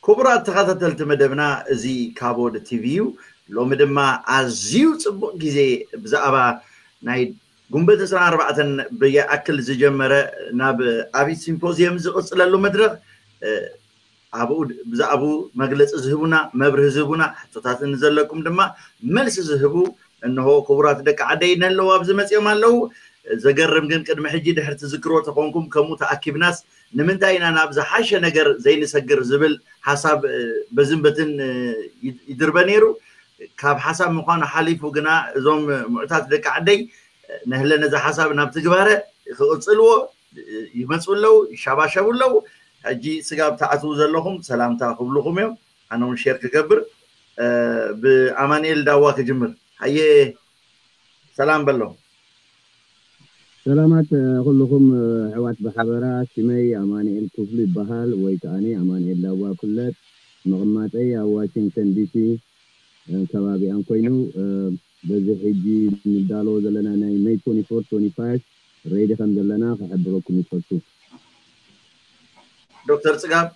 ክቡራት ተኸታተልቲ መደብና፣ እዚ ካቦድ ቲቪ እዩ። ሎሚ ድማ ኣዝዩ ጽቡቕ ግዜ ብዛዕባ ናይ ጉንበት ዕስራን ኣርባዕተን ብይኣክል ዝጀመረ ናብ ኣብይ ሲምፖዚየም ዝቕጽለሉ መድረኽ፣ እ፣ ኣብኡ ድ-፣ ብዛዕባኡ መግለጺ ዝህቡና፣ መብርሂ ዝህቡና፣ ሕቶታት ንዘለኩም ድማ መልሲ ዝህቡ እንሆ ክቡራት ደቂ ዓደይ ነለዉ ኣብዚ መጺኦም ኣለዉ። ዘገርም ግን ቅድሚ ሕጂ ድሕሪ ትዝክርዎ ተኾንኩም ከምኡ ተኣኪብናስ ንምንታይ ኢና ናብ ዝሓሸ ነገር ዘይንሰግር ዝብል ሓሳብ፣ እ፣ በዝን በትን፣ እ፣ ይድ-፣ ይድርበ ነይሩ። ካብ ሓሳብ ምዃኑ ሓሊፉ ግና እዞም ምዑታት ደቂ ዓደይ፣ እ፣ ነህለ ነዚ ሓሳብ ናብ ትግባረ ክቕጽልዎ፣ እ፣ ይመጹ ኣለዉ፣ ይሻባሸቡ ኣለዉ። ሕጂ ስጋብ ትኣትዉ ዘለኹም ሰላምታ ክብሉኹም እዮም። ኣነ እውን ሼር ክገብር፣ እ፣ ብኣማኑኤል ዳዋ ክጅምር። ሃየ ሰላም በሎ። ሰላማት፣ እ፣ ኩልኹም፣ እ፣ ኣሕዋት ብሓበራ። ሽመይ ኣማኑኤል ክፍሉ ይበሃል ወይ ከኣኒ ኣማኑኤል ዳዋ ይፍለጥ። መቐማጠይ ኣብ ዋሽንግተን ዲሲ፣ እ፣ ከባቢኣን ኮይኑ፣ እ፣ በዚ ሕጂ ንዳለዎ ዘለና ናይ ሜይ ትወንቲ ፎር ትወንቲ ፋይቭ ሬዲ ከም ዘለና ክሕብረኩም ይፈቱ። ዶክተር ጽጋብ።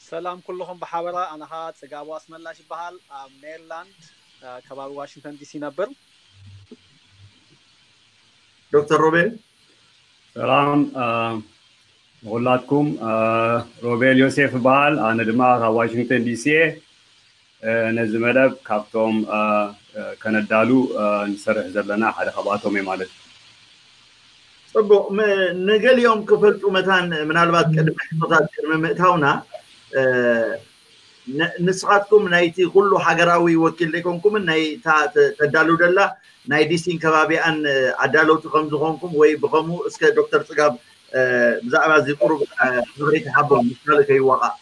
ሰላም ኩልኹም ብሓበራ፣ ኣነ ኸኣ ጽጋቡ ኣስመላሽ ይበሃል። ኣብ ሜሪላንድ፣ እ፣ ከባቢ ዋሽንግተን ዲሲ ነብር። ዶክተር ሮቤል። ሰላም፣ እ፣ ንኹላትኩም፣ እ፣ ሮቤል ዮሴፍ ይበሃል። ኣነ ድማ ካብ ዋሽንግተን ዲሲ እየ። እ፣ ነዚ መደብ ካብቶም፣ እ፣ እ፣ ከነዳሉ፣ እ፣ ንሰርሕ ዘለና ሓደ ካብኣቶም እየ ማለት እዩ። ጽቡቕ። ም-፣ ንገሊኦም ክፈልጡ መታን ምናልባት ቅድሚ ሕቶታት ቅድሚ ምእታውና፣ እ፣ ን-፣ ንስኻትኩም ናይቲ ኩሉ ሃገራዊ ወኪል ዘይኮንኩምን ናይታ ተ-፣ ተዳሉ ደላ ናይ ዲሲን ከባቢኣን፣ እ፣ ኣዳለውቲ ከም ዝኾንኩም ወይ ብኸምኡ እስከ ዶክተር ጽጋብ፣ እ፣ ብዛዕባ እዚ ቁሩብ፣ እ፣ ሓበሬታ ሃቦም ምስ ካልእ ከይዋቓዕ።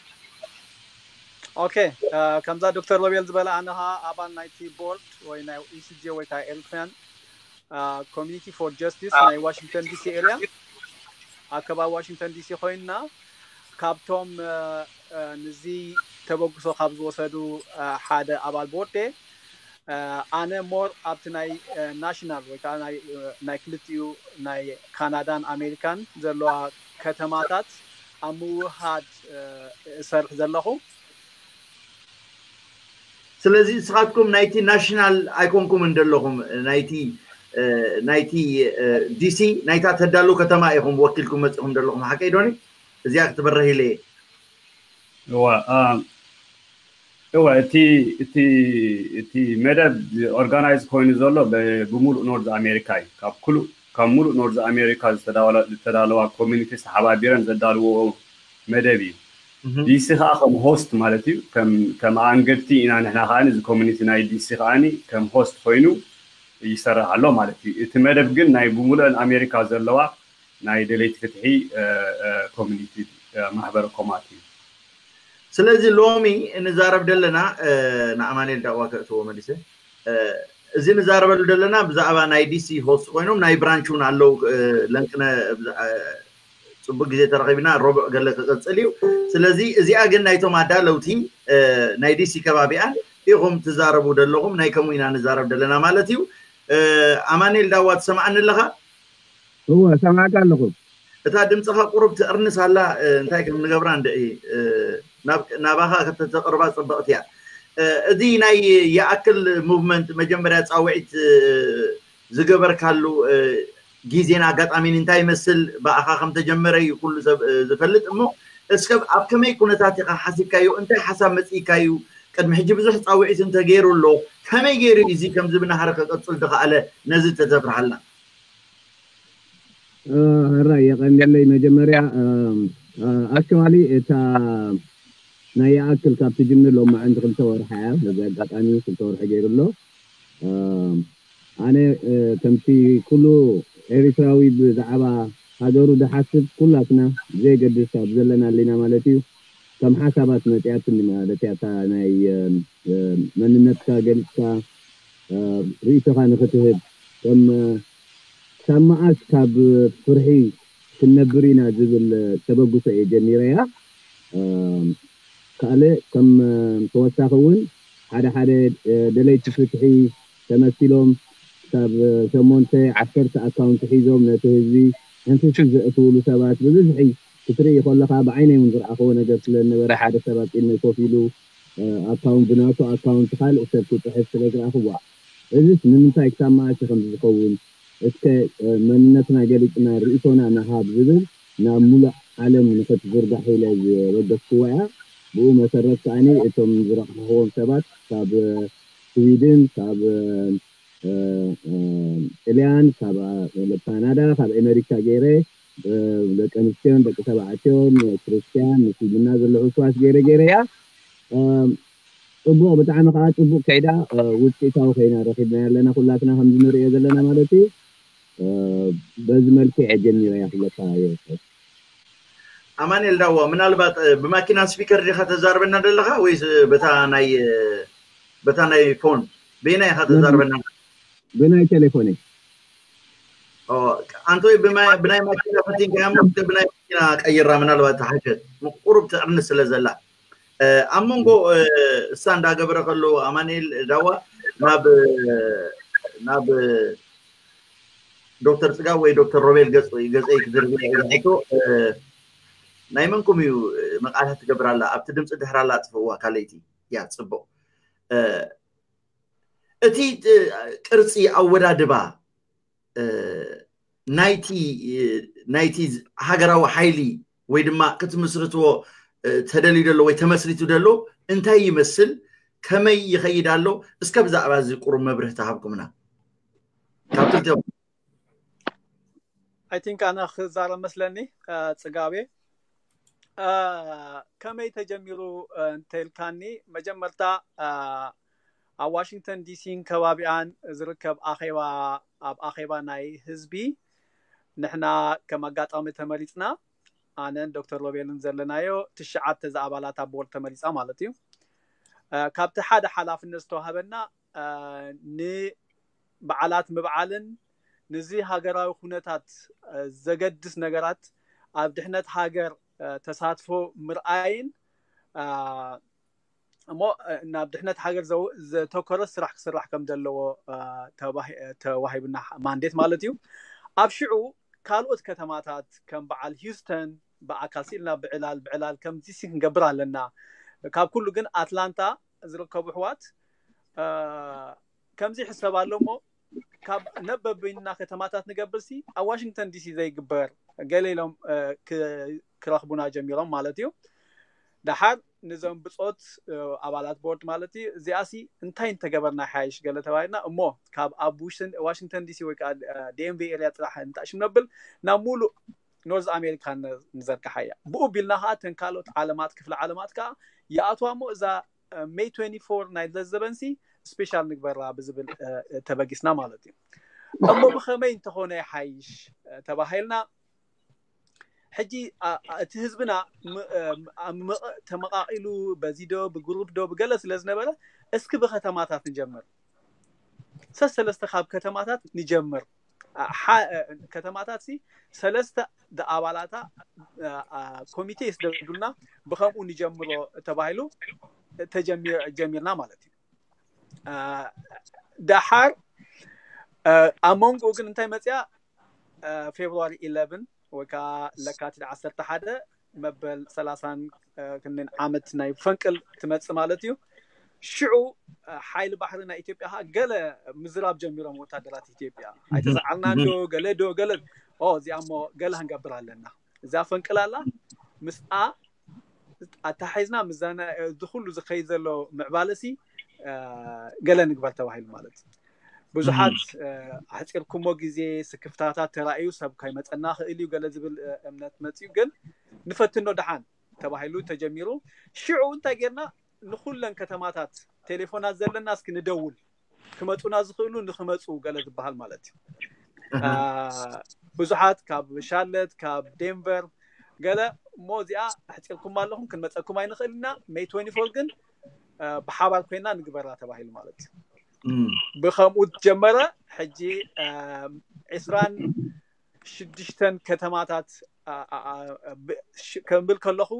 ኦኬ፣ እ፣ ከምዛ ዶክተር ሮቤል ዝበለ ኣነ ኸኣ ኣባል ናይቲ ቦርድ ወይ ናይ ኢ ሲ ጄ ወይ ከዓ ኤሪትሪያን፣ እ፣ ኮሚኒቲ ፎር ጀስቲስ ናይ ዋሽንግተን ዲሲ ኤሪያ ኣብ ከባቢ ዋሽንግተን ዲሲ ኮይንና ካብቶም፣ እ፣ እ፣ ንዚ ተበግሶ ካብ ዝወሰዱ፣ እ፣ ሓደ ኣባል ቦርድ እየ። እ፣ ኣነ ሞር ኣብቲ ናይ፣ እ፣ ናሽናል ወይ ከዓ ናይ፣ እ፣ ናይ ክልቲኡ ናይ ካናዳን ኣሜሪካን ዘለዋ ከተማታት ኣብ ምውሃድ፣ እ፣ እሰርሕ ዘለኹ። ስለዚ ንስኻትኩም ናይቲ ናሽናል ኣይኮንኩምን ዘለኹም፣ ናይቲ፣ እ፣ ናይቲ፣ እ፣ ዲሲ ናይታ ተዳሉ ከተማ ኢኹም ወኪልኩም መጺኹም ዘለኹም፣ ሓቀይ ዶኒ? እዚኣ ክትበርህ ኢለ እየ። እዋ፣ እ፣ እወ፣ እቲ፣ እቲ፣ እቲ መደብ ኦርጋናይዝ ኮይኑ ዘሎ ብ-፣ ብምሉእ ኖርዝ ኣሜሪካ እዩ። ካብ ኩሉ-፣ ካብ ሙሉእ ኖርዝ ኣሜሪካ ዝተዳወለ-፣ ዝተዳለዋ ኮሚኒቲ ተሓባቢረን ዘዳልዎ መደብ እዩ። እህ። ዲሲ ከዓ ከም ሆስት ማለት እዩ። ከም፣ ከም ኣንገድቲ ኢና ንሕና ከዓ እዚ ኮሚኒቲ ናይ ዲሲ ከዓ ከም ሆስት ኮይኑ ይሰርሕ ኣሎ ማለት እዩ። እቲ መደብ ግን ናይ ብምሉእን ኣሜሪካ ዘለዋ ናይ ደለይቲ ፍትሒ፣ እ፣ እ፣ ኮሚኒቲ፣ እ፣ ማሕበረ ኮማት እዩ። ስለዚ ሎሚ ንዛረብ ዘለና፣ እ፣ ንኣማኑኤል ዳዋ ከእትዎ መሊሰ፣ እ፣ እዚ ንዛረበሉ ዘለና ብዛዕባ ናይ ዲሲ ሆስት ኮይኖም ናይ ብራንች እውን ኣለዉ፣ እ፣ ለንቅነ ብዛ-፣ እ፣ ጽቡቅ ግዜ ተረኺብና፣ ረቡዕ ገለ ክቅጽል እዩ። ስለዚ እዚኣ ግን ናይቶም ኣዳለውቲ፣ እ፣ ናይ ዲሲ ከባቢኣን ኢኹም ትዛረቡ ደለኹም፣ ናይ ከምኡ ኢና ንዛረብ ደለና ማለት እዩ። እ፣ ኣማኑኤል ዳዋ ትሰምዓኒ ኣለኻ? እወ፣ ሰማዕካ ኣለኹ። እታ ድምፅኻ ቁሩብ ትዕርንስ ኣላ፣ እ፣ እንታይ ከም ንገብራ እንድዒ፣ እ፣ ናብ-፣ ናባኻ ከተተቕርባ ጽብቕቲ እያ። እ፣ እዚ ናይ ይኣክል ሙቭመንት መጀመርያ ጻውዒት፣ እ፣ ዝገበርካሉ፣ እ፣ ግዜን ኣጋጣሚን እንታይ ይመስል፣ ብኣኻ ከም ተጀመረ እዩ ኩሉ ሰብ፣ እ፣ ዝፈልጥ። እሞ እስከ ኣብ ከመይ ኩነታት ኢኻ ሓሲብካዮ? እንታይ ሓሳብ መጺእካዩ? ቅድሚ ሕጂ ብዙሕ ጻውዒት እንተገይሩ ኣሎ፣ ከመይ ገይሩ እዩ እዚ ከምዚ ብናህሪ ክቕጽል ዝኸኣለ? ነዚ ተተብርሃልና። እ፣ ሕራይ የቐንየለይ። መጀመርያ፣ እ፣ እ፣ ኣክቹዋሊ እታ ናይ ይኣክል ካብ ትጅምር ሎማዕንቲ ክልተ ወርሒ እያ። በዚ ኣጋጣሚ ክልተ ወርሒ ገይሩ ኣሎ። እ፣ ኣነ፣ እ፣ ከምቲ ኩሉ ኤሪትራዊ ብዛዕባ ሃገሩ ዝሓስብ ኩላትና ብዘየገድስ ኣብ ዘለና ኣሊና ማለት እዩ፣ ከም ሓሳባት መጽያትኒ ማለት እያ። እታ ናይ፣ እ፣ እ፣ መንነትካ ገሊጽካ፣ እ፣ ርእይቶኻ ንኽትህብ፣ ከም፣ እ፣ ክሳብ መኣስ ካብ ፍርሒ ክንነብር ኢና ዝብል ተበግሶ እየ ጀሚረያ። እ፣ ካልእ ከም፣ እ፣ ተወሳኺ እውን ሓደ ሓደ፣ እ፣ ደለይቲ ፍትሒ ተመሲሎም ክሳብ ሸሞንተ ዓሰርተ ኣካውንቲ ሒዞም ነቲ ህዝቢ ሕንፍሽፍሽ ዘእትውሉ ሰባት ብብዝሒ ክትርኢ ከለኻ ብዓይነይ እውን ዝረኣኽዎ ነገር ስለ ዝነበረ ሓደ ሰብ ኣብ ቅድመይ ኮፍ ኢሉ ኣካውንት ብናቱ ኣካውንት ካልእ ሰብ ክፅሕፍ ስለ ዝረኣኽዋ እዚስ ንምንታይ ክሳብ መዓስ ከም ዝኸውን እስከ መንነትና ገሊፅና ርእቶና ንሃብ ዝብል ናብ ሙሉእ ዓለም ንክትዝርጋሕ ኢለ ዝወደስክዋ እያ። ብኡ መሰረት ከዓኒ እቶም ዝረኽብዎም ሰባት ካብ ስዊድን ካብ ጥልያን ካብ ካናዳ ካብ ኣሜሪካ ገይረ ደቂ ኣንስትዮን ደቂ ተባዕትዮን ክርስትያን ምስልምና ዘለሑ ስዋስ ገይረ ገይረ እያ። ፅቡቕ ብጣዕሚ ከዓ ፅቡቕ ከይዳ ውፅኢታዊ ኮይና ረኪብና ኣለና ኩላትና ከምዚ ንሪኦ ዘለና ማለት እዩ። በዚ መልክዕ ጀሚረ እያ ክብለካ ይወስድ። ኣማንኤል ዳዋ ምናልባት ብማኪና ስፒከር ዲኻ ተዛርበና ዘለኻ ወይስ በታ ናይ በታ ናይ ፎን በየናይ ኢኻ ተዛርበና? ብናይ ቴሌፎነይ። ኣንቶይ ብናይ ማኪና ፈቲንካ እሞ ብናይ ማኪና ቀይራ ምናልባት ተሓሸት ቁሩብ ትዕርኒ ስለ ዘላ ኣብ መንጎ እሳ እንዳገበረ ከሎ ኣማንኤል ዳዋ ናብ ናብ ዶክተር ፅጋብ ወይ ዶክተር ሮቤል ገፀይ ክዝርግቶ ናይ መንኩም እዩ መቃልሕ ትገብር ኣላ ኣብቲ ድምፂ ድሕር ኣላ ፅፍዋ ካልይቲ እያ ፅቡቅ እቲ ቅርፂ ኣወዳድባ ናይቲ ናይቲ ሃገራዊ ሓይሊ ወይ ድማ ክትምስርትዎ ተደልዩ ደሎ ወይ ተመስሪቱ ደሎ እንታይ ይመስል ከመይ ይኸይድ ኣሎ እስከ ብዛዕባ እዚ ቁሩብ መብርህ ተሃብኩምና ካብ ክልተ I think ኣነ ክዛረብ መስለኒ ፅጋቤ ከመይ ተጀሚሩ እንተልካኒ መጀመርታ ኣብ ዋሽንግተን ዲሲን ከባቢኣን ዝርከብ ኣኼባ ኣብ ኣኼባ ናይ ህዝቢ ንሕና ከም ኣጋጣሚ ተመሪፅና ኣነን ዶክተር ሮቤልን ዘለናዮ ትሽዓተ ዝኣባላት ኣብ ቦርድ ተመሪፃ ማለት እዩ ካብቲ ሓደ ሓላፍነት ዝተዋህበና ንበዓላት ምብዓልን ንዚ ሃገራዊ ኩነታት ዘገድስ ነገራት ኣብ ድሕነት ሃገር ተሳትፎ ምርኣይን እሞ ናብ ድሕነት ሃገር ዘተኮረ ስራሕ ክስራሕ ከም ዘለዎ ተዋሂብና ማንዴት ማለት እዩ ኣብ ሽዑ ካልኦት ከተማታት ከም በዓል ሂውስተን ብኣካል ስኢልና ብዕላል ብዕላል ከምዚ ክንገብር ኣለና ካብ ኩሉ ግን ኣትላንታ ዝርከቡ ኣሕዋት ከምዚ ይሕሰብ ኣሎ እሞ ካብ ነበበይንና ከተማታት ንገብር ሲ ኣብ ዋሽንግተን ዲሲ ዘይግበር ገለ ኢሎም ክረኽቡና ጀሚሮም ማለት እዩ ደሓር ንዞም ብፆት ኣባላት ቦርድ ማለት እዩ እዚኣ ሲ እንታይ እንተገበርና ሓይሽ ገለ ተባሂልና እሞ ካብ ኣብ ዋሽንግተን ዲሲ ወይ ከዓ ዲኤምቪ ኤሪያ ጥራሕ እንታሽም ነብል ናብ ሙሉእ ኖርዝ ኣሜሪካ ንዘርግሓ እያ ብኡ ቢልና ከዓ ተን ካልኦት ዓለማት ክፍለ ዓለማት ከዓ ይኣትዋ እሞ እዛ ሜይ ትዌንቲ ፎር ናይ ለዘበንሲ ስፔሻል ንግበራ ብዝብል ተበጊስና ማለት እዩ እሞ ብኸመይ እንተኾነ ይሓይሽ ተባሂልና ሕጂ እቲ ህዝብና ተመቃቂሉ በዚ ዶ ብግሩፕ ዶ ብገለ ስለ ዝነበረ እስኪ ብከተማታት ንጀምር ሰሰለስተ ካብ ከተማታት ንጀምር ከተማታት ሲ ሰለስተ ኣባላታ ኮሚቴ ይስደዱልና ብከምኡ ንጀምሮ ተባሂሉ ጀሚርና ማለት እዩ ደሓር ኣብ መንጎ ግን እንታይ መፅያ ፌብሩዋሪ ኢለቨን ወይ ከዓ ለካቲት ዓሰርተ ሓደ መበል ሰላሳን ክንደን ዓመት ናይ ፈንቅል ትመፅእ ማለት እዩ ሽዑ ሓይሊ ባሕሪ ናይ ኢትዮጵያ ከዓ ገለ ምዝራብ ጀሚሮም ወታደራት ኢትዮጵያ ኣይተሰዓልናን ዶ ገለ ዶ ገለ እዚኣ እሞ ገለ ክንገብር ኣለና እዚኣ ፈንቅል ኣላ ምስኣ ኣታሓይዝና ምዛና እዚ ኩሉ ዝኸይድ ዘሎ ምዕባለሲ ገለ ንግበር ተባሂሉ ማለት ብዙሓት ኣሕፂርኩሞ ግዜ ስክፍታታት ተራእዩ ሰብ ከይመፀና ክእል እዩ ገለ ዝብል እምነት መፅዩ ግን ንፈትኖ ደሓን ተባሂሉ ተጀሚሩ ሽዑ እንታይ ጌርና ንኩለን ከተማታት ቴሌፎናት ዘለና እስኪ ንደውል ክመፁና ዝኽእሉ ንክመፁ ገለ ዝበሃል ማለት እዩ ብዙሓት ካብ ሻርለት ካብ ዴንቨር ገለ እሞ እዚኣ ኣሕፂርኩም ኣለኹም ክንመፀኩም ኣይንኽእል ኢና ሜይ ትወንቲ ፎር ግን ብሓባር ኮይና ንግበራ ተባሂሉ ማለት እዩ ብከምኡ ጀመረ ሕጂ ዕስራን ሽዱሽተን ከተማታት ከብል ከለኹ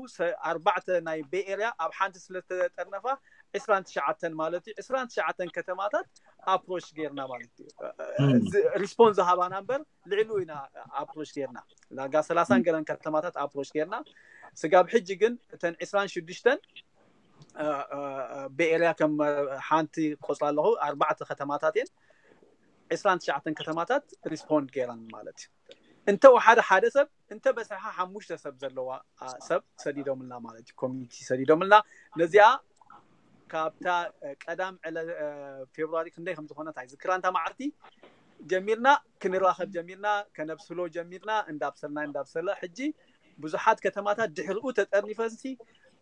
ኣርባዕተ ናይ ቤይ ኤርያ ኣብ ሓንቲ ስለተጠርነፋ ዕስራን ትሽዓተን ማለት እዩ። ዕስራን ትሽዓተን ከተማታት ኣፕሮች ጌርና ማለት እዩ። ሪስፖንስ ዝሃባና እምበር ልዕሉ ኢና ኣፕሮች ጌርና። ዳርጋ ሰላሳን ገለን ከተማታት ኣፕሮች ጌርና። ስጋብ ሕጂ ግን እተን ዕስራን ሽዱሽተን ቤኤርያ ከም ሓንቲ ቆፅራ ኣለኹ ኣርባዕተ ከተማታት እየን። ዕስራን ትሽዓተን ከተማታት ሪስፖንድ ገይረን ማለት እዩ። እንተ ወሓደ ሓደ ሰብ እንተ በሰሓ ሓሙሽተ ሰብ ዘለዋ ሰብ ሰዲዶምልና ማለት እዩ። ኮሚኒቲ ሰዲዶምልና ነዚኣ ካብታ ቀዳም ዕለ ፌብሩዋሪ ክንደይ ከም ዝኾነት ኣይዝክራ እንታ መዓልቲ ጀሚርና ክንራኸብ ጀሚርና ከነብስሎ ጀሚርና እንዳብሰልና እንዳብሰለ ሕጂ ብዙሓት ከተማታት ድሕሪኡ ተጠርኒፈንሲ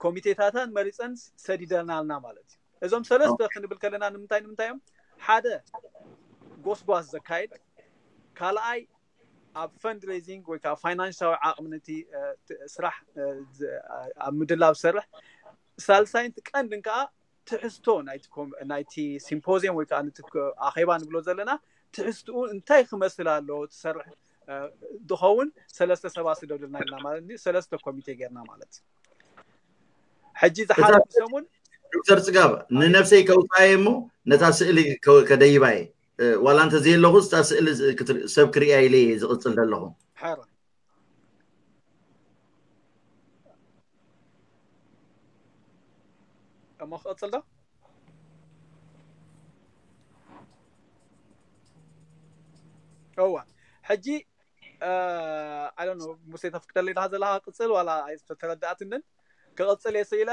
ኮሚቴታታን መሪፀን ሰዲደናልና ማለት እዩ። እዞም ሰለስተ ክንብል ከለና ንምንታይ ንምንታይ እዮም? ሓደ ጎስጓስ ዘካየድ፣ ካልኣይ ኣብ ፈንድሬዚንግ ወይ ከዓ ፋይናንሳዊ ዓቕሚ ነቲ ስራሕ ኣብ ምድላብ ዝሰርሕ፣ ሳልሳይን ቀንድን ከዓ ትሕዝቶ ናይቲ ሲምፖዚየም ወይ ከዓ ኣኼባ ንብሎ ዘለና ትሕዝትኡ እንታይ ክመስል ኣለዎ ትሰርሕ ዝኸውን ሰለስተ ሰባት ስደዱልና ኢልና ማለት ሰለስተ ኮሚቴ ጌርና ማለት እዩ። ሕጂ ዝሓለፈ ሰሙን ዶክተር ፅጋብ ንነብሰይ ከውፃየ እሞ ነታ ስእሊ ከደይባየ ዋላ እንተ ዘየለኹ እታ ስእሊ ሰብ ክርእያ ኢለ ዝቕፅል ዘለኹ። እሞ ክቐፅል ዶ? እዋ ሕጂ ኣይ ዶንት ኖ ሙሴ ተፍቅደለይ ዳ ዘለኻ ቅጽል ዋላ ኣይተረዳእትንን። ክቐጽል እየ ስኢለ።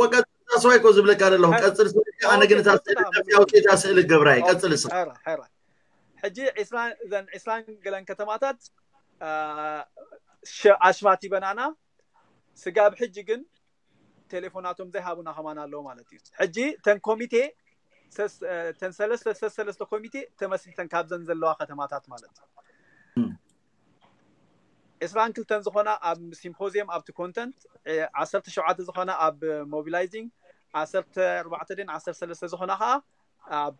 ወቀጽል ታስዋይ እኮ ዝብለካ ዘለኹ ቀጽል ስኢለ ኣነ ግን እታ ስእሊ ነፍሲ ኣውፅእ እታ ስእሊ ገብራ እየ ቀጽል ስ ሕራይ ሕጂ ዕስራን እዘን ዕስራን ገለን ከተማታት ኣሽማት ይበናና ስጋብ ሕጂ ግን ቴሌፎናቶም ዘይሃቡና ከማን ኣለዉ ማለት እዩ። ሕጂ ተን ኮሚቴ ተን ሰለስተ ሰለስተ ኮሚቴ ተመስሪተን ካብዘን ዘለዋ ከተማታት ማለት እዩ። ዕስራን ክልተን ዝኾና ኣብ ሲምፖዚየም ኣብቲ ኮንተንት፣ ዓሰርተ ሸውዓተ ዝኾና ኣብ ሞቢላይዚንግ፣ ዓሰርተ ኣርባዕተ ድን ዓሰርተ ሰለስተ ዝኾና ከዓ ኣብ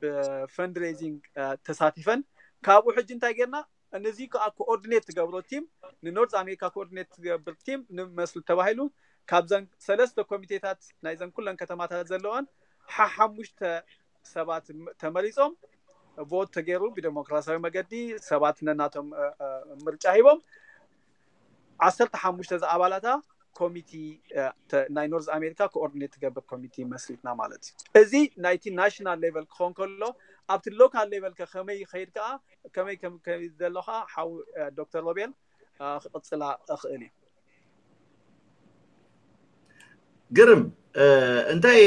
ፈንድሬዚንግ ተሳቲፈን። ካብኡ ሕጂ እንታይ ጌርና ነዚ ከዓ ኮኦርዲኔት ትገብሮ ቲም ንኖርዝ ኣሜሪካ ኮኦርዲኔት ትገብር ቲም ንመስል ተባሂሉ ካብዘን ሰለስተ ኮሚቴታት ናይዘን ኩለን ከተማታት ዘለወን ሓሓሙሽተ ሰባት ተመሪፆም ቮት ተገይሩ ብዴሞክራሲያዊ መገዲ ሰባት ነናቶም ምርጫ ሂቦም ዓሰርተ ሓሙሽተ ዝኣባላታ ኮሚቲ ናይ ኖርዝ ኣሜሪካ ኮኦርዲኔት ትገብር ኮሚቲ መስሪትና ማለት እዩ። እዚ ናይቲ ናሽናል ሌቨል ክኾን ከሎ ኣብቲ ሎካል ሌቨል ከ ከመይ ይኸይድ ከዓ ከመይ ከም ከይድ ዘሎ ከዓ ሓው ዶክተር ሮቤል ክቕፅላ እኽእል እዩ። ግርም እንታይ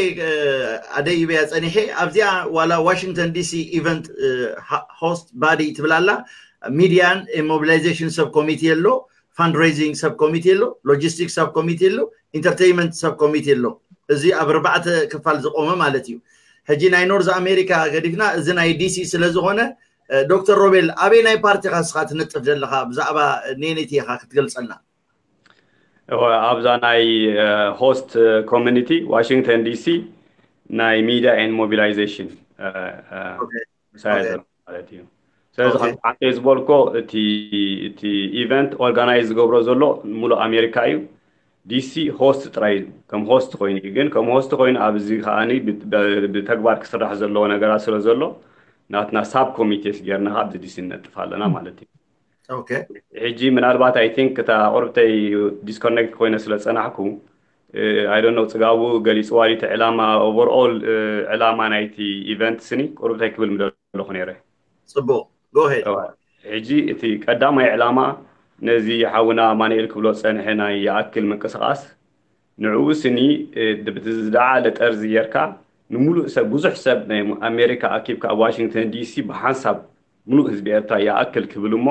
ኣደይበያ ፀኒሐ ኣብዚኣ ዋላ ዋሽንግተን ዲሲ ኢቨንት ሆስት ባዲ ትብላላ ሚዲያን ሞቢላይዜሽን ሰብ ኮሚቴ ኣሎ፣ ፋንድሬዚንግ ሰብ ኮሚቴ ኣሎ፣ ሎጂስቲክስ ሰብ ኮሚቴ ኣሎ፣ ኢንተርቴይንመንት ሰብ ኮሚቴ ኣሎ። እዚ ኣብ ኣርባዕተ ክፋል ዝቆመ ማለት እዩ። ሕጂ ናይ ኖርዝ ኣሜሪካ ገዲፍና እዚ ናይ ዲሲ ስለዝኾነ ዶክተር ሮቤል ኣበይ ናይ ፓርቲ ኢኻ ንስኻ ትነጥፍ ዘለኻ ብዛዕባ ኔነይቲ ኢኻ ክትገልፀልና? ኣብዛ ናይ ሆስት ኮሚኒቲ ዋሽንግተን ዲሲ ናይ ሚዲያ ኤንድ ሞቢላይዜሽን ምሳያ ዘሎ ማለት እዩ። ስለዚ ከም ሓንተ ዝበልኮ እቲ ኢቨንት ኦርጋናይዝ ዝገብሮ ዘሎ ሙሉእ ኣሜሪካ እዩ። ዲሲ ሆስት ጥራይ እዩ ከም ሆስት ኮይኑ እዩ። ግን ከም ሆስት ኮይኑ ኣብዚ ከዓኒ ብተግባር ክስራሕ ዘለዎ ነገራት ስለ ዘሎ ናትና ሳብ ኮሚቴስ ጌርና ኣብዚ ዲሲ ንነጥፍ ኣለና ማለት እዩ። ሕጂ ምናልባት ኣይ ቲንክ እታ ቁርብተይ ዲስኮኔክት ኮይነ ስለ ዝፀናሕኩ ኣይ ዶንት ኖ ፅጋቡ ገሊፅዋ ድዩ እቲ ዕላማ ኦቨርኦል ዕላማ ናይቲ ኢቨንት ስኒ ቁርብተይ ክብል ምደለኹ ነይረ። ፅቡቅ ጎሄድ። ሕጂ እቲ ቀዳማይ ዕላማ ነዚ ሓውና ኣማኑኤል ክብሎ ዝፀንሐ ናይ ይኣክል ምንቅስቃስ ንዕኡ ስኒ ብቲ ዝደዓለ ጠርዚ ጌርካ ንምሉእ ሰብ ብዙሕ ሰብ ናይ ኣሜሪካ ኣኪብካ ኣብ ዋሽንግተን ዲሲ ብሓንሳብ ሙሉእ ህዝቢ ኤርትራ ይኣክል ክብል እሞ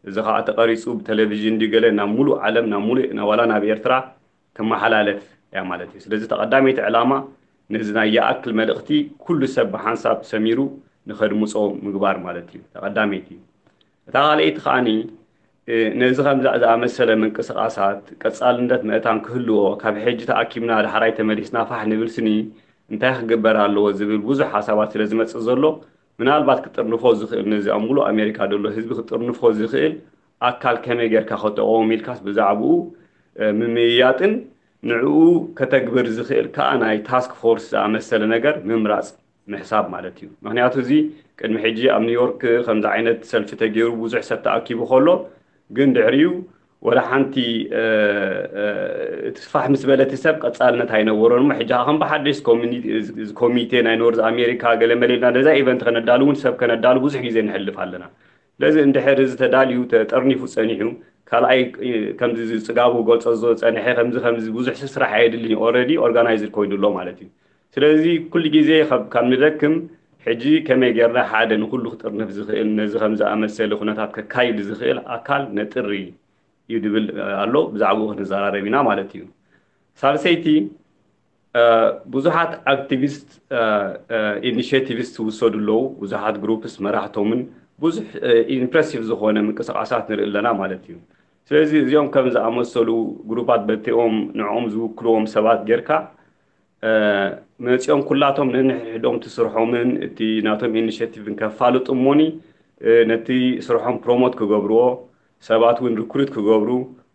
እዚ ከዓ ተቐሪፁ ብቴሌቪዥን ድዩ ገለ ናብ ሙሉእ ዓለም ናብ ሙሉእ ዋላ ናብ ኤርትራ ክመሓላለፍ እያ ማለት እዩ። ስለዚ ተቐዳመይቲ ዕላማ ነዚ ናይ ይኣክል መልእኽቲ ኩሉ ሰብ ብሓንሳብ ሰሚሩ ንኸድምፆ ምግባር ማለት እዩ ተቐዳመይቲ። እታ ካልኣይቲ ከዓኒ ነዚ ከምዚ ዝኣመሰለ ምንቅስቃሳት ቀፃልነት ምእታን ክህልዎ ካብ ሕጂ ተኣኪብና ዳሕራይ ተመሊስና ፋሕ ንብል ስኒ እንታይ ክግበር ኣለዎ ዝብል ብዙሕ ሓሳባት ስለ ዝመፅእ ዘሎ ምናልባት ክጥርንፎ ዝኽእል ነዚ ኣብ ሙሉእ ኣሜሪካ ዘሎ ህዝቢ ክጥርንፎ ዝኽእል ኣካል ከመይ ጌርካ ክጠቐሙ ኢልካስ ብዛዕባኡ ምምይያጥን ንዕኡ ከተግብር ዝኽእል ከዓ ናይ ታስክ ፎርስ ዝኣመሰለ ነገር ምምራፅ ምሕሳብ ማለት እዩ። ምክንያቱ እዚ ቅድሚ ሕጂ ኣብ ኒውዮርክ ከምዚ ዓይነት ሰልፊ ተገይሩ ብዙሕ ሰብ ተኣኪቡ ከሎ ግን ድሕሪኡ ወላ ሓንቲ እቲ ስፋሕ ምስ በለ እቲ ሰብ ቀፃልነት ኣይነበሮን እሞ ሕጂ ከም ብሓደሽ ኮሚቴ ናይ ኖርዝ ኣሜሪካ ገለ መለ ኢልና ነዛ ኢቨንት ከነዳሉ እውን ሰብ ከነዳሉ ብዙሕ ግዜ ንሕልፍ ኣለና። ስለዚ እንድሕር እዚ ተዳልዩ ተጠርኒፉ ፀኒሑ ካልኣይ ከምዚ ፅጋቡ ገልፆ ዝፀንሐ ከምዚ ከምዚ ብዙሕ ስራሕ ኣየድልን እዩ። ኦረዲ ኦርጋናይዝድ ኮይኑ ኣሎ ማለት እዩ። ስለዚ ኩሉ ግዜ ካብ ንደክም ሕጂ ከመይ ጌርና ሓደ ንኩሉ ክጥርንፍ ዝኽእል ነዚ ከም ዝኣመሰለ ኩነታት ከካይድ ዝኽእል ኣካል ነጥሪ እዩ ድብል ኣሎ። ብዛዕባኡ ክንዘራረብ ኢና ማለት እዩ። ሳልሰይቲ ብዙሓት ኣክቲቪስት ኢኒሽቲቭስ ትውሰዱ ኣለዉ። ብዙሓት ግሩፕስ መራሕቶምን ብዙሕ ኢምፕረሲቭ ዝኾነ ምንቅስቃሳት ንርኢ ኣለና ማለት እዩ። ስለዚ እዚኦም ከም ዝኣመሰሉ ግሩፓት በቲኦም ንዕኦም ዝውክልዎም ሰባት ጌርካ መፂኦም ኩላቶም ነንሕድሕዶም እቲ ስርሖምን እቲ ናቶም ኢኒሽቲቭን ከፋልጡ እሞኒ ነቲ ስርሖም ፕሮሞት ክገብርዎ ሰባት እውን ሪክሩት ክገብሩ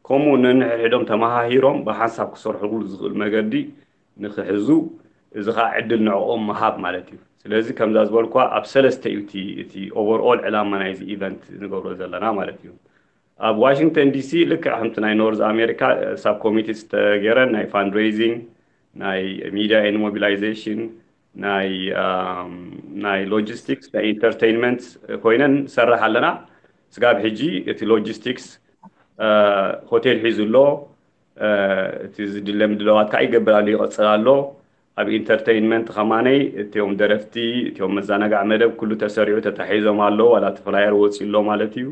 ከምኡ ነንሕድሕዶም ተመሃሂሮም ብሓንሳብ ክሰርሕሉ ዝኽእል መገዲ ንክሕዙ እዚ ከዓ ዕድል ንዕኦም ምሃብ ማለት እዩ። ስለዚ ከምዛ ዝበልኳ ኣብ ሰለስተ እዩ እቲ ኦቨርኦል ዕላማ ናይዚ ኢቨንት ንገብሮ ዘለና ማለት እዩ። ኣብ ዋሽንግተን ዲሲ ልክዕ ከምቲ ናይ ኖርዝ ኣሜሪካ ሳብ ኮሚቴ ዝተገረን ናይ ፋንድሬዚንግ ናይ ሚድያ ኤንድ ሞቢላይዜሽን ናይ ናይ ሎጂስቲክስ ናይ ኢንተርቴይንመንት ኮይነን ንሰርሕ ኣለና። ስጋብ ሕጂ እቲ ሎጂስቲክስ ሆቴል ሒዙ ኣሎ። እቲ ዝድለ ምድለዋት ከዓ ይገብር ኣሎ ይቐፅል ኣሎ። ኣብ ኢንተርቴይንመንት ከማነይ እቲኦም ደረፍቲ እቲኦም መዘናጋዕ መደብ ኩሉ ተሰሪዑ ተታሒዞም ኣለዉ ዋላ እቲ ፍላየር ወፂኡ ኣሎ ማለት እዩ።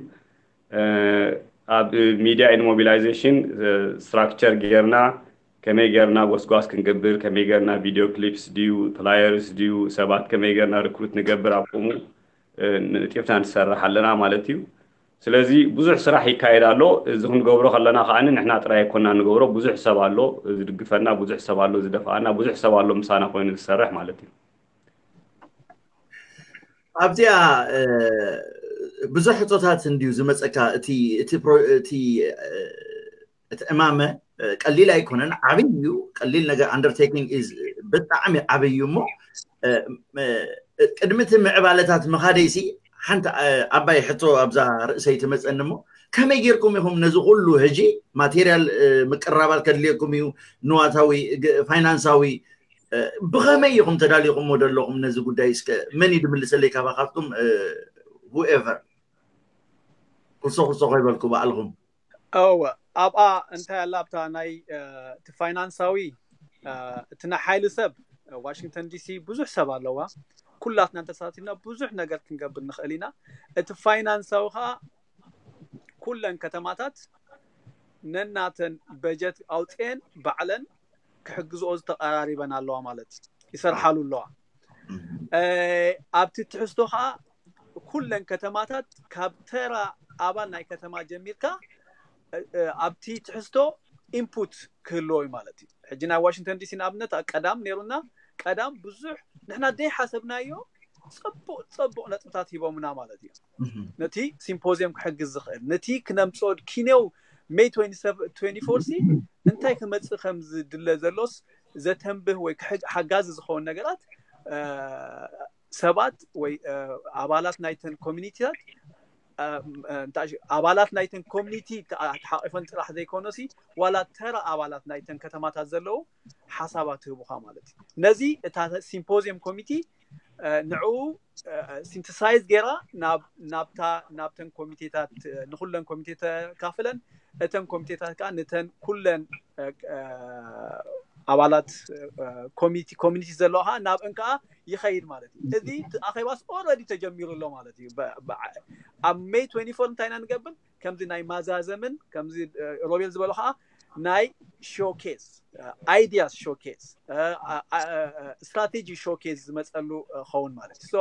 ኣብ ሚድያ ኤንድ ሞቢላይዜሽን ስትራክቸር ጌርና ከመይ ጌርና ጎስጓስ ክንገብር ከመይ ጌርና ቪድዮ ክሊፕስ ድዩ ፍላየርስ ድዩ ሰባት ከመይ ጌርና ሪክሩት ንገብር ኣብ ከምኡ ንጢፍና ንሰርሕ ኣለና ማለት እዩ። ስለዚ ብዙሕ ስራሕ ይካየድ ኣሎ። እዚ ክንገብሮ ከለና ከዓ ንሕና ጥራይ ኣይኮና ንገብሮ ብዙሕ ሰብ ኣሎ ዝድግፈና ብዙሕ ሰብ ኣሎ ዝደፍኣና ብዙሕ ሰብ ኣሎ ምሳና ኮይኑ ዝሰርሕ ማለት እዩ። ኣብዚኣ ብዙሕ ሕቶታት እንድዩ ዝመፀካ እቲ እቲ እቲ ዕማመ ቀሊል ኣይኮነን፣ ዓብይ እዩ። ቀሊል ነገር undertaking is ብጣዕሚ ዓብይ እዩ። እሞ ቅድሚ እቲ ምዕባለታት ምኻደይሲ ሓንቲ ዓባይ ሕቶ ኣብዛ ርእሰይ ትመፀኒ እሞ ከመይ ጌርኩም ኢኹም ነዚ ኩሉ ሕጂ ማቴሪያል ምቅራባት ከድልየኩም እዩ፣ ንዋታዊ ፋይናንሳዊ ብኸመይ ኢኹም ተዳሊኹሞ ዘለኹም ነዚ ጉዳይ እስከ መን እዩ ድምልሰለይ ካባኻትኩም whoever ኩርሶ ኩርሶ ኮይበልኩ ባዕልኹም እወ ኣብኣ እንታይ ኣላ ኣብታ ናይ እቲ ፋይናንሳዊ እቲ ናይ ሓይሊ ሰብ ዋሽንግተን ዲሲ ብዙሕ ሰብ ኣለዋ። ኩላትና እንተሳቲፍና ብዙሕ ነገር ክንገብር ንኽእል ኢና። እቲ ፋይናንሳዊ ከዓ ኩለን ከተማታት ነናተን በጀት ኣውፅኤን ባዕለን ክሕግዝኦ ዝተቀራሪበን ኣለዋ ማለት ይሰርሓሉ ኣለዋ። ኣብቲ ትሕዝቶ ከዓ ኩለን ከተማታት ካብ ተራ ኣባል ናይ ከተማ ጀሚርካ ኣብቲ ትሕዝቶ ኢንፑት ክህልዎ እዩ ማለት እዩ። ሕጂ ናይ ዋሽንግተን ዲሲ ንኣብነት ቀዳም ነይሩና ቀዳም ብዙሕ ንሕና ደይ ሓሰብናዮ ፅቡቅ ፅቡቅ ነጥብታት ሂቦምና ማለት እዩ። ነቲ ሲምፖዚየም ክሕግዝ ዝኽእል ነቲ ክነምፅኦ ኪኔው ሜይ ትዌንቲ ፎር ሲ እንታይ ክመፅእ ከም ዝድለ ዘሎስ ዘተንብህ ወይ ሓጋዚ ዝኸውን ነገራት ሰባት ወይ ኣባላት ናይተን ኮሚኒቲታት ኣባላት ናይተን ኮሚኒቲ ተሓቂፈን ጥራሕ ዘይኮነሲ ዋላ ተራ ኣባላት ናይተን ከተማታት ዘለዉ ሓሳባት ህቡኻ ማለት እዩ። ነዚ እታ ሲምፖዚየም ኮሚቲ ንዕኡ ሲንተሳይዝ ገይራ ናብታ ናብተን ኮሚቴታት ንኩለን ኮሚቴ ተካፍለን እተን ኮሚቴታት ከዓ ነተን ኩለን ኣባላት ኮሚኒቲ ዘለዋ ከዓ ናብአን ከዓ ይኸይድ ማለት እዩ። እዚ ኣኼባስ ኦረዲ ተጀሚሩ ኣሎ ማለት እዩ። ኣብ ሜይ ትዌንቲ ፎር እንታይ ኢና ንገብር? ከምዚ ናይ ማዛዘምን ከምዚ ሮቤል ዝበሎ ከዓ ናይ ሾኬዝ ኣይዲያስ ሾኬዝ ስትራቴጂ ሾኬዝ ዝመፀሉ ኸውን ማለት እዩ።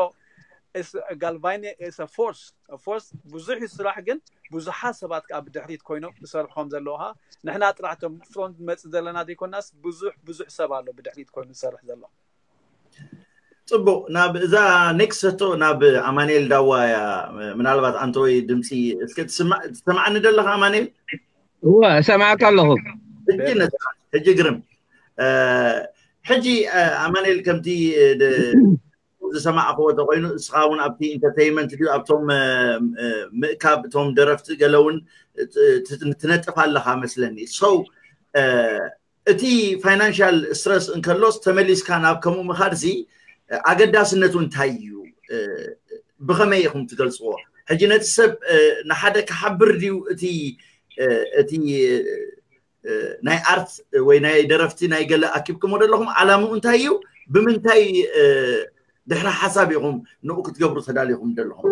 ጋልቫኒ ፎርስ ፎርስ ብዙሕ ስራሕ ግን ብዙሓት ሰባት ከዓ ብድሕሪት ኮይኖም ዝሰርሑ ከም ዘለዉ ከዓ ንሕና ጥራሕ ቶም ፍሮንት ንመፅእ ዘለና ዘይኮናስ ብዙሕ ብዙሕ ሰብ ኣሎ ብድሕሪት ኮይኑ ዝሰርሕ ዘሎ። ፅቡቅ ናብ እዛ ኔክስት ሕቶ ናብ ኣማንኤል ዳዋ እያ። ምናልባት ኣንተ ወይ ድምፂ እስከ ትሰማዕኒ ደለካ ኣማንኤል? እወ እሰማዕካ ኣለኹ። እጅ ነፃ ሕጂ ግርም ሕጂ ኣማኑኤል ከምቲ ዝሰማዕክዎ ተኮይኑ እስኻ እውን ኣብቲ ኢንተርቴይንመንት ድዩ ኣብቶም ምእካብ እቶም ደረፍቲ ገለ እውን ትነጥፍ ኣለኻ መስለኒ። So እቲ ፋይናንሻል ስትረስ እንከሎስ ተመሊስካ ናብ ከምኡ ምኻድ ዚ ኣገዳስነቱ እንታይ እዩ? ብኸመይ ኢኹም ትገልፅዎ? ሕጂ ነቲ ሰብ ንሓደ ክሓብር ድዩ እቲ እቲ ናይ ኣርት ወይ ናይ ደረፍቲ ናይ ገለ ኣኪብኩሞ ዘለኹም? ዓላምኡ እንታይ እዩ? ብምንታይ ድሕሪ ሓሳብ ኢኹም ንኡ ክትገብሩ ተዳሊኹም ዘለኹም?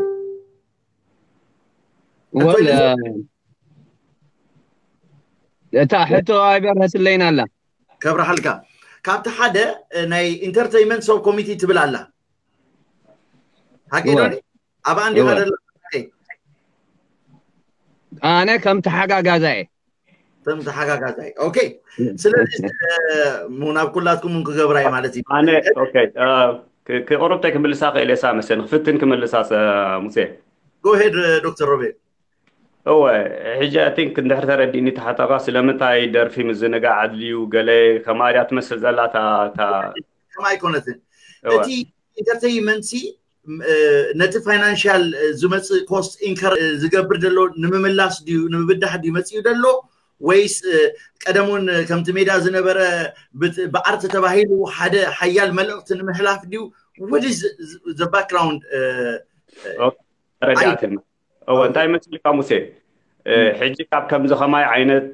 እታ ሕቶ ኣይበርሀትለይን ኣላ። ከብርሃልካ። ካብቲ ሓደ ናይ ኢንተርቴይንመንት ሰብ ኮሚቲ ትብል ኣላ። ሓቂ ዶ? ኣብኣ እንዲኻ ደላ? ኣነ ከም ተሓጋጋዛየ ከም ተሓጋጋዛይ። ኦኬ። ስለዚ ናብ ኩላትኩም እውን ክገብራይ ማለት እዩ። ኣነ ኦኬ፣ ክቁርብተይ ክምልሳ ክእል እየ ሳመሰ ንክፍትን ክምልሳ ሙሴ። ጎሄድ ዶክተር ሮቤል። እወ፣ ሕጂ ኣይ ቲንክ እንድሕር ተረዲእኒ ተሓተኻ ስለምንታይ ደርፊ ምዝንጋዕ ኣድልዩ ገለ ከማርያ ትመስል ዘላ እታ ከም ኣይኮነትን። እቲ ኢንተርቴይንመንት ሲ ነቲ ፋይናንሻል ዝመፅእ ኮስት ኢንከር ዝገብር ዘሎ ንምምላስ ድዩ ንምብዳሕ ድዩ መፅኡ ዘሎ? ወይስ ቀደሙን ከምቲ ሜዳ ዝነበረ ብኣርት ተባሂሉ ሓደ ሓያል መልእክቲ ንምሕላፍ ድዩ? What is the background? ተረዲኣትኒ። እወ፣ እንታይ መሲልካ ሙሴ? ሕጂ ካብ ከምዚ ከማይ ዓይነት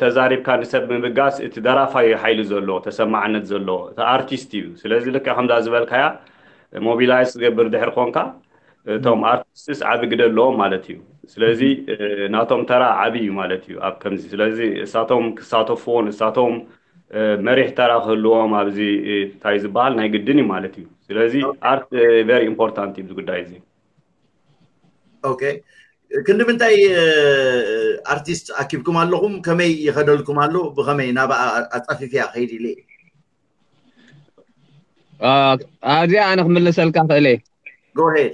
ተዛሪብካ ንሰብ ምብጋስ እቲ ደራፋይ ሓይሊ ዘለዎ ተሰማዕነት ዘለዎ እቲ ኣርቲስት እዩ። ስለዚ ልክዕ ከምዛ ዝበልካያ ሞቢላይዝ ትገብር ድሕር ኮንካ እቶም ኣርቲስትስ ዓቢ ግደ ኣለዎም ማለት እዩ። ስለዚ ናቶም ተራ ዓቢ እዩ ማለት እዩ ኣብ ከምዚ። ስለዚ እሳቶም ክሳተፍዎ ንሳቶም መሪሕ ተራ ክህልዎም ኣብዚ እንታይ ዝበሃል ናይ ግድን እዩ ማለት እዩ። ስለዚ ኣርት ቨሪ ኢምፖርታንት እዩ እዚ ጉዳይ እዚ። ኦኬ፣ ክንዲ ምንታይ ኣርቲስት ኣኪብኩም ኣለኹም? ከመይ ይኸደልኩም ኣሎ? ብኸመይ ናብ ኣፃፊፍያ ከይድ ኢለ ኣብዚኣ ኣነ ክምልሰልካ ክእለ። ጎሄድ።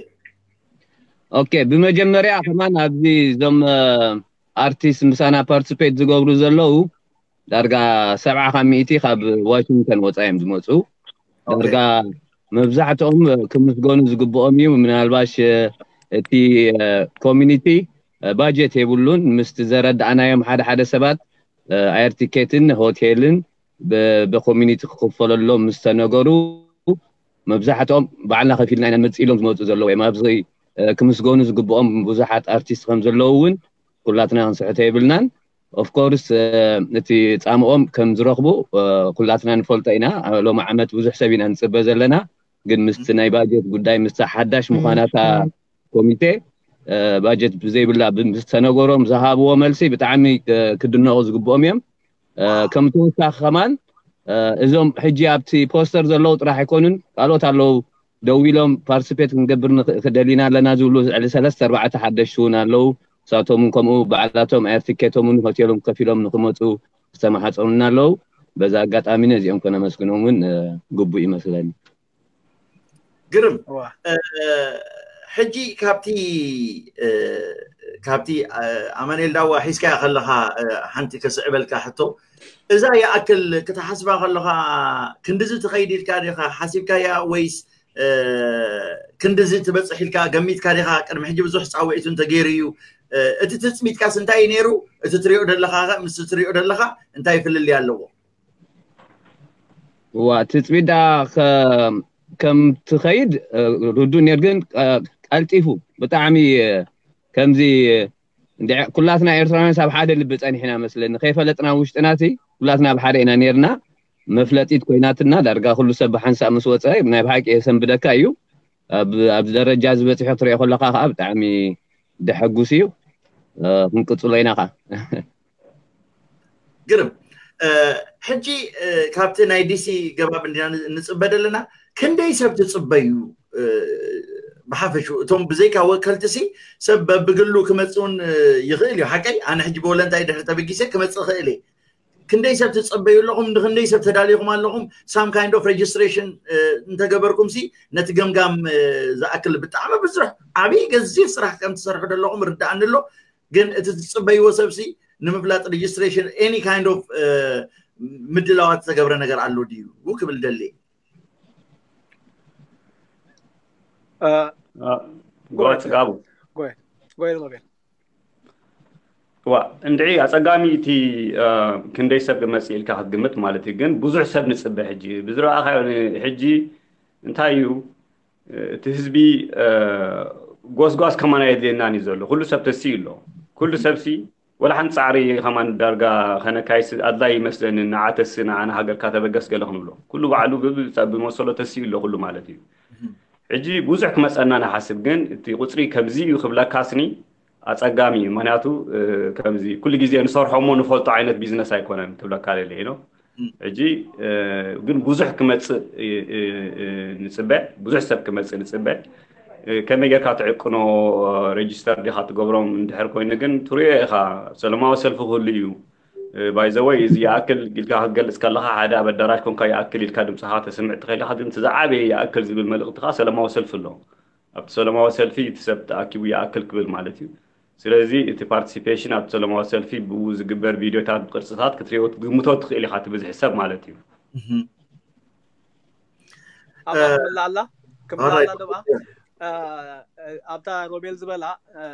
ኦኬ፣ ብመጀመርያ ከማን ኣብዚ እዞም ኣርቲስት ምሳና ፓርቲስፔት ዝገብሩ ዘለዉ ዳርጋ ሰብዓ ካብ ሚእቲ ካብ ዋሽንግተን ወፃ እዮም ዝመፁ። ዳርጋ መብዛሕትኦም ክምስገኑ ዝግብኦም እዩ። ምናልባሽ እቲ ኮሚኒቲ ባጀት የብሉን። ምስቲ ዘረዳእናዮም ሓደ ሓደ ሰባት ኣየር ቲኬትን ሆቴልን ብኮሚኒቲ ክክፈለሎም ምስ ተነገሩ መብዛሕትኦም ባዕልና ከፊልና ኢና ንመፅእ ኢሎም ዝመፁ ዘለዉ እዮም። ኣብዚ ክምስገኑ ዝግብኦም ብዙሓት ኣርቲስት ከም ዘለዉ እውን ኩላትና ክንስሕቶ የብልናን። ኦፍኮርስ እቲ ፃምኦም ከም ዝረኽቡ ኩላትና ንፈልጦ ኢና። ሎሚ ዓመት ብዙሕ ሰብ ኢና ንፅበ ዘለና፣ ግን ምስቲ ናይ ባጀት ጉዳይ ምስቲ ሓዳሽ ምዃናታ ኮሚቴ ባጀት ብዘይብላ ምስ ተነገሮም ዝሃብዎ መልሲ ብጣዕሚ ክድነቑ ዝግብኦም እዮም። ከም ተወሳኺ ከማን እዞም ሕጂ ኣብቲ ፖስተር ዘለዉ ጥራሕ ኣይኮኑን፣ ካልኦት ኣለዉ። ደው ኢሎም ፓርቲስፔት ክንገብር ደሊና ኣለና ዝብሉ ዕሊ ሰለስተ ኣርባዕተ ሓደሽቲ እውን ኣለዉ። ንሳቶም እውን ከምኡ ባዕላቶም ኣየር ቲኬቶም እውን ሆቴሎም ከፊሎም ንክመፁ ዝተመሓፀኑና ኣለዉ። በዛ ኣጋጣሚ ነዚኦም ከነመስግኖም እውን ግቡእ ይመስለኒ። ግርም። ሕጂ ካብቲ ካብቲ ኣማኑኤል ዳዋ ሒዝካያ ከለኻ ሓንቲ ከስዕበልካ ሕቶ፣ እዛ ይኣክል ክትሓስባ ከለኻ ክንድዚ ትኸይድ ኢልካ ዲኻ ሓሲብካያ ወይስ ክንድዚ ትበፅሕ ኢልካ ገሚትካ ዲኻ? ቅድሚ ሕጂ ብዙሕ ፃውዒቱ እንተገይሩ እዩ። እቲ ትፅቢትካስ እንታይ እዩ ነይሩ? እቲ ትሪኦ ደለኻ ምስ ትሪኦ ደለኻ እንታይ ፍልልይ ኣለዎ? እዋ ትፅቢት ደኣ ከም ትኸይድ ርዱእ ነይሩ፣ ግን ቀልጢፉ ብጣዕሚ ከምዚ ኩላትና ኤርትራውያን ኣብ ሓደ ልቢ ፀኒሕና መስለኒ። ከይፈለጥና ውሽጥና እቲ ኩላትና ኣብ ሓደ ኢና ነይርና። መፍለጢት ኮይናትና ዳርጋ ኩሉ ሰብ ብሓንሳእ ምስ ወፀ ናይ ብሓቂ የሰንብደካ እዩ። ኣብዚ ደረጃ ዝበፅሑ ክትሪኦ ከለካ ከዓ ብጣዕሚ ደሐጉስ እዩ። ክንቅፅሎ ኢና ከዓ። ግርም። ሕጂ ካብቲ ናይ ዲሲ ገባብ እንዲና ንፅበ ዘለና፣ ክንደይ ሰብ ትፅበዩ? ብሓፈሹ እቶም ብዘይካ ወከልቲ ሲ ሰብ በብግሉ ክመፅእ እውን ይኽእል እዩ። ሓቀይ ኣነ ሕጂ ብወለንታይ ድሕሪ ተበጊሰ ክመፅእ ይኽእል እየ። ክንደይ ሰብ ትፅበዩ ኣለኹም? ንክንደይ ሰብ ተዳሊኹም ኣለኹም? Some kind of registration እንተገበርኩም ሲ ነቲ ገምጋም ዝኣክል ብጣዕሚ ብዙሕ ዓብዪ ገዚፍ ስራሕ ከም ትሰርሑ ዘለኹም ርዳእኒ ኣሎ። ግን እቲ ትፅበይዎ ሰብ ሲ ንምፍላጥ registration any kind of ምድላዋት ዝተገብረ ነገር ኣሎ ድዩ ክብል ደሊ። ጎ ፅጋቡ ጎ ሮቤል። ዋ እንድዒ ኣፀጋሚ እቲ ክንደይ ሰብ ክመፅእ ኢልካ ክትግምት ማለት እዩ። ግን ብዙሕ ሰብ ንፅበ ሕጂ ብዝረኣኻዮ ሕጂ እንታይ እዩ እቲ ህዝቢ ጎስጓስ ከማን ኣየድልየናን እዩ ዘሎ። ኩሉ ሰብ ተስኡ ኣሎ። ኩሉ ሰብሲ ወላ ሓንቲ ፃዕሪ ከማን ዳርጋ ከነካይስ ኣድላይ ይመስለኒ። ንዓተሲ ንዓና ሃገርካ ተበገስ ገለ ክንብሎ ኩሉ ባዕሉ ብመሰሎ ተስኡ ኣሎ ኩሉ ማለት እዩ። ሕጂ ብዙሕ ክመፀና ንሓስብ፣ ግን እቲ ቁፅሪ ከምዚ እዩ ክብለካስኒ ኣፀጋሚ እዩ። ምክንያቱ ከምዚ ኩሉ ግዜ ንሰርሖ እሞ ንፈልጦ ዓይነት ቢዝነስ ኣይኮነን ክብለካ ደለ ኢሎ። ሕጂ ግን ብዙሕ ክመፅእ ንፅበ፣ ብዙሕ ሰብ ክመፅእ ንፅበ። ከመይ ጌርካ ትዕቅኖ፣ ሬጅስተር ዲካ ትገብሮም እንድሕር ኮይኑ ግን ትሪኦ ኢካ ሰለማዊ ሰልፊ ክህሉ እዩ። ባይዘወይ እዚ ይኣክል ኢልካ ክትገልፅ ከለካ ሓደ ኣብ ኣዳራሽ ኮንካ ይኣክል ኢልካ ድምፅካ ተስምዕ ትኽእል ኢካ። ግን እቲ ዝዓበየ ይኣክል ዝብል መልእክትካ ሰለማዊ ሰልፊ ኣሎ። ኣብቲ ሰለማዊ ሰልፊ እቲ ሰብ ተኣኪቡ ይኣክል ክብል ማለት እዩ። ስለዚ እቲ ፓርቲሲፔሽን ኣብቲ ሰለማዊ ሰልፊ ብኡ ዝግበር ቪድዮታት ብቅርፅታት ክትሪኦ ክትግምቶ ትኽእል ኢካ እቲ ብዝሒ ሰብ ማለት እዩ። ኣባ ክምላ ኣላ ክምላ ኣላ ደብኣ ኣብታ ሮቤል ዝበላ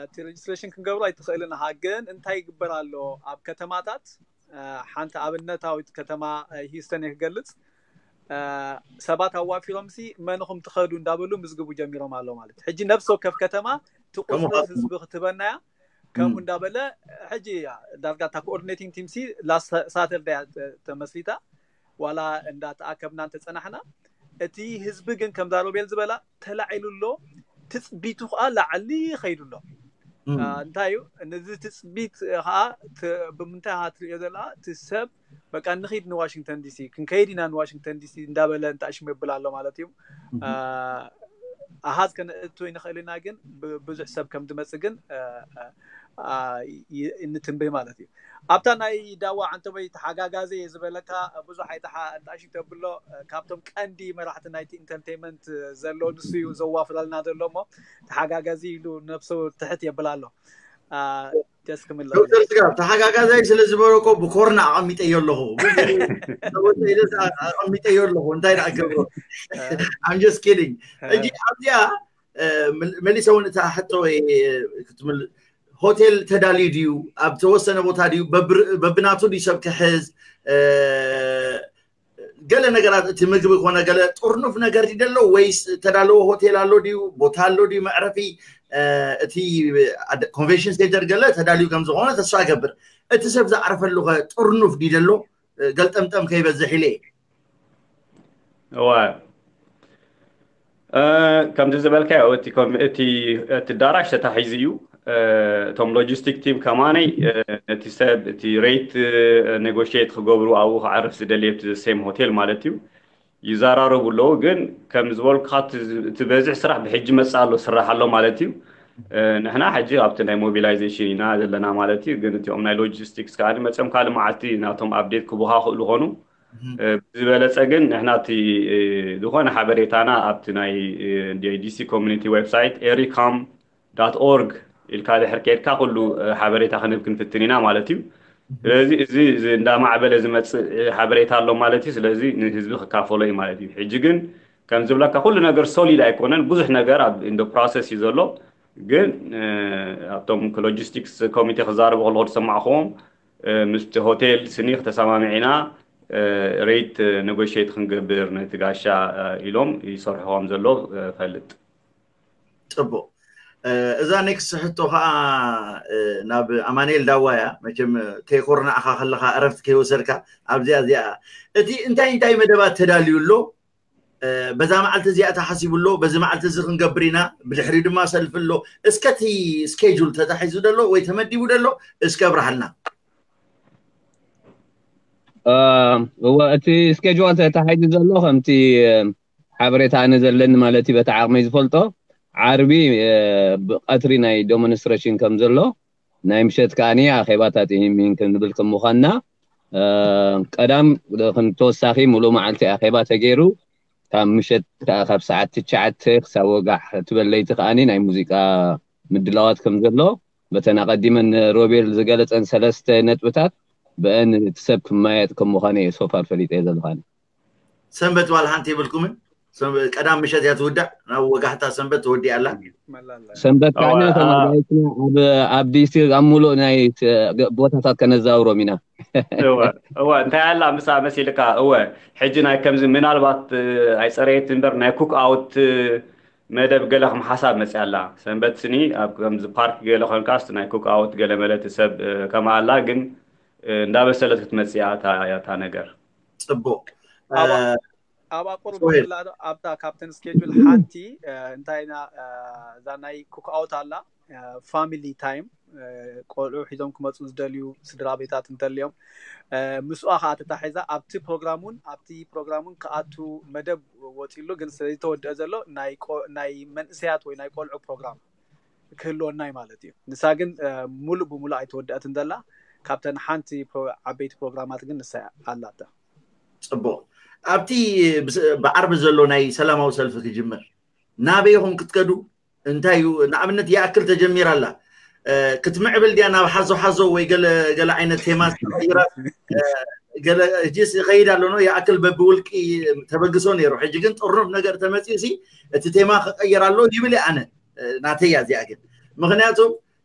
እቲ ሬጅስትሬሽን ክንገብሮ ኣይትኽእልን ኢኻ። ግን እንታይ ይግበር ኣሎ ኣብ ከተማታት ሓንቲ ኣብነታዊት ከተማ ሂውስተን እየ ክገልፅ። ሰባት ኣዋፊሮም ሲ መን ኢኹም ትኸዱ እንዳበሉ ምዝግቡ ጀሚሮም ኣሎ ማለት ሕጂ ነፍሲ ወከፍ ከተማ ትቁፅሪ ህዝቢ ክትበናያ ከምኡ እንዳበለ ሕጂ ዳርጋ እታ ኮኦርዲኔቲንግ ቲም ሲ ላስት ሳተርዳይ ተመስሪታ ዋላ እንዳተኣከብና እንተፀናሕና እቲ ህዝቢ ግን ከምዛ ሮቤል ዝበላ ተላዒሉ ኣሎ። ትፅቢቱ ከዓ ላዕሊ ይኸይዱ ኣሎ። እንታይ እዩ ነዚ ትፅቢት ከዓ ብምንታይ ትሪኦ ዘላ እቲ ሰብ በቃ ንኺድ ንዋሽንግተን ዲሲ ክንከይድ ኢና ንዋሽንግተን ዲሲ እንዳበለ እንተኣሽሙ የብል ኣሎ ማለት እዩ። ኣሃዝ ከነእቱ ይንኽእል ኢና ግን ብዙሕ ሰብ ከም ዝመፅእ ግን እንትንብህ ማለት እዩ። ኣብታ ናይ ዳዋ ዓንተቦይ ተሓጋጋዘ እየ ዝበለካ ብዙሕ ኣይተሓ እንጣሽ ተብሎ ካብቶም ቀንዲ መራሕቲ ናይቲ ኢንተርቴንመንት ዘሎ ንሱ እዩ ዘዋፍረልና ዘሎ እሞ ተሓጋጋዚ ኢሉ ነብሱ ትሕት የብል ኣሎ። ደስ ክምለ ዶክተር ስጋ ተሓጋጋዛይ ስለ ዝበለኮ ብኮርና ኣቐሚጠዮ ኣለኹ። ኣቐሚጠዮ ኣለኹ እንታይ ደኣ ገብሮ I'm just kidding። ሕጂ ኣብዚኣ መሊሰ እውን እታ ሕቶ ሆቴል ተዳልዩ ድዩ ኣብ ተወሰነ ቦታ ድዩ በብናቱ ድዩ ሰብ ክሕዝ ገለ ነገራት እቲ ምግቢ ኮነ ገለ ጥርኑፍ ነገር ድዩ ደሎ ወይስ ተዳለዎ ሆቴል ኣሎ ድዩ ቦታ ኣሎ ድዩ መዕረፊ እቲ ኮንቨንሽን ሴንተር ገለ ተዳልዩ ከም ዝኾነ ተስፋ ገብር እቲ ሰብ ዝዓርፈሉ ከ ጥርኑፍ ድዩ ደሎ ገልጠምጠም ከይበዝሕ ኢለ እየ እዋ ከምዚ ዝበልካዮ እቲ ዳራሽ ተታሒዙ እዩ። እቶም ሎጂስቲክ ቲም ከማነይ ነቲ ሰብ እቲ ሬት ኔጎሽት ክገብሩ ኣብኡ ክዓርፍ ዝደልየ እቲ ሴም ሆቴል ማለት እዩ ይዘራረቡ ኣለዉ። ግን ከም ዝበልኩካ እቲ በዝሕ ስራሕ ብሕጂ መፅእ ኣሎ ስራሕ ኣሎ ማለት እዩ። ንሕና ሕጂ ኣብቲ ናይ ሞቢላይዜሽን ኢና ዘለና ማለት እዩ። ግን እቲኦም ናይ ሎጂስቲክስ ከዓ መፅኦም ካልእ መዓልቲ ናቶም ኣፕዴት ክቡሃ ክእሉ ኾኑ ብዝበለፀ ግን ንሕና እቲ ዝኾነ ሓበሬታና ኣብቲ ናይ ዲሲ ኮሚኒቲ ዌብሳይት ኤሪካም ዳት ኦርግ ኢልካ ድሕር ከድካ ኩሉ ሓበሬታ ክንህብ ክንፍትን ኢና ማለት እዩ። ስለዚ እዚ እንዳማዕበለ ዝመፅእ ሓበሬታ ኣሎ ማለት እዩ። ስለዚ ንህዝቢ ክካፈሎ እዩ ማለት እዩ። ሕጂ ግን ከም ዝብለካ ኩሉ ነገር ሶሊድ ኣይኮነን። ብዙሕ ነገር ኣብ ኢንዶ ፕሮሰስ እዩ ዘሎ። ግን ኣብቶም ሎጂስቲክስ ኮሚቴ ክዛረቡ ከለኹ ዝሰማዕክዎም ምስቲ ሆቴል ስኒ ክተሰማሚዕና ሬት ኔጎሽት ክንገብር ነቲ ጋሻ ኢሎም ይሰርሑ ከም ዘሎ ፈልጥ። ፅቡቅ እዛ ኔክስት ሕቶ ከዓ ናብ ኣማንኤል ዳዋ እያ። መቸም ከይኮርናዕካ ከለካ እረፍቲ ከይወሰድካ ኣብዚኣ እዚኣ እቲ እንታይ እንታይ መደባት ተዳልዩ ኣሎ በዛ መዓልቲ እዚኣ ተሓሲቡ ኣሎ በዚ መዓልቲ እዚ ክንገብር ኢና ብድሕሪኡ ድማ ሰልፊ ኣሎ እስከ እቲ ስኬጁል ተታሒዙ ደሎ ወይ ተመዲቡ ደሎ እስከ ኣብርሃልና እወ እቲ ስኬጁል ተታሒዙ ዘሎ ከምቲ ሓበሬታ ኣነ ዘለኒ ማለት እዩ በቲ ዓቕመይ ዝፈልጦ ዓርቢ ብቀትሪ ናይ ዶሞንስትሬሽን ከም ዘሎ ናይ ምሸት ከዓኒ ኣኼባ ታጢሚን ክንብል ከም ምዃንና ቀዳም ተወሳኺ ሙሉእ መዓልቲ ኣኼባ ተገይሩ ካብ ምሸት ከዓ ካብ ሰዓት ትሽዓተ ክሳብ ወጋሕ ትበለይቲ ከዓኒ ናይ ሙዚቃ ምድላዋት ከም ዘሎ በተን ኣቐዲመን ሮቤል ዝገለፀን ሰለስተ ነጥብታት ብአን እቲ ሰብ ክመያየጥ ከም ምዃነ እየ ሶፋር ፈሊጠ ዘለኻኒ። ሰንበት ዋላ ሓንቲ የብልኩምን? ሰንበ- ቀዳም ምሸት እያ ትውዳእ። ናብ ወጋሕታ ሰንበት ተወዲኣ ኣላ። መላለ ሰንበት እዋ፣ ካዕና አ- ተማሪፅና ኣብ ኣብ ዲስትሪክት ኣብ ሙሉእ ናይ ስ- ገ- ቦታታት ከነዛውሮም ኢና። እወ እወ እንታይ ኣላ ምሳ መሲልካ እወ ሕጂ ናይ ከምዚ ምናልባት እ፣ ኣይፀረየት እምበር ናይ ኩክ ኣውት እ፣ መደብ ገለ ከም ሓሳብ መፅያ ኣላ ሰንበት ስኒ ኣብ ከምዚ ፓርክ ገለ ኮንካስ ናይ ኩክ ኣውት ገለ መለት ሰብ እ፣ ከማ ኣላ ግን እ፣ እንዳበሰለት ክትመፅያ እታ እያ እታ ነገር ፅቡቅ ኣብ- እ፣ ኣብ ኣቁርብ ሶሄል። ብላ ኣብታ ካብተን ስኬጁል ሓንቲ እ፣ እንታይ ኢና እ፣ እዛ ናይ ኩክ ኣውት ኣላ ፋሚሊ ታይም ቆልዑ ሒዞም ክመፁ ዝደልዩ ስድራ ቤታት እንተልዮም እ፣ ምስኣ ከዓ ተታሒዛ ኣብቲ ፕሮግራም እውን ኣብቲ ፕሮግራም እውን ክኣቱ መደብ ወፂሉ ግን ስለዝተወደአ ዘሎ ናይ ቆ- ናይ መንእሰያት ወይ ናይ ቆልዑ ፕሮግራም ክህልወና እዩ ማለት እዩ። ንሳ ግን እ፣ ሙሉእ ብሙሉእ ኣይተወደአትን ዘላ ካብተን ሓንቲ ፕሮ- ዓበይቲ ፕሮግራማት ግን ንሳ ኣላታ። ፅቡቅ ኣብቲ ብስ- ብዓርቢ ዘሎ ናይ ሰላማዊ ሰልፊ ክጅምር ናበይ ኢኹም ክትከዱ እንታይ እዩ ንኣብነት ይኣክል ተጀሚራ ኣላ እ፣ ክትምዕብል ድያ ናብ ሓዞ ሓዞ ወይ ገለ ገለ ዓይነት ቴማ ተቐይራ እ፣ ገለ ሕጂስ ይኸይድ ኣሎ ነው ይኣክል በብውልቂ ተበግሶ ነይሩ ሕጂ ግን ጥርኑፍ ነገር ተመፅኡ ሲ እቲ ቴማ ክቀየር ኣሎ ይብል እየ ኣነ እ፣ ናተይ እያ እዚኣ ግን ምክንያቱ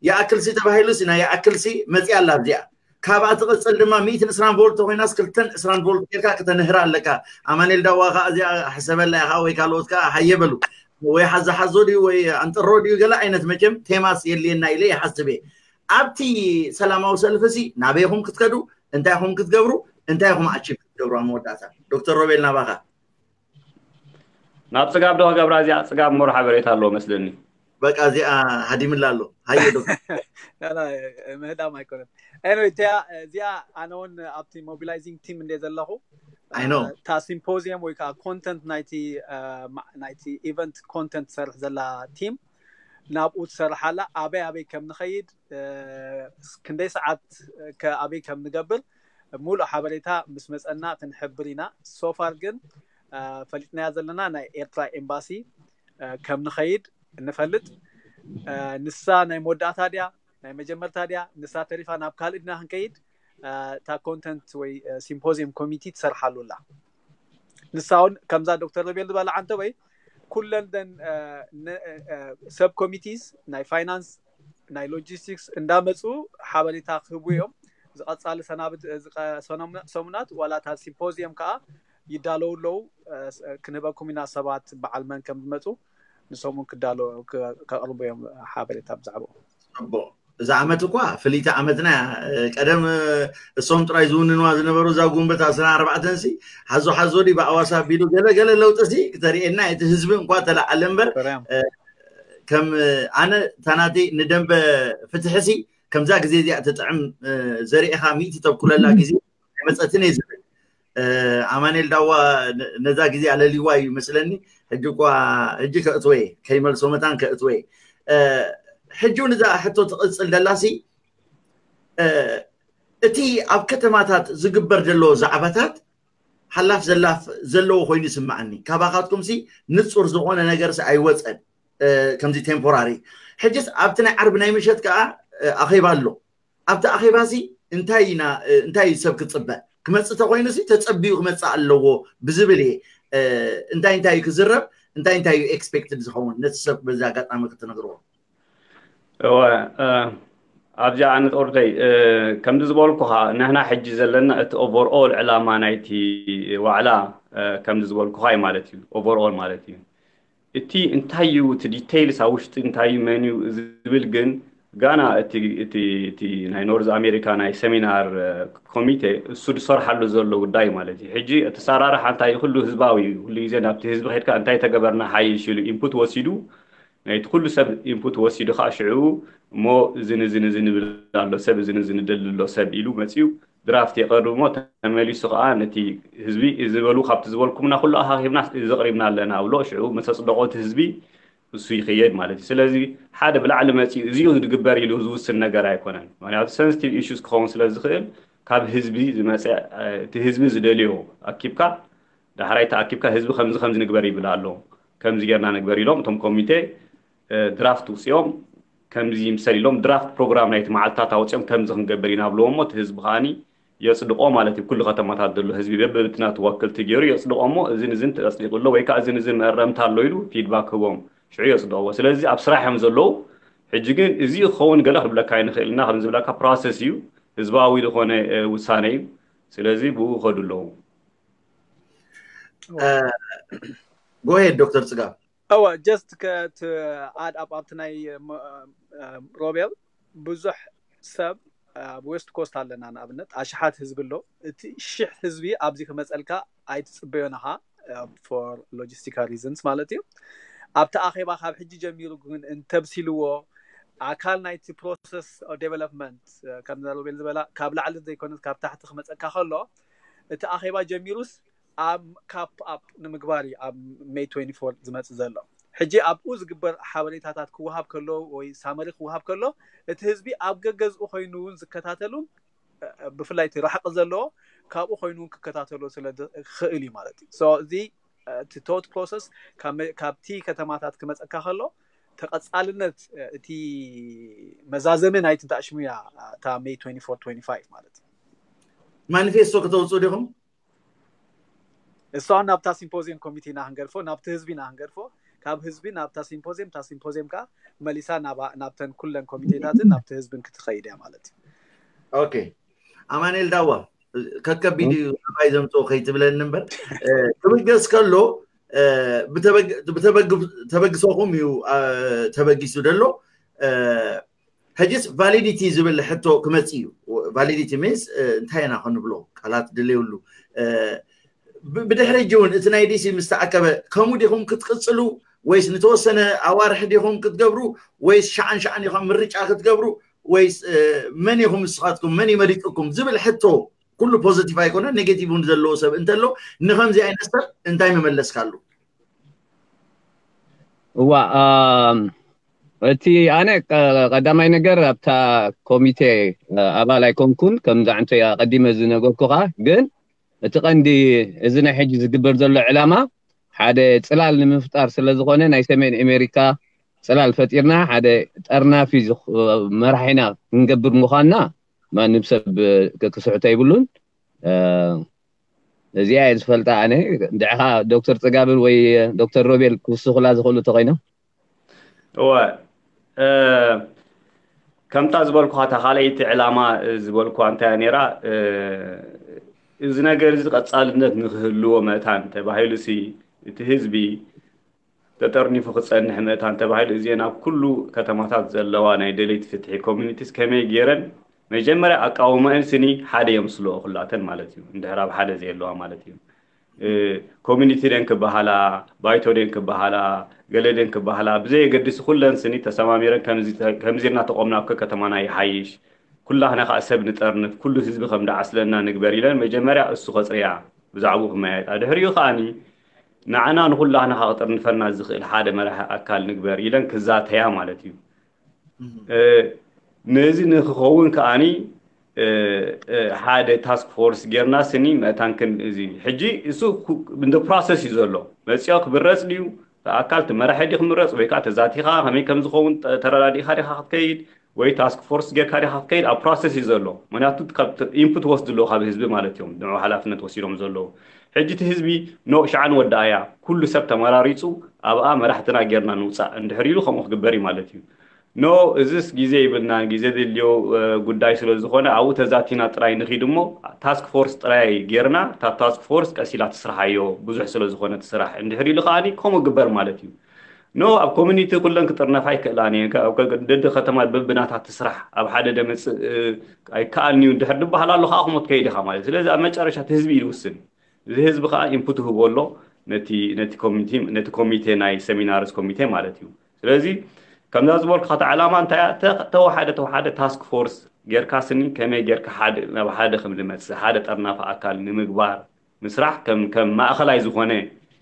ይኣክል ሲ ተባሂሉ ሲ ናይ ይኣክል ሲ መፅያ ኣላ ኣብዚኣ ካብኣ ትቕፅል ድማ ሚእትን ዕስራን ቮልት ተኮይናስ ክልተን ዕስራን ቮልት ጌርካ ከተንህራ ኣለካ ኣማኔል ዳዋ ከዓ እዚኣ ሕሰበላ ኢኻ ወይ ካልኦት ከዓ ሃየ በሉ ወይ ሓዛ ሓዞ ድዩ ወይ ኣንጥሮ ድዩ ገለ ዓይነት መቸም ቴማስ የድልየና ኢለ ይሓስብ እየ ኣብቲ ሰላማዊ ሰልፊ ሲ ናበይኹም ክትከዱ እንታይ ኹም ክትገብሩ እንታይ ኹም ኣቺቭ ክትገብሩ ኣብ መወዳእታ ዶክተር ሮቤል ናባኻ ናብ ፅጋብ ዶ ክገብራ እዚኣ ፅጋብ እሞ ሓበሬታ ኣለዎ መስለኒ በቃ እዚኣ ሃዲምላ ኣሎ ሃየ ዶክተር ምህዳም ኣይኮነን። ኤኒወይ እቲያ እዚኣ ኣነ እውን ኣብቲ ሞቢላይዚንግ ቲም እንደ ዘለኹ I know. እታ ሲምፖዚየም ወይ ከዓ ኮንተንት ናይቲ እ፣ ማ- ናይቲ ኢቨንት ኮንተንት ትሰርሕ ዘላ ቲም ናብኡ ትሰርሕ ኣላ ኣበይ ኣበይ ከም ንኸይድ እ፣ ክንደይ ሰዓት ከ ኣበይ ከም ንገብር ሙሉእ ሓበሬታ ምስ መፀና ክንሕብር ኢና። ሶፋር ግን እ፣ ፈሊጥናያ ዘለና ናይ ኤርትራ ኤምባሲ እ፣ ከም ንኸይድ እንፈልጥ እ፣ ንሳ ናይ መወዳእታ ድያ ናይ መጀመርታ ድያ ንሳ ተሪፋ ናብ ካልእ ድና ክንከይድ እ፣ እታ ኮንተንት ወይ እ፣ ሲምፖዚየም ኮሚቲ ትሰርሓሉ ኣላ። ንሳ እውን ከምዛ ዶክተር ሮቤል ዝበላ ዓንተ ወይ ኩለን ደን ሰብ ኮሚቲስ ናይ ፋይናንስ ናይ ሎጂስቲክስ እንዳመፁ ሓበሬታ ክህቡ እዮም። ዝቐፃሊ ሰናብት ዝቀ- ሰኖም- ሰሙናት ዋላ እታ ሲምፖዚየም ከዓ ይዳለዉ ኣለዉ። እ፣ ስ- ክንህበኩም ኢና ሰባት በዓል መን ከም ዝመፁ ንሶም እውን ክዳለዉ ክ- ከቕርቡ እዮም ሓበሬታ ብዛዕባኡ። ፅቡቅ እዛ ዓመት እኳ ፍልይቲ ዓመትና እያ እ፣ ቀደም እ፣ እሶም ጥራይ ዝውንንዋ ዝነበሩ እዛ ጉንበት ኣስራ ኣርባዕተን ሲ ሓዞ ሓዞ ዲ ብኣዋሳ ኣቢሉ ገለ ገለ ለውጢ ሲ ክተርእየና እቲ ህዝቢ እንኳ ተለዓለ እምበር ሰላም ከም ኣነ እታ ናተይ ንደንበ ፍትሒ ሲ ከምዛ ግዜ እዚኣ ትጥዕም እ፣ ዘሪእኻ ሚእቲ ተብኩለላ ግዜ ኣይመፀትን እየ ዝብል እ፣ ኣማኑኤል ዳዋ ነ- ነዛ ግዜ ኣለልዋ እዩ ይመስለኒ ሕጂ እኳ ሕጂ ከእትወ እየ ከይመልሶ መታን ከእትወ እየ እ፣ ሕጂ እውን እዛ ሕቶ ትቕፅል ደላሲ እ፣ እቲ ኣብ ከተማታት ዝግበር ዘሎ ዛዕባታት ሓላፍ ዘላፍ ዘለዎ ኮይኑ ይስምዓኒ ካባኻትኩም ሲ ንፁር ዝኾነ ነገር ሲ ኣይወፀን እ፣ ከምዚ ቴምፖራሪ ሕጅስ ኣብቲ ናይ ዓርቢ ናይ ምሸት ከዓ እ፣ ኣኼባ ኣሎ ኣብቲ ኣኼባ ሲ እንታይ ኢና እ፣ እንታይ እዩ ሰብ ክፅበ ክመፅእ ተኮይኑ ሲ ተፀቢዩ ክመፅእ ኣለዎ ብዝብል እየ እ፣ እንታይ እንታይ እዩ ክዝረብ እንታይ እንታይ እዩ ኤክስፔክትድ ዝኸውን ነቲ ሰብ በዚ ኣጋጣሚ ክትነግርዎ እወ እ፣ ኣብዚኣ ኣነ ጦርተይ እ፣ ከምዚ ዝበልኩኻ ንሕና ሕጂ ዘለና እቲ ኦቨርኦል ዕላማ ናይቲ ዋዕላ እ፣ ከምዚ ዝበልኩኻ እዩ ማለት እዩ ኦቨርኦል ማለት እዩ እቲ እንታይ እዩ እቲ ዲቴይልስ ኣብ ውሽጢ እንታይ እዩ መን እዩ ዝብል ግን ጋና እቲ እቲ እቲ ናይ ኖርዝ ኣሜሪካ ናይ ሰሚናር እ፣ ኮሚቴ እሱ ዝሰርሓሉ ዘሎ ጉዳይ ማለት እዩ ሕጂ እቲ ሰራርሓ እንታይ እዩ ኩሉ ህዝባዊ እዩ ኩሉ ግዜ ናብቲ ህዝቢ ከድካ እንታይ ተገበርና ሓይሽ ኢሉ ኢንፑት ወሲዱ ናይቲ ኩሉ ሰብ ኢንፑት ወሲዱ ከዓ ሽዑ እሞ እዝን እዝን እዝን ይብል ኣሎ ሰብ እዝን እዝን ይደሊ ኣሎ ሰብ ኢሉ መፅዩ ድራፍት የቐርብ እሞ ተመሊሱ ከዓ ነቲ ህዝቢ እዚ በሉ ካብቲ ዝበልኩምና ኩሉ ኣኻኺብና እዚ ኣቕሪብና ኣለና ብሎ ሽዑ ምስ ኣፅደቖ እቲ ህዝቢ እሱ ይኽየድ ማለት እዩ ስለዚ ሓደ ብላዕሊ መፅዩ እዚኡ ዝግበር ኢሉ ዝውስን ነገር ኣይኮነን ምክንያቱ ሰንስቲቭ ኢሹስ ክኸውን ስለ ዝኽእል ካብ ህዝቢ ዝመፀ እቲ ህዝቢ ዝደልዮ ኣኪብካ ዳሕራይ ተኣኪብካ ህዝቢ ከምዚ ከምዚ ንግበር ይብል ኣሎ ከምዚ ጌርና ንግበር ኢሎም እቶም ኮሚቴ ድራፍት ውፅኦም ከምዚ ይምሰል ኢሎም ድራፍት ፕሮግራም ናይቲ መዓልትታት ኣውፅኦም ከምዚ ክንገብር ኢና ብልዎ እሞ እቲ ህዝቢ ከዓኒ የጽድቆ ማለት እዩ። ኩሉ ከተማታት ዘሎ ህዝቢ በብብትና ተወክልቲ ገይሩ የጽድቆ እሞ፣ እዝን እዝን ተጽዲቑ ኣሎ ወይ ከዓ እዝን እዝን መእረምታ ኣሎ ኢሉ ፊድባክ ህቦም ሽዑ የጽድቕዎ። ስለዚ ኣብ ስራሕ እዮም ዘለዉ። ሕጂ ግን እዚ ክኸውን ገለ ክንብለካ ኣይንኽእል ኢና። ከም ዝብለካ ፕሮሰስ እዩ፣ ህዝባዊ ዝኾነ ውሳነ እዩ። ስለዚ ብኡ ይኸዱ ኣለዉ። ጎሄድ ዶክተር ጽጋብ። እወ just ከት ኣድ ኣብ ኣብቲ ናይ ሮቤል ብዙሕ ሰብ ኣብ ዌስት ኮስት ኣለና፣ ንኣብነት ኣሽሓት ህዝቢ ኣሎ። እቲ ሽሕ ህዝቢ ኣብዚ ክመፀልካ ኣይትፅበዮን ኢኻ፣ for logistical reasons ማለት እዩ። ኣብቲ ኣኼባ ካብ ሕጂ ጀሚሩ ግን እንተብሲልዎ ኣካል ናይቲ process development፣ ከምዛ ሮቤል ዝበላ ካብ ላዕሊ ዘይኮነስ ካብ ታሕቲ ክመፀካ ከሎ እቲ ኣኼባ ጀሚሩስ ኣብ ካፕ ኣፕ ንምግባር እዩ ኣብ ሜይ ትዌንቲ ፎር ዝመፅእ ዘሎ። ሕጂ ኣብኡ ዝግበር ሓበሬታታት ክወሃብ ከሎ ወይ ሳመሪ ክወሃብ ከሎ እቲ ህዝቢ ኣብ ገገዝኡ ኮይኑ እውን ዝከታተሉን ብፍላይ እቲ ርሕቂ ዘለዎ ካብኡ ኮይኑ እውን ክከታተሎ ስለ ክእል እዩ ማለት እዩ። እዚ እቲ ቶት ፕሮሰስ ካብቲ ከተማታት ክመፀካ ከሎ ተቐፃልነት እቲ መዛዘሚ ናይቲ ታሽሙያ እታ ሜይ ትዌንቲ ፎር ትዌንቲ ፋይቭ ማለት እዩ። ማኒፌስቶ ከተውፅኡ ዲኹም? እሷን ናብታ ሲምፖዚየም ኮሚቴ ኢና ክንገድፎ፣ ናብቲ ህዝቢ ኢና ክንገድፎ። ካብ ህዝቢ ናብታ ሲምፖዚየም፣ እታ ሲምፖዚየም ከዓ መሊሳ ናብተን ኩለን ኮሚቴታትን ናብቲ ህዝብን ክትኸይድ እያ ማለት እዩ። ኦኬ። ኣማኑኤል ዳዋ፣ ከከቢድ እዩ ኣባይ ዘምፅኦ ከይትብለኒ እምበር፣ ክብገስ ከሎ ተበግሶኹም እዩ ተበጊሱ ደሎ። ሕጅስ ቫሊዲቲ ዝብል ሕቶ ክመፅ እዩ። ቫሊዲቲ ሚንስ እንታይ ኢና ክንብሎ፣ ቃላት ድልየብሉ። ብድሕሪ ሕጂ እውን እቲ ናይ ዲሲ ምስ ተኣከበ ከምኡ ዲኹም ክትቅፅሉ ወይስ ንተወሰነ ኣዋርሕ ዲኹም ክትገብሩ ወይስ ሸዓን ሸዓን ኢኹም ምርጫ ክትገብሩ ወይስ መን ኢኹም ንስኻትኩም መን ይመሪፅኩም ዝብል ሕቶ ኩሉ ፖዘቲቭ ኣይኮነ ኔጌቲቭ እውን ዘለዎ ሰብ እንተሎ ንከምዚ ዓይነት ሰብ እንታይ መመለስካሉ? እዋ እቲ ኣነ ቀዳማይ ነገር ኣብታ ኮሚቴ ኣባል ኣይኮንኩን። ከምዛ ዕንቶ ኣቀዲመ ዝነገርኩኻ ግን እቲ ቀንዲ እዚ ናይ ሕጂ ዝግበር ዘሎ ዕላማ ሓደ ፅላል ንምፍጣር ስለ ዝኾነ ናይ ሰሜን ኣሜሪካ ፅላል ፈጢርና ሓደ ጠርናፊ መራሒና ክንገብር ምዃንና ማንም ሰብ ክስሕቶ ይብሉን። እዚኣ እየ ዝፈልጣ ኣነ። እንድዕኻ ዶክተር ፅጋብን ወይ ዶክተር ሮቤል ክውስኹላ ዝኽእሉ ተኮይኖም። እወ ከምታ ዝበልኩኻ እታ ካልኣይቲ ዕላማ ዝበልኩዋ እንታይ እያ ነይራ፣ እዚ ነገር እዚ ቀፃልነት ንክህልዎ መእታን ተባሂሉ ሲ እቲ ህዝቢ ተጠርኒፉ ክፀንሕ መእታን ተባሂሉ እዚአን ኣብ ኩሉ ከተማታት ዘለዋ ናይ ደለይቲ ፍትሒ ኮሚኒቲስ ከመይ ገይረን መጀመርያ ኣቃውመአን ስኒ ሓደ የምስልኦ ኩላተን ማለት እዩ። እንድሕር ኣብ ሓደ ዘየለዋ ማለት እዩ። ኮሚኒቲ ደን ክበሃላ ባይቶ ደን ክበሃላ ገለ ደን ክበሃላ ብዘየገድስ ኩለን ስኒ ተሰማሚረን ከምዚ እናተቆምና እኮ ከተማና ይሓይሽ፣ ኩላህና ከዓ ሰብ ንጠርንፍ፣ ኩሉ ህዝቢ ከም ደዓስለና ንግበር ኢለን መጀመርያ እሱ ከፅርያ ብዛዕባኡ ክመያየጣ ድሕሪኡ ከዓኒ ንዓና ንኩላህና ከዓ ክጥርንፈና ዝኽእል ሓደ መራሒ ኣካል ንግበር ኢለን ክዛተያ ማለት እዩ። ነዚ ንክኸውን ከዓኒ ሓደ ታስክ ፎርስ ጌርና ስኒ መእታን ክን እዚ ሕጂ እሱ እንደ ፕሮሰስ እዩ ዘሎ። መፅኦ ክምረፅ ድዩ ኣካል ትመራሒ ድዩ ክምረፅ ወይ ከዓ ተዛቲኻ ከመይ ከም ዝኸውን ተረዳዲእካ ዲኻ ክትከይድ ወይ ታስክ ፎርስ ጌርካ ዲኻ ክትከይድ ኣብ ፕሮሰስ እዩ ዘሎ። ምክንያቱ ኢንፑት ወስድ ኣለዎ ካብ ህዝቢ ማለት እዮም ንዑ ሓላፍነት ወሲዶም ዘለዉ። ሕጂ እቲ ህዝቢ ኖ ሸዓን ወዳእያ ኩሉ ሰብ ተመራሪፁ ኣብኣ መራሕትና ጌርና ንውፃእ እንድሕር ኢሉ ከምኡ ክግበር እዩ ማለት እዩ። ኖ እዚስ ግዜ ይብልናን ግዜ ዘድልዮ ጉዳይ ስለ ዝኾነ ኣብኡ ተዛቲና ጥራይ ንኺድ እሞ ታስክ ፎርስ ጥራይ ጌርና እታ ታስክ ፎርስ ቀሲላ ትስርሓዮ ብዙሕ ስለ ዝኾነ ትስራሕ እንድሕር ኢሉ ከዓኒ ከምኡ ግበር ማለት እዩ። ኖ ኣብ ኮሚኒቲ ኩለን ክጥርነፋ ይክእላን እየን ደዲ ከተማ በብናታ ትስራሕ ኣብ ሓደ ደመፅእ ኣይከኣልንዩ እንድሕር ድበሃል ኣሎ ከዓ ክሞት ከይድ ኢኻ ማለት ስለዚ ኣብ መጨረሻ እቲ ህዝቢ እዩ ዝውስን። እዚ ህዝቢ ከዓ ኢንፑት ህቦ ኣሎ ነቲ ኮሚቴ ናይ ሰሚናርስ ኮሚቴ ማለት እዩ። ስለዚ ከምዛ ዝበልኩ ካታ ዕላማ እንታይ ተወሓደ ተወሓደ ታስክ ፎርስ ጌርካ ስኒ ከመይ ጌርካ ሓደ ናብ ሓደ ከም ዝመፅእ ሓደ ጠርናፊ ኣካል ንምግባር ምስራሕ ከም ከም ማእኸላይ ዝኾነ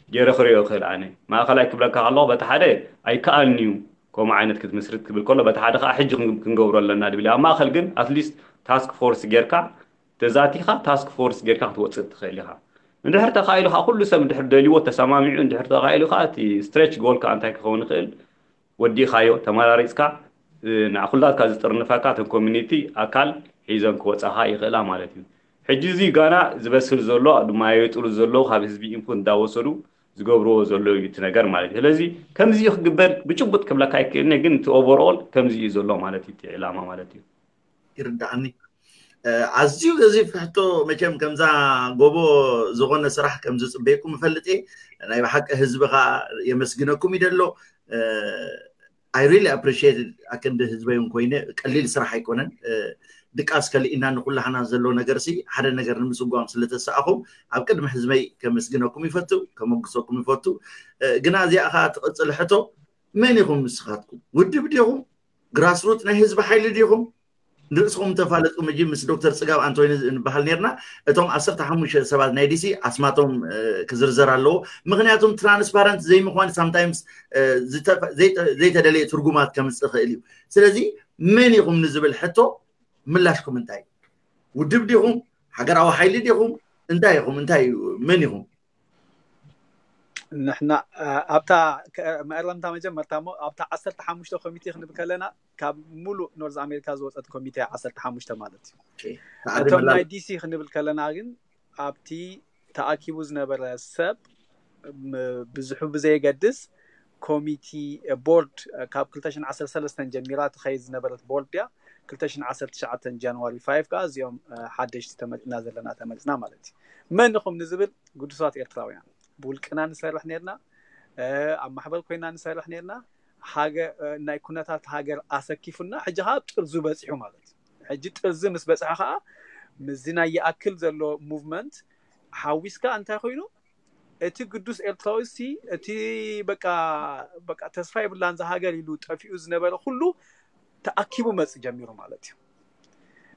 ገይረ ክሪኦ ይኽእል ኣነ ማእኸላይ ክብለካ ከለኹ በቲ ሓደ ኣይከኣልን እዩ ከምኡ ዓይነት ክትምስርት ክብል ከሎ በቲ ሓደ ከዓ ሕጂ ክንገብሮ ኣለና ድብል ኣብ ማእኸል ግን ኣትሊስት ታስክ ፎርስ ጌርካ ተዛቲኻ ታስክ ፎርስ ጌርካ ክትወፅእ ትኽእል ኢኻ። እንድሕር ተኻኢሉ ከዓ ኩሉ ሰብ እንድሕር ደልይዎ ተሰማሚዑ እንድሕር ተኻኢሉ ከዓ እቲ ስትሬች ጎል ከዓ እንታይ ክኸውን ይኽእል ወዲእኻዮ ተመራሪፅካ ንዓኹላትካ ዝጥርንፈካ እተን ኮሚኒቲ ኣካል ሒዘን ክወፃኻ ይኽእላ ማለት እዩ። ሕጂ እዚ ጋና ዝበስል ዘሎ ድማ የጥሉ ዘለዉ ካብ ህዝቢ ኢንፑት እንዳወሰዱ ዝገብርዎ ዘለዉ እዩ እቲ ነገር ማለት እዩ። ስለዚ ከምዚ እዩ ክግበር ብጭቡጥ ክብለካ ኣይክእልኒ፣ ግን እቲ ኦቨርኦል ከምዚ እዩ ዘሎ ማለት እዩ እቲ ዕላማ ማለት እዩ። ይርዳእኒ። ኣዝዩ ገዚፍ ሕቶ። መቸም ከምዛ ጎቦ ዝኾነ ስራሕ ከም ዝፅበየኩም እፈልጥ እየ። ናይ ብሓቂ ህዝቢ ከዓ የመስግነኩም ይደሎ። I really appreciate ኣክንዲ ህዝበይ እውን ኮይነ ቀሊል ስራሕ ኣይኮነን። ድቃስ ከልኢና ንኩላህና ዘሎ ነገር ሲ ሓደ ነገር ንምስጓም ስለተሰኣኹም ኣብ ቅድሚ ህዝበይ ከመስግነኩም ይፈቱ፣ ከመጉሰኩም ይፈቱ። ግና እዚኣ ከዓ ትቕፅል ሕቶ፣ መን ኢኹም ንስኻትኩም? ውድብ ዲኹም? ግራስሩት ናይ ህዝቢ ሓይሊ ዲኹም? ንርእስኹም ተፋለጡ። ምጂ ምስ ዶክተር ፅጋብ ኣንቶኒ ንበሃል ነርና። እቶም ዓሰርተ ሓሙሽተ ሰባት ናይ ዲሲ ኣስማቶም ክዝርዘር ኣለዎ። ምክንያቱም ትራንስፓረንት ዘይምኳን ሳምታይምስ ዘይተደለየ ትርጉማት ከምፅእ ይኽእል እዩ። ስለዚ መን ኢኹም ንዝብል ሕቶ ምላሽኩም እንታይ እዩ? ውድብ ዲኹም? ሃገራዊ ሓይሊ ዲኹም? እንታይ ኢኹም? እንታይ እዩ? መን ኢኹም? ንሕና ኣብታ መእረምታ መጀመርታ እሞ ኣብታ ዓሰርተ ሓሙሽተ ኮሚቴ ክንብል ከለና ካብ ሙሉእ ኖርዝ ኣሜሪካ ዝወፀት ኮሚቴ ዓሰርተ ሓሙሽተ ማለት እዩ። እቶም ናይ ዲሲ ክንብል ከለና ግን ኣብቲ ተኣኪቡ ዝነበረ ሰብ ብዙሑ ብዘየገድስ ኮሚቲ ቦርድ ካብ ክልተ ሽሕን ዓሰርተ ሰለስተን ጀሚራ ትኸይድ ዝነበረት ቦርድ እያ። ክልተ ሽሕን ዓሰርተ ትሽዓተን ጃንዋሪ ፋይቭ ከዓ እዚኦም ሓደሽቲ ተመፅና ዘለና ተመፅና ማለት እዩ። መን ኢኹም ንዝብል ግዱሳት ኤርትራውያን ብውልቅና ንሰርሕ ነርና፣ ኣብ ማሕበር ኮይና ንሰርሕ ነርና። ናይ ኩነታት ሃገር ኣሰኪፉና ሕጂ ከዓ ጥርዙ በፂሑ ማለት እዩ። ሕጂ ጥርዚ ምስ በፅሐ ከዓ ምስዚ ናይ ይኣክል ዘሎ ሙቭመንት ሓዊስካ እንታይ ኮይኑ እቲ ግዱስ ኤርትራዊ ሲ እቲ በቃ በቃ ተስፋ የብላን እዛ ሃገር ኢሉ ጠፊኡ ዝነበረ ኩሉ ተኣኪቡ መጽ ጀሚሩ ማለት እዩ።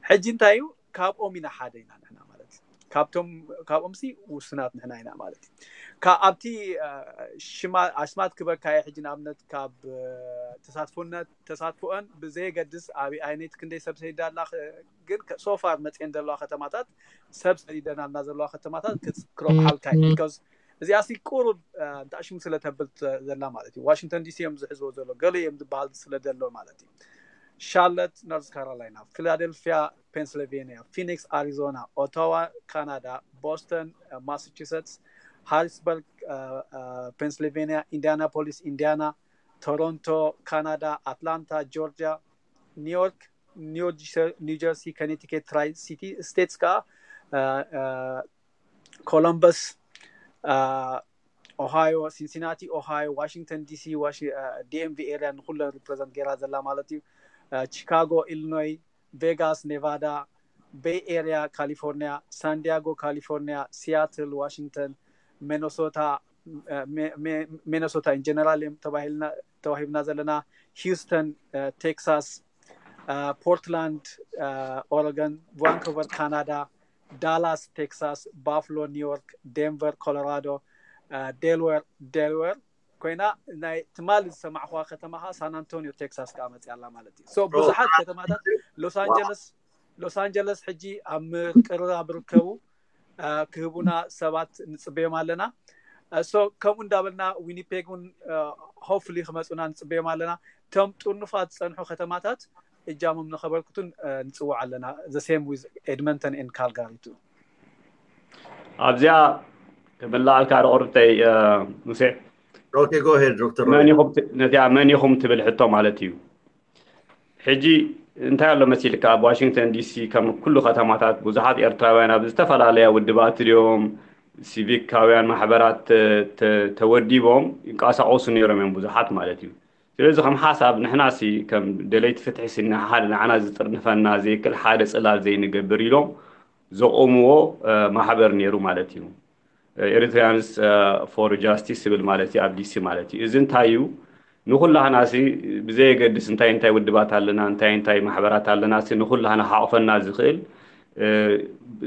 ሕጂ እንታይ እዩ ካብኦም ኢና ሓደ ኢና ንሕና ማለት እዩ። ካብቶም ካብኦም ሲ ውሱናት ንሕና ኢና ማለት እዩ። ካብ ኣብቲ ሽማ ኣስማት ክበካየ ሕጂ ንኣብነት ካብ ተሳትፎነት ተሳትፎአን ብዘየገድስ ኣብ ኣይነት ክንደይ ሰብ ሰይዳ ኣላ ግን ሶፋር መጽኤን ዘለዋ ከተማታት ሰብ ሰዲደናልና ዘለዋ ከተማታት ክረብሓልካ እዩ። ቢካዝ እዚኣ ሲ ቁሩብ እንታይ ሽሙ ስለ ተብል ዘላ ማለት እዩ። ዋሽንግተን ዲሲ እዮም ዝሕዝዎ ዘሎ ገለ እዮም ዝበሃል ስለ ዘሎ ማለት እዩ። ሻርለት ኖርዝ ካሮላይና፣ ፊላደልፊያ ፔንስልቬኒያ፣ ፊኒክስ ኣሪዞና፣ ኦታዋ ካናዳ፣ ቦስተን ማሳቹሰትስ፣ ሃሪስበርግ ፔንስልቬኒያ፣ ኢንዲያናፖሊስ ኢንዲያና፣ ቶሮንቶ ካናዳ፣ ኣትላንታ ጆርጂያ፣ ኒውዮርክ፣ ኒውጀርሲ፣ ኮኔቲኬት፣ ትራይ ሲቲ ስቴትስ ከዓ ኮሎምበስ፣ ኦሃዮ፣ ሲንሲናቲ ኦሃዮ፣ ዋሽንግተን ዲሲ፣ ዲኤምቪ ኤሪያ ንኩለን ሪፕሬዘንት ገይራ ዘላ ማለት እዩ። ቺካጎ ኢሊኖይ፣ ቬጋስ ኔቫዳ፣ ቤይ ኤሪያ ካሊፎርኒያ፣ ሳንዲያጎ ካሊፎርኒያ፣ ሲያትል ዋሽንግተን፣ ሚነሶታ ሚነሶታ ኢን ጀነራል እዮም ተባሂብና ዘለና፣ ሂውስተን ቴክሳስ፣ ፖርትላንድ ኦረገን፣ ቫንኮቨር ካናዳ፣ ዳላስ ቴክሳስ፣ ባፍሎ ኒውዮርክ፣ ዴንቨር ኮሎራዶ፣ ዴልዌር ዴልዌር ኮይና ናይ ትማሊ ዝሰማዕኹዋ ከተማ ከዓ ሳን ኣንቶኒዮ ቴክሳስ ከዓ መፅያ ኣላ ማለት እዩ። ብዙሓት ከተማታት ሎስ ኣንጀለስ ሎስ ኣንጀለስ ሕጂ ኣብ ምቅርራብ ርከቡ ክህቡና ሰባት ንፅበዮም ኣለና። ሶ ከምኡ እንዳበልና ዊኒፔግ እውን ሆፍሊ ክመፁና ንፅበዮም ኣለና። እቶም ጥርኑፋት ዝፀንሑ ከተማታት እጃሞም ንኸበርክቱን ንፅውዕ ኣለና። The same with Edmonton and Calgary too። ኣብዚኣ ክምልኣልካ ዶ ቅርብተይ ሙሴ? Okay, go ahead, ዶክተር። ነቲኣ መን ኢኹም ትብል ሕቶ ማለት እዩ። ሕጂ እንታይ ኣሎ መሲልካ ኣብ ዋሽንግተን ዲሲ ከም ኩሉ ከተማታት ብዙሓት ኤርትራውያን ኣብ ዝተፈላለያ ውድባት ድዮም ሲቪካውያን ማሕበራት ተወዲቦም ይንቀሳቀሱ ነይሮም እዮም ብዙሓት ማለት እዩ። ስለዚ ከም ሓሳብ ንሕናሲ ከም ደለይቲ ፍትሒ ሲ ንሓደ ንዓና ዝጥርንፈና ዘይክል ሓደ ፅላል ዘይንገብር ኢሎም ዘቆምዎ ማሕበር ነይሩ ማለት እዩ። ኤሪትሪያንስ ፎር ጃስቲስ ዝብል ማለት እዩ ኣብ ዲሲ ማለት እዩ። እዚ እንታይ እዩ ንኩላህና ሲ ብዘየገድስ እንታይ እንታይ ውድባት ኣለና እንታይ እንታይ ማሕበራት ኣለና ሲ ንኩላህና ሓቆፈና ዝኽእል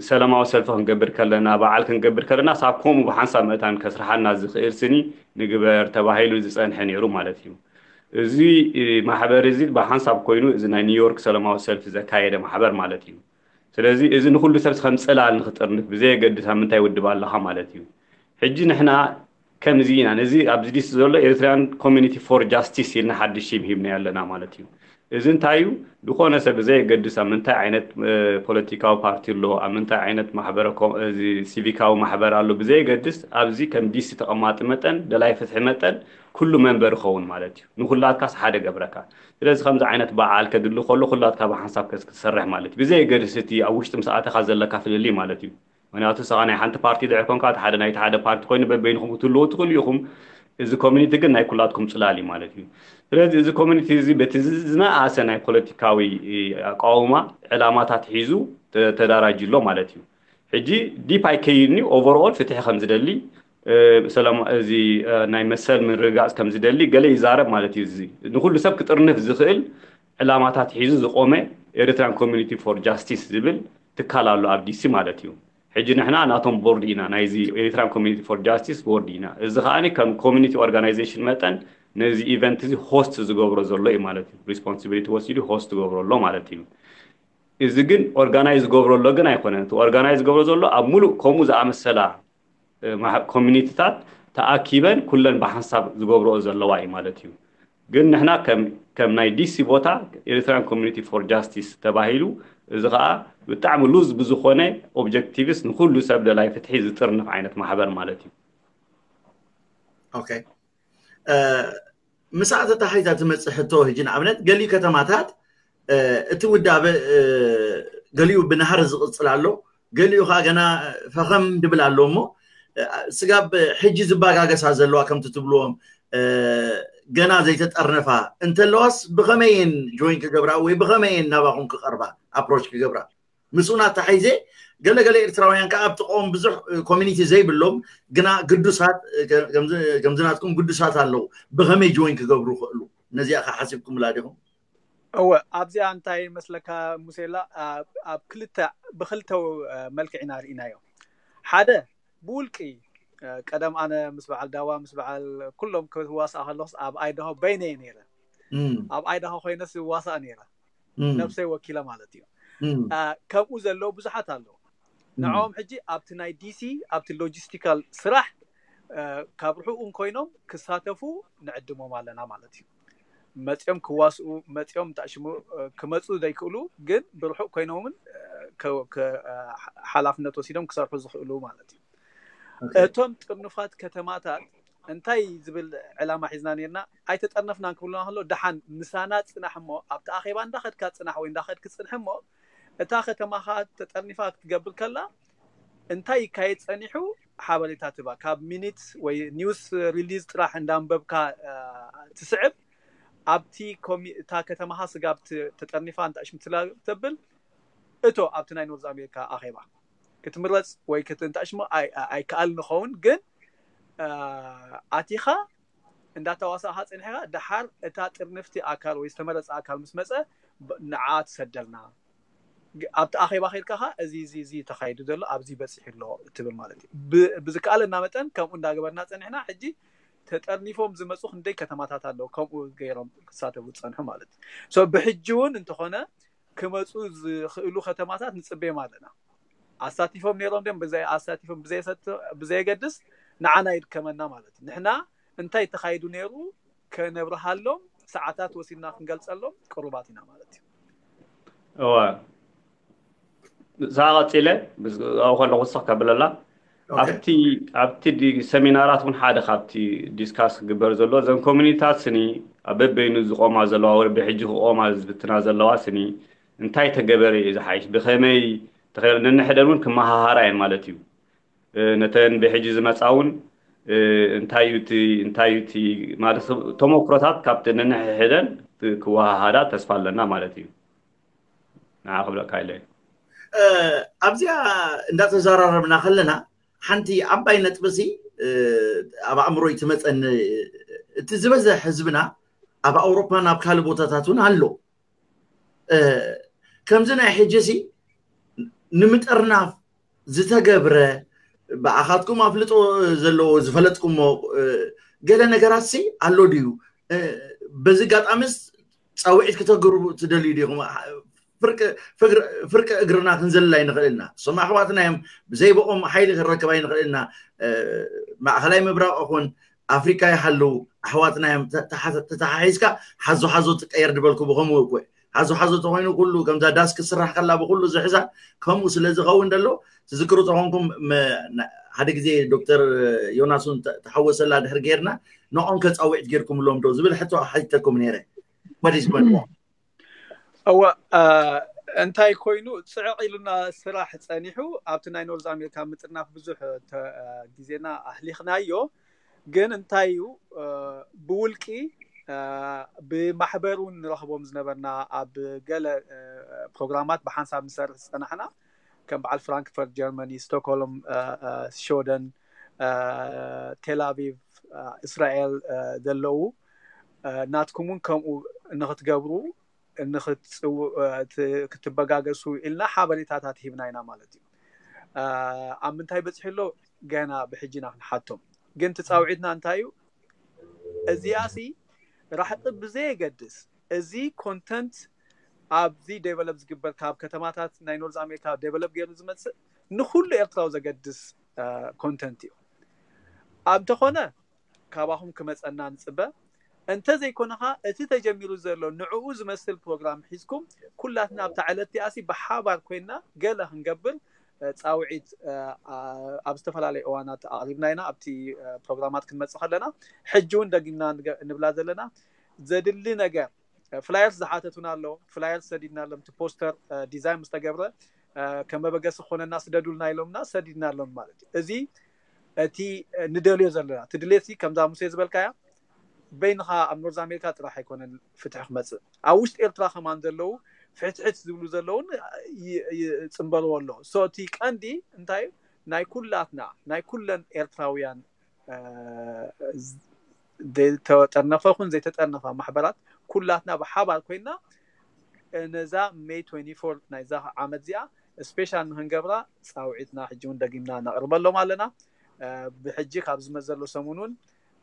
ሰላማዊ ሰልፊ ክንገብር ከለና በዓል ክንገብር ከለና ሳብ ከምኡ ብሓንሳብ መእታን ከስርሓና ዝኽእል ስኒ ንግበር ተባሂሉ ዝፀንሐ ነይሩ ማለት እዩ። እዚ ማሕበር እዚ ብሓንሳብ ኮይኑ እዚ ናይ ኒውዮርክ ሰላማዊ ሰልፊ ዘካየደ ማሕበር ማለት እዩ። ስለዚ እዚ ንኩሉ ሰብ ከም ፅላል ንክጥርንፍ ብዘየገድስ ኣብ ምንታይ ውድብ ኣለካ ማለት እዩ። ሕጂ ንሕና ከምዚ ኢና ነዚ ኣብዚ ዲስ ዘሎ ኤሪትሪያን ኮሚኒቲ ፎር ጃስቲስ ኢልና ሓድሽ ሽም ሂብና ኣለና ማለት እዩ። እዚ እንታይ እዩ? ዝኾነ ሰብ ብዘየገድስ ኣብ ምንታይ ዓይነት ፖለቲካዊ ፓርቲ ኣሎ፣ ኣብ ምንታይ ዓይነት ማሕበረ ሲቪካዊ ማሕበር ኣሎ ብዘየገድስ፣ ኣብዚ ከም ዲሲ ተቐማጢ መጠን፣ ደላይ ፍትሒ መጠን ኩሉ መንበር ይኸውን ማለት እዩ። ንኩላትካስ ሓደ ገብረካ። ስለዚ ከምዚ ዓይነት በዓል ከድሊ ከሎ ኩላትካ ብሓንሳብ ክትሰርሕ ማለት እዩ፣ ብዘየገድስ እቲ ኣብ ውሽጢ ምስ ኣተኻ ዘለካ ፍልልይ ማለት እዩ። ምክንያቱ ንስኻ ናይ ሓንቲ ፓርቲ ድሕር ኮንካ፣ እቲ ሓደ ናይቲ ሓደ ፓርቲ ኮይኑ በበይንኹም ክትህልዉ ትኽእሉ ኢኹም። እዚ ኮሚኒቲ ግን ናይ ኩላትኩም ፅላል እዩ ማለት እዩ። ስለዚ እዚ ኮሚኒቲ እዚ በቲ ዝነኣሰ ናይ ፖለቲካዊ ኣቃውማ ዕላማታት ሒዙ ተዳራጅ ኣሎ ማለት እዩ። ሕጂ ዲፕ ኣይከይድን እዩ። ኦቨርኦል ፍትሒ ከም ዝደሊ፣ ሰላም፣ እዚ ናይ መሰል ምርግጋፅ ከም ዝደሊ ገለ ይዛረብ ማለት እዩ። እዚ ንኩሉ ሰብ ክጥርንፍ ዝኽእል ዕላማታት ሒዙ ዝቆመ ኤሪትራን ኮሚኒቲ ፎር ጃስቲስ ዝብል ትካል ኣሎ ኣብ ዲሲ ማለት እዩ። ሕጂ ንሕና ናቶም ቦርድ ኢና፣ ናይዚ ኤሪትራን ኮሚኒቲ ፎር ጃስቲስ ቦርድ ኢና። እዚ ከኣ ከም ኮሚኒቲ ኦርጋናይዜሽን መጠን ነዚ ኢቨንት እዚ ሆስት ዝገብሮ ዘሎ እዩ ማለት እዩ። ሪስፖንሲቢሊቲ ወሲዱ ሆስት ዝገብሮ ኣሎ ማለት እዩ። እዚ ግን ኦርጋናይዝ ዝገብሮ ኣሎ ግን ኣይኮነን። እቲ ኦርጋናይዝ ዝገብሮ ዘሎ ኣብ ሙሉእ ከምኡ ዝኣመሰላ ኮሚኒቲታት ተኣኪበን ኩለን ብሓንሳብ ዝገብረኦ ዘለዋ እዩ ማለት እዩ። ግን ንሕና ከም ናይ ዲሲ ቦታ ኤሪትራን ኮሚኒቲ ፎር ጃስቲስ ተባሂሉ፣ እዚ ከዓ ብጣዕሚ ሉዝ ብዝኾነ ኦብጀክቲቭስ ንኩሉ ሰብ ደላይ ፍትሒ ዝጥርንፍ ዓይነት ማሕበር ማለት እዩ። ኦኬ፣ ምስኣ ተታሒዛ ትመፅእ ሕቶ ሕጂ ንኣብነት ገሊኡ ከተማታት እቲ ውዳበ ገሊኡ ብናህሪ ዝቕፅል ኣሎ፣ ገሊኡ ከዓ ገና ፈኸም ድብል ኣሎ። እሞ ስጋብ ሕጂ ዝባጋገሳ ዘለዋ ከምቲ ትብልዎም ገና ዘይተጠርነፋ እንተለዋስ ብኸመይን ጆይን ክገብራ ወይ ብኸመይን ናባኹም ክቐርባ ኣፕሮች ክገብራ? ምስኡን ኣታሒዘ ገለገለ ኤርትራውያን ከዓ ኣብቲ ቀወም ብዙሕ ኮሚኒቲ ዘይብሎም ግና ግዱሳት ከምዚ ናትኩም ግዱሳት ኣለዉ። ብኸመይ ጆይን ክገብሩ ይኽእሉ? ነዚኣ ከዓ ሓሲብኩምላ ዲኹም? እወ፣ ኣብዚኣ እንታይ መስለካ ሙሴላ፣ ኣብ ክልተ ብክልተ መልክዕ ኢና ርኢናዮ። ሓደ ብውልቂ ቀደም ኣነ ምስ በዓል ዳዋ ምስ በዓል ኩሎም ክዋሳእ ከለኹስ ኣብ ኣይዳሆ በይነየ ነይረ። ኣብ ኣይዳሆ ኮይነስ ይዋሳእ ነይረ፣ ነብሰይ ወኪለ ማለት እዩ። ከምኡ ዘለዉ ብዙሓት ኣለዉ። ንዕኦም ሕጂ ኣብቲ ናይ ዲሲ ኣብቲ ሎጂስቲካል ስራሕ ካብ ርሑቕ እንኮይኖም ክሳተፉ ንዕድሞም ኣለና ማለት እዩ። መፂኦም ክዋስኡ መፂኦም ታሽሙ ክመፁ ዘይክእሉ ግን ብርሑቕ ኮይኖምን ሓላፍነት ወሲዶም ክሰርሑ ዝኽእሉ ማለት እዩ። እቶም ጥርኑፋት ከተማታት እንታይ ዝብል ዕላማ ሒዝና ነርና? ኣይተጠርነፍናን ክብሉና ከሎ ደሓን ምሳና ፅናሕ እሞ ኣብቲ ኣኼባ እንዳኸድካ ፅናሕ ወይ እንዳኸድክ ፅንሕ እሞ እታ ከተማኻ ተጠርኒፋ ክትገብር ከላ እንታይ ይካየድ ፀኒሑ ሓበሬታ ትባ። ካብ ሚኒት ወይ ኒውስ ሪሊዝ ጥራሕ እንዳንበብካ ትስዕብ። ኣብቲ እታ ከተማኻ ስጋብ ተጠርኒፋ እንታሽም ትላ ተብል እቶ ኣብቲ ናይ ኖርዝ ኣሜሪካ ኣኼባ ክትምረፅ ወይ ክትንታሽሞ ኣይከኣል ንኸውን ግን ኣቲኻ እንዳተዋሳእኻ ፅንሕኻ ደሓር እታ ጥርንፍቲ ኣካል ወይ ዝተመረፀ ኣካል ምስ መፀ ንዓ ትሰደልና። ኣብቲ ኣኼባ ከይድካ ኸ እዚ እዚ እዚ ተኻይዱ ዘሎ ኣብዚ በፂሑ ኣሎ እትብል ማለት እዩ። ብዝከኣለና መጠን ከምኡ እንዳገበርና ፀኒሕና። ሕጂ ተጠርኒፎም ዝመፁ ክንደይ ከተማታት ኣለዉ ከምኡ ገይሮም ክሳተፉ ዝፀንሑ ማለት እዩ። ብሕጂ እውን እንተኾነ ክመፁ ዝኽእሉ ከተማታት ንፅበዮም ኣለና። ኣሳቲፎም ነይሮም ድም ኣሳቲፎም ብዘየገድስ ንዓና ይድከመና ማለት እዩ። ንሕና እንታይ ተኻይዱ ነይሩ ከነብርሃሎም ሰዓታት ወሲድና ክንገልፀሎም ቅሩባት ኢና ማለት እዩ። እዋ፣ ንስኻ ቀፂለ ኣብኡ ከለኹ ስኽ ከብለላ ኣብቲ ኣብቲ ሰሚናራት እውን ሓደ ካብቲ ዲስካስ ክግበር ዘሎ እዘን ኮሚኒታት ስኒ ኣብ በበይኑ ዝቆማ ዘለዋ ወይ ብሕጂ ክቆማ ዝፍትና ዘለዋ ስኒ እንታይ ተገበረ እዩ ዝሓይሽ፣ ብኸመይ ተኸ ነንሕደን እውን ክመሃሃራ እየን ማለት እዩ። ነተን ብሕጂ ዝመፃ እውን እንታይ እዩ እቲ እንታይ እዩ እቲ ማለት ተመክሮታት ካብቲ ነንሕሕደን ክወሃሃዳ ተስፋ ኣለና ማለት እዩ። ንዓ ክብለካ ኢለ ኣብዚኣ እንዳተዘራረብና ከለና ሓንቲ ዓባይ ነጥብሲ ኣብ ኣእምሮይ ትመፀኒ። እቲ ዝበዝሕ ህዝብና ኣብ ኣውሮፓን ኣብ ካልእ ቦታታት እውን ኣሎ። ከምዚ ናይ ሕጂ ሲ ንምጥርናፍ ዝተገብረ ብኣኻትኩም ኣፍልጦ ዘለዎ ዝፈለጥኩሞ ገለ ነገራት ሲ ኣሎ ድዩ? በዚ ኣጋጣሚስ ፃውዒት ክተግሩ ትደልዩ ዲኹም? ፍርቂ እግርና ክንዘልል ኣይንኽእል ኢና። እሶም ኣሕዋትና እዮም፣ ብዘይ ብኦም ሓይሊ ክንረክብ ኣይንኽእል ኢና። ማእኸላይ ምብራቕ ኹን ኣፍሪካ ይሃለዉ ኣሕዋትና እዮም። ተተሓሒዝካ ሓዞ ሓዞ ትቀየር ዝበልኩ ብከምኡ እኮ ሓዞ ሓዞ ተኮይኑ ኩሉ ከምዛ ዳስ ክስራሕ ከላ ብኩሉ ዝሕዛ ከምኡ ስለ ዝኸውን ዘሎ ትዝክሩ ተኾንኩም ሓደ ግዜ ዶክተር ዮናስ እውን ተሓወሰላ ድሕር ጌርና ንኦም ከፃውዒት ጌርኩምሎም ዶ ዝብል ሕቶ ሓቲተኩም ነይረ። እወ እንታይ ኮይኑ ፅዕቕ ኢሉና ስራሕ ፀኒሑ ኣብቲ ናይ ኖርዝ ኣሜሪካ ምጥርናፍ ብዙሕ ግዜና ኣህሊኽናዮ። ግን እንታይ እዩ ብውልቂ ብማሕበር እውን ንረኽቦም ዝነበርና ኣብ ገለ ፕሮግራማት ብሓንሳብ ንሰርሕ ዝፀናሕና ከም በዓል ፍራንክፈርት ጀርመኒ፣ ስቶክሆልም፣ ሽወደን፣ ቴላቪቭ፣ እስራኤል ዘለዉ ናትኩም እውን ከምኡ ንክትገብሩ ክትበጋገሱ ኢልና ሓበሬታታት ሂብና ኢና ማለት እዩ። ኣብ ምንታይ በፂሑ ኣሎ ገና ብሕጂ ኢና ክንሓቶም። ግን ትፃውዒትና እንታይ እዩ? እዚኣ ሲ ራሕቂ ብዘየገድስ እዚ ኮንተንት ኣብዚ ዴቨሎፕ ዝግበር ካብ ከተማታት ናይ ኖርዝ ኣሜሪካ ዴቨሎፕ ገይሩ ዝመፅእ ንኩሉ ኤርትራዊ ዘገድስ ኮንተንት እዩ። ኣብተኾነ ካባኹም ክመፀና ንፅበ። እንተዘይኮነ ኸዓ እቲ ተጀሚሩ ዘሎ ንዕኡ ዝመስል ፕሮግራም ሒዝኩም ኩላትና ኣብታ ዕለት እቲኣሲ ብሓባር ኮይንና ገለ ክንገብር ፃውዒት ኣብ ዝተፈላለዩ እዋናት ኣቕሪብና ኢና። ኣብቲ ፕሮግራማት ክንመፅእ ከለና ሕጂ እውን ደጊምና ንብላ ዘለና ዘድሊ ነገር ፍላየርስ ዝሓተቱና ኣሎ። ፍላየርስ ሰዲድናሎም፣ እቲ ፖስተር ዲዛይን ምስ ተገብረ ከም መበገሲ ክኾነና ስደዱልና ኢሎምና ሰዲድናሎም ማለት እዩ። እዚ እቲ ንደልዮ ዘለና እቲ ድሌት ከምዛ ሙሴ ዝበልካያ በይንኻ ኣብ ኖርዝ ኣሜሪካ ጥራሕ ኣይኮነን ፍትሒ ክመፅእ ኣብ ውሽጢ ኤርትራ ከማን ዘለዉ ፍሕትሕት ዝብሉ ዘለውን ይፅንበርዎ ኣሎ። ሶ እቲ ቀንዲ እንታይ ናይ ኩላትና ናይ ኩለን ኤርትራውያን ዝተጠርነፈ ኹን ዘይተጠርነፋ ማሕበራት ኩላትና ብሓባር ኮይና ነዛ ሜይ ትወንቲ ፎር ናይዛ ዓመት እዚኣ ስፔሻል ንክንገብራ ፃውዒትና ሕጂ እውን ደጊምና ነቕርበሎም ኣለና። ብሕጂ ካብ ዝመዘሎ ሰሙን እውን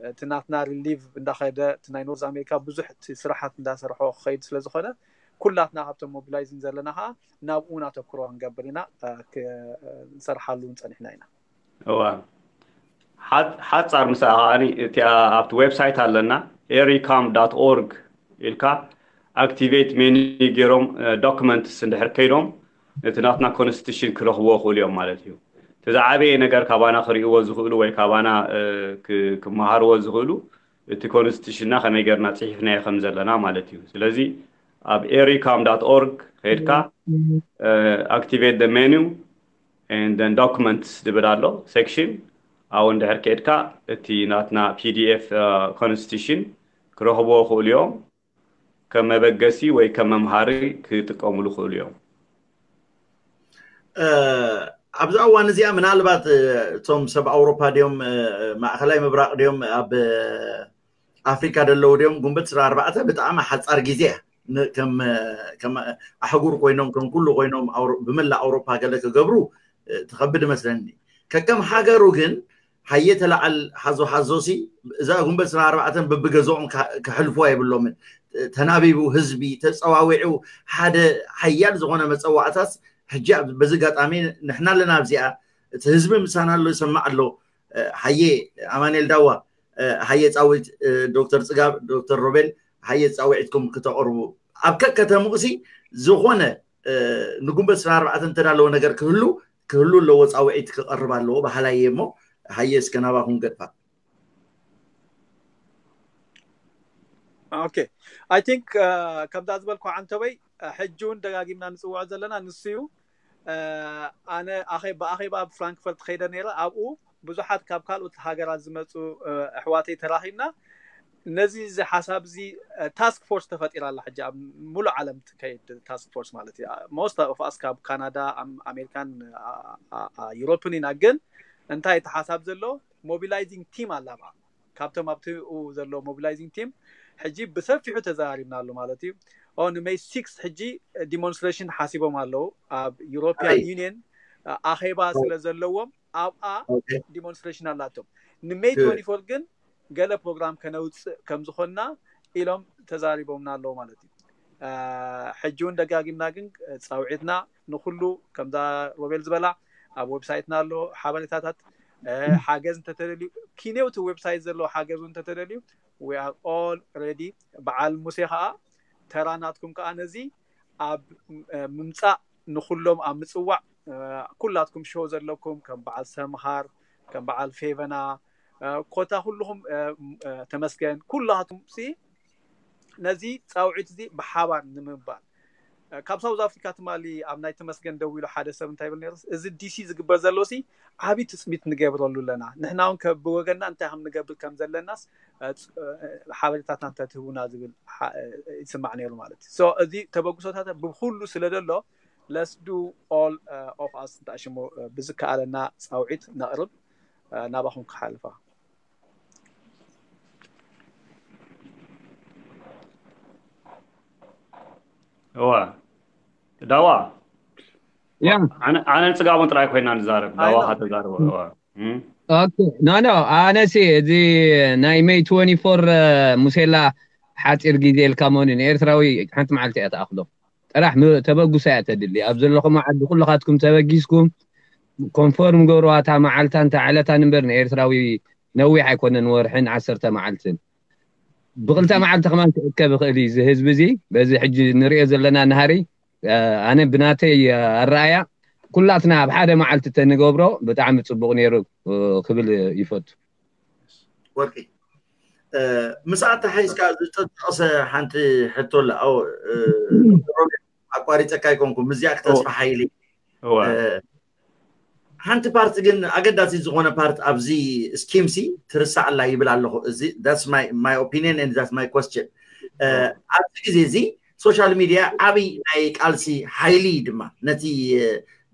እቲ ናትና ሪሊቭ እንዳኸደ እቲ ናይ ኖርዝ ኣሜሪካ ብዙሕ እቲ ስራሓት እንዳሰርሖ ክኸይድ ስለዝኾነ ኩላትና ካብቶም ሞቢላይዚንግ ዘለና ከዓ ናብኡ ናተኩሮ ክንገብር ኢና። ክንሰርሓሉ እውን ፀኒሕና ኢና። እዋ ሓፃር ምሳኣ ከዓኒ እቲኣ ኣብቲ ዌብሳይት ኣለና ኤሪካም ዳት ኦርግ ኢልካ ኣክቲቬት ሜኒ ገይሮም ዶክመንትስ እንድሕር ከይዶም እቲ ናትና ኮንስቲቱሽን ክረኽብዎ ክእሉ እዮም ማለት እዩ። እቲ ዝዓበየ ነገር ካባና ክርእይዎ ዝኽእሉ ወይ ካባና ክመሃርዎ ዝኽእሉ እቲ ኮንስቲቱሽንና ከመይ ገርና ፅሒፍናዮ ከም ዘለና ማለት እዩ። ስለዚ ኣብ ኤሪካም ዳት ኦርግ ከይድካ ኣክቲቬት ሜኑ ን ዶክመንትስ ዝብል ኣሎ ሴክሽን ኣብኡ እንድሕር ከይድካ እቲ ናትና ፒዲኤፍ ኮንስቲቱሽን ክረኽብዎ ክእሉ እዮም። ከም መበገሲ ወይ ከም መምሃሪ ክጥቀምሉ ክእሉ እዮም። ኣብዛ እዋን እዚኣ ምናልባት እቶም ሰብ ኣውሮፓ ድዮም ማእኸላይ ምብራቕ ድዮም ኣብ ኣፍሪካ ደለዉ ድዮም ጉንበት ስራ ኣርባዕተ ብጣዕሚ ሓፃር ግዜ እያ። ከም ኣህጉር ኮይኖም ከም ኩሉ ኮይኖም ብመላእ ኣውሮፓ ገለ ክገብሩ ትኸብድ መስለኒ። ከከም ሃገሩ ግን ሃየ ተላዓል ሓዞ ሓዞ ሲ እዛ ጉንበት ስራ ኣርባዕተን በብገዝኦም ክሕልፉ ኣይብሎምን። ተናቢቡ ህዝቢ ተፀዋዊዑ ሓደ ሓያል ዝኾነ መፀዋዕታስ ሕጂ በዚ ኣጋጣሚ ንሕና ኣለና ኣብዚኣ እቲ ህዝቢ ምሳና ኣሎ ይሰማዕ ኣሎ። ሃየ ኣማኔል ዳዋ ሃየ ፃዊት ዶክተር ፅጋብ ዶክተር ሮቤል ሃየ ፃውዒትኩም ክተቕርቡ ኣብ ከከተምኡ ሲ ዝኾነ ንጉንበት ስራ ኣርባዕተ እንተዳለወ ነገር ክህሉ ክህሉ ኣለዎ ፃውዒት ክቐርብ ኣለዎ በሃላይ እየ እሞ ሃየ እስከ ናባኹም ገድፋ። ኦኬ ኣይ ቲንክ ከምዛ ዝበልኩ ዓንተበይ ሕጂ እውን ደጋጊምና ንፅውዖ ዘለና ንሱ እዩ። ኣነ ብኣኼባ ኣብ ፍራንክፈርት ከይደ ነይረ ኣብኡ ብዙሓት ካብ ካልኦት ሃገራት ዝመፁ ኣሕዋተይ ተራኺብና ነዚ እዚ ሓሳብ እዚ ታስክ ፎርስ ተፈጢራ ኣላ ሕጂ ኣብ ሙሉእ ዓለም ትከይድ ታስክ ፎርስ ማለት እዩ። ሞስት ኦፍ ኣስ ካብ ካናዳ ኣሜሪካን ዩሮፕን ኢና ግን እንታይ እቲ ሓሳብ ዘሎ ሞቢላይዚንግ ቲም ኣላ ብኣ ካብቶም ኣብቲኡ ዘሎ ሞቢላይዚንግ ቲም ሕጂ ብሰፊሑ ተዘራሪብና ኣሎ ማለት እዩ። ንሜይ ሲክስ ሕጂ ዲሞንስትሬሽን ሓሲቦም ኣለዉ ኣብ ዩሮፒያን ዩኒየን ኣኼባ ስለ ዘለዎም ኣብኣ ዲሞንስትሬሽን ኣላቶም። ንሜይ ትወንቲ ፎር ግን ገለ ፕሮግራም ከነውፅእ ከም ዝኾንና ኢሎም ተዛሪቦምና ኣለዉ ማለት እዩ። ሕጂ እውን ደጋጊምና ግን ፃውዒትና ንኩሉ ከምዛ ሮቤል ዝበላ ኣብ ዌብሳይትና ኣሎ ሓበሬታታት ሓገዝ እንተተደልዩ፣ ኪኔው እቲ ዌብሳይት ዘለዎ ሓገዝ እውን እንተተደልዩ፣ we are all ready። በዓል ሙሴ ከዓ ተራ ናትኩም ከዓ ነዚ ኣብ ምምፃእ፣ ንኩሎም ኣብ ምፅዋዕ፣ ኩላትኩም ሾው ዘለኩም ከም በዓል ሰምሃር፣ ከም በዓል ፌቨና፣ ኮታ ኩልኹም፣ ተመስገን፣ ኩላትኩም ሲ ነዚ ፃውዒት እዚ ብሓባር ንምባል፣ ካብ ሳውዝ ኣፍሪካ ትማሊ ኣብ ናይ ተመስገን ደው ኢሉ ሓደ ሰብ እንታይ ይብል ነይሩ? እዚ ዲሲ ዝግበር ዘሎ ሲ ዓብዪ ትፅቢት ንገብረሉ ኣለና፣ ንሕና እውን ብወገንና እንታይ ከም ንገብር ከም ዘለናስ ሓበሬታትና እንተትህቡና ዝብል ይስማዕ ነይሩ ማለት እዩ። እዚ ተበግሶታት ብኩሉ ስለ ዘሎ፣ let's do all of us እንተኣሽሙ ብዝከኣለና ፃውዒት ነቕርብ። ናባኹም ክሓልፋ። እዋ ዳዋ ያ ኣነ ኣነ ጽጋቡን ጥራይ ኮይና ንዛረብ ዳዋ ኣይኖ። ከተዛረቦ እዋ እም። ኦኬ ኖ ኖ ኣነሲ እዚ ናይ ሜይ ትወንቲ ፎር ሙሴላ ሓፂር ግዜ ኢልካ መሆኑ ንኤርትራዊ ሓንቲ መዓልቲ እያ ተኣኽሎ ጥራሕ ም- ተበጉሳ እያ ተድሊ ኣብ ዘለኹም ዓዲ ኩልኻትኩም ተበጊስኩም ኮንፎርም ገብርዋ እታ መዓልታን እታ ዕለታን እምበር ንኤርትራዊ ነዊሕ ኣይኮነን ወርሕን ዓሰርተ መዓልትን ብክልተ መዓልቲ ከማን ክእከብ ይኽእል እዩ እዚ ህዝቢ እዚ በዚ ሕጂ ንሪኦ ዘለና ናሃሪ ኣነ ብናተይ ኣረኣያ ኩላትና ኣብ ሓደ መዓልቲ ተንገብሮ ብጣዕሚ ፅቡቅ ነይሩ ክብል ይፈቱ ወርቂ ምስኣ ተሓይዝካ ዝተጠቀሰ ሓንቲ ሕቶ ኣላ ኣው ኣቋሪፀካ ኣይኮንኩም ምስዚኣ ክተስፋ ሓይሊ እወ ሓንቲ ፓርት ግን ኣገዳሲ ዝኾነ ፓርት ኣብዚ ስኪም ሲ ትርሳዕ ኣላ ይብል ኣለኹ እዚ my opinion and that's my question ኣብዚ ግዜ እዚ ሶሻል ሚድያ ዓብይ ናይ ቃልሲ ሓይሊ ድማ ነቲ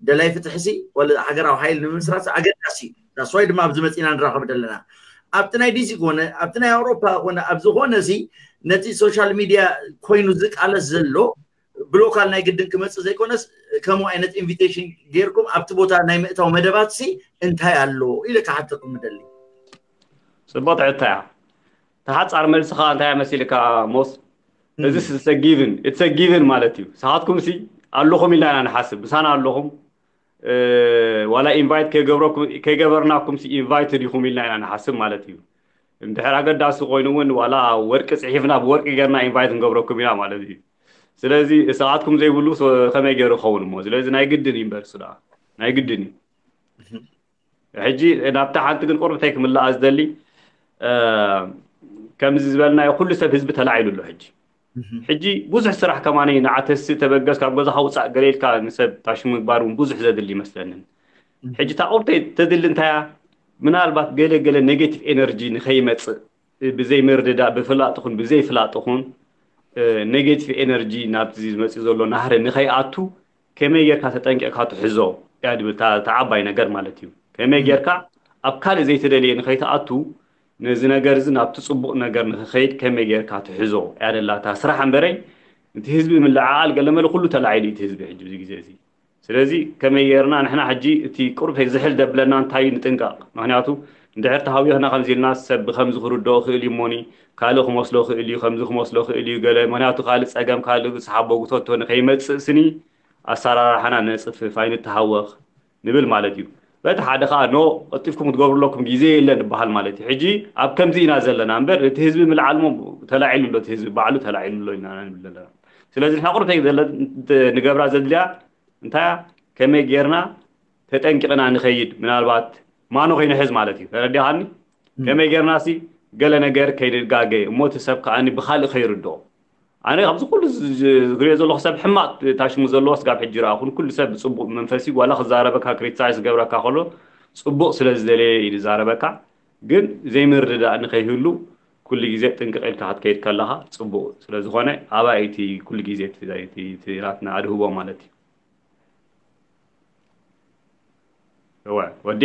ደላይ ፍትሒ ሲ ወለ ሃገራዊ ሓይሊ ንምምስራት ኣገዳሲ እዩ that's why ድማ ኣብዚ መፂና ንራኸብ ዘለና ኣብቲ ናይ ዲሲ ኮነ ኣብቲ ናይ ኣውሮፓ ኮነ ኣብ ዝኾነ ሲ ነቲ ሶሻል ሚድያ ኮይኑ ዝቃለስ ዘሎ ብሎካል ናይ ግድን ክመፅእ ዘይኮነስ ከምኡ ዓይነት ኢንቪቴሽን ጌርኩም ኣብቲ ቦታ ናይ ምእታው መደባት ሲ እንታይ ኣሎ ኢለ ክሓተኩም ምደሊ ፅቡቅ ትሕታ እያ ተሓፃር መልሲ ከዓ እንታይ መሲልካ ሞስ እዚ ጊቭን it's a given ማለት እዩ ንስኻትኩም ሲ ኣለኹም ኢልና ኢና ንሓስብ ምሳና ኣለኹም ዋላ ኢንቫይት ከይገበርናኩም ሲ ኢንቫይትድ ኢኹም ኢልና ኢና ንሓስብ ማለት እዩ እንድሕር ኣገዳሲ ኮይኑ እውን ዋላ ወርቂ ፅሒፍና ብወርቂ ገርና ኢንቫይት ንገብረኩም ኢና ማለት እዩ ስለዚ ሰዓትኩም ዘይብሉ ከመይ ገይሩ ይኸውን እሞ ስለዚ ናይ ግድን እዩ እምበር ስዳ ናይ ግድን እዩ ሕጂ ናብታ ሓንቲ ግን ቁርብተይ ክምልኣ ዝደሊ ከምዚ ዝበልናዮ ኩሉ ሰብ ህዝቢ ተላዒሉ ኣሎ ሕጂ ሕጂ ብዙሕ ስራሕ ከማኒ ንዓተሲ ተበገስ ካብ ገዛኻ ውፃእ ገለ ኢልካ ንሰብ ታሽ ምግባር እውን ብዙሕ ዘድሊ ይመስለንን ሕጂ እታ ቁርተይ ተድሊ እንታያ ምናልባት ገለ ገለ ኔጌቲቭ ኤነርጂ ንኸይመፅእ ብዘይ ምርድዳእ ብፍላጥ ኹን ብዘይ ፍላጥ ኹን ኔጌቲቭ ኤነርጂ ናብዚ ዝመፅእ ዘሎ ናህሪ ንኸይኣቱ ከመይ ጌርካ ተጠንቂቕካ ትሕዞ እያ ድብል እታ ዓባይ ነገር ማለት እዩ ከመይ ጌርካ ኣብ ካልእ ዘይተደልየ ንኸይትኣቱ ነዚ ነገር እዚ ናብቲ ፅቡቕ ነገር ንክኸይድ ከመይ ጌርካ ትሕዞ እያ ደላ እታ ስራሕ እምበረይ እቲ ህዝቢ ምልዓዓል ገለመለ ኩሉ ተላዒሉ እዩ እቲ ህዝቢ ሕጂ ብዚ ግዜ እዚ ስለዚ ከመይ ጌርና ንሕና ሕጂ እቲ ቁርብ ዝሕል ደብለና እንታይ ንጥንቀቕ ምክንያቱ እንድሕር ተሃዊኽና ከምዚ ኢልና ሰብ ብከምዚ ክርድኦ ክእል እዩ እሞኒ ካልእ ክመስሎ ክእል እዩ ከምዚ ክመስሎ ክእል እዩ ገለ ምክንያቱ ካልእ ፀገም ካልእ ዝሓቦ ጉተቶ ንከይመፅእ ስኒ ኣሰራርሓና ነፅፍፍ ኣይንተሃወኽ ንብል ማለት እዩ በቲ ሓደ ከዓ ኖ ቀልጢፍኩም ክትገብሩ ኣለኩም ግዜ የለን ይበሃል ማለት እዩ ሕጂ ኣብ ከምዚ ኢና ዘለና እምበር እቲ ህዝቢ ምልዓልሞ ተላዒሉ ኣሎ እቲ ህዝቢ ባዕሉ ተላዒሉ ኣሎ ኢና ንብል ዘለና ስለዚ ንሕና ቁርተይ ንገብራ ዘድልያ እንታይ ከመይ ጌርና ተጠንቂቕና ንኸይድ ምናልባት ማኖ ከይንሕዝ ማለት እዩ ተረዲኻኒ ከመይ ጌርና ሲ ገለ ነገር ከይንጋገ እሞ እቲ ሰብ ከዓኒ ብካልእ ከይርድኦ ኣነ ካብዚ ኩሉ ዝሪኦ ዘለኹ ሰብ ሕማቅ ታሽሙ ዘለዎ ስጋብ ሕጂ ረኣኹን ኩሉ ሰብ ብፅቡቅ መንፈሲ ዋላ ክዛረበካ ክሪቲሳይዝ ዝገብረካ ከሎ ፅቡቅ ስለ ዝደለየ እዩ ዝዛረበካ ግን ዘይምርድዳእ ንከይህሉ ኩሉ ግዜ ጥንቅቅ ኢልካ ክትከይድ ከለካ ፅቡቅ ስለዝኮነ ኣባይ እቲ ኩሉ ግዜ እቲ ናትና ኣድህቦ ማለት እዩ እወ ወዴ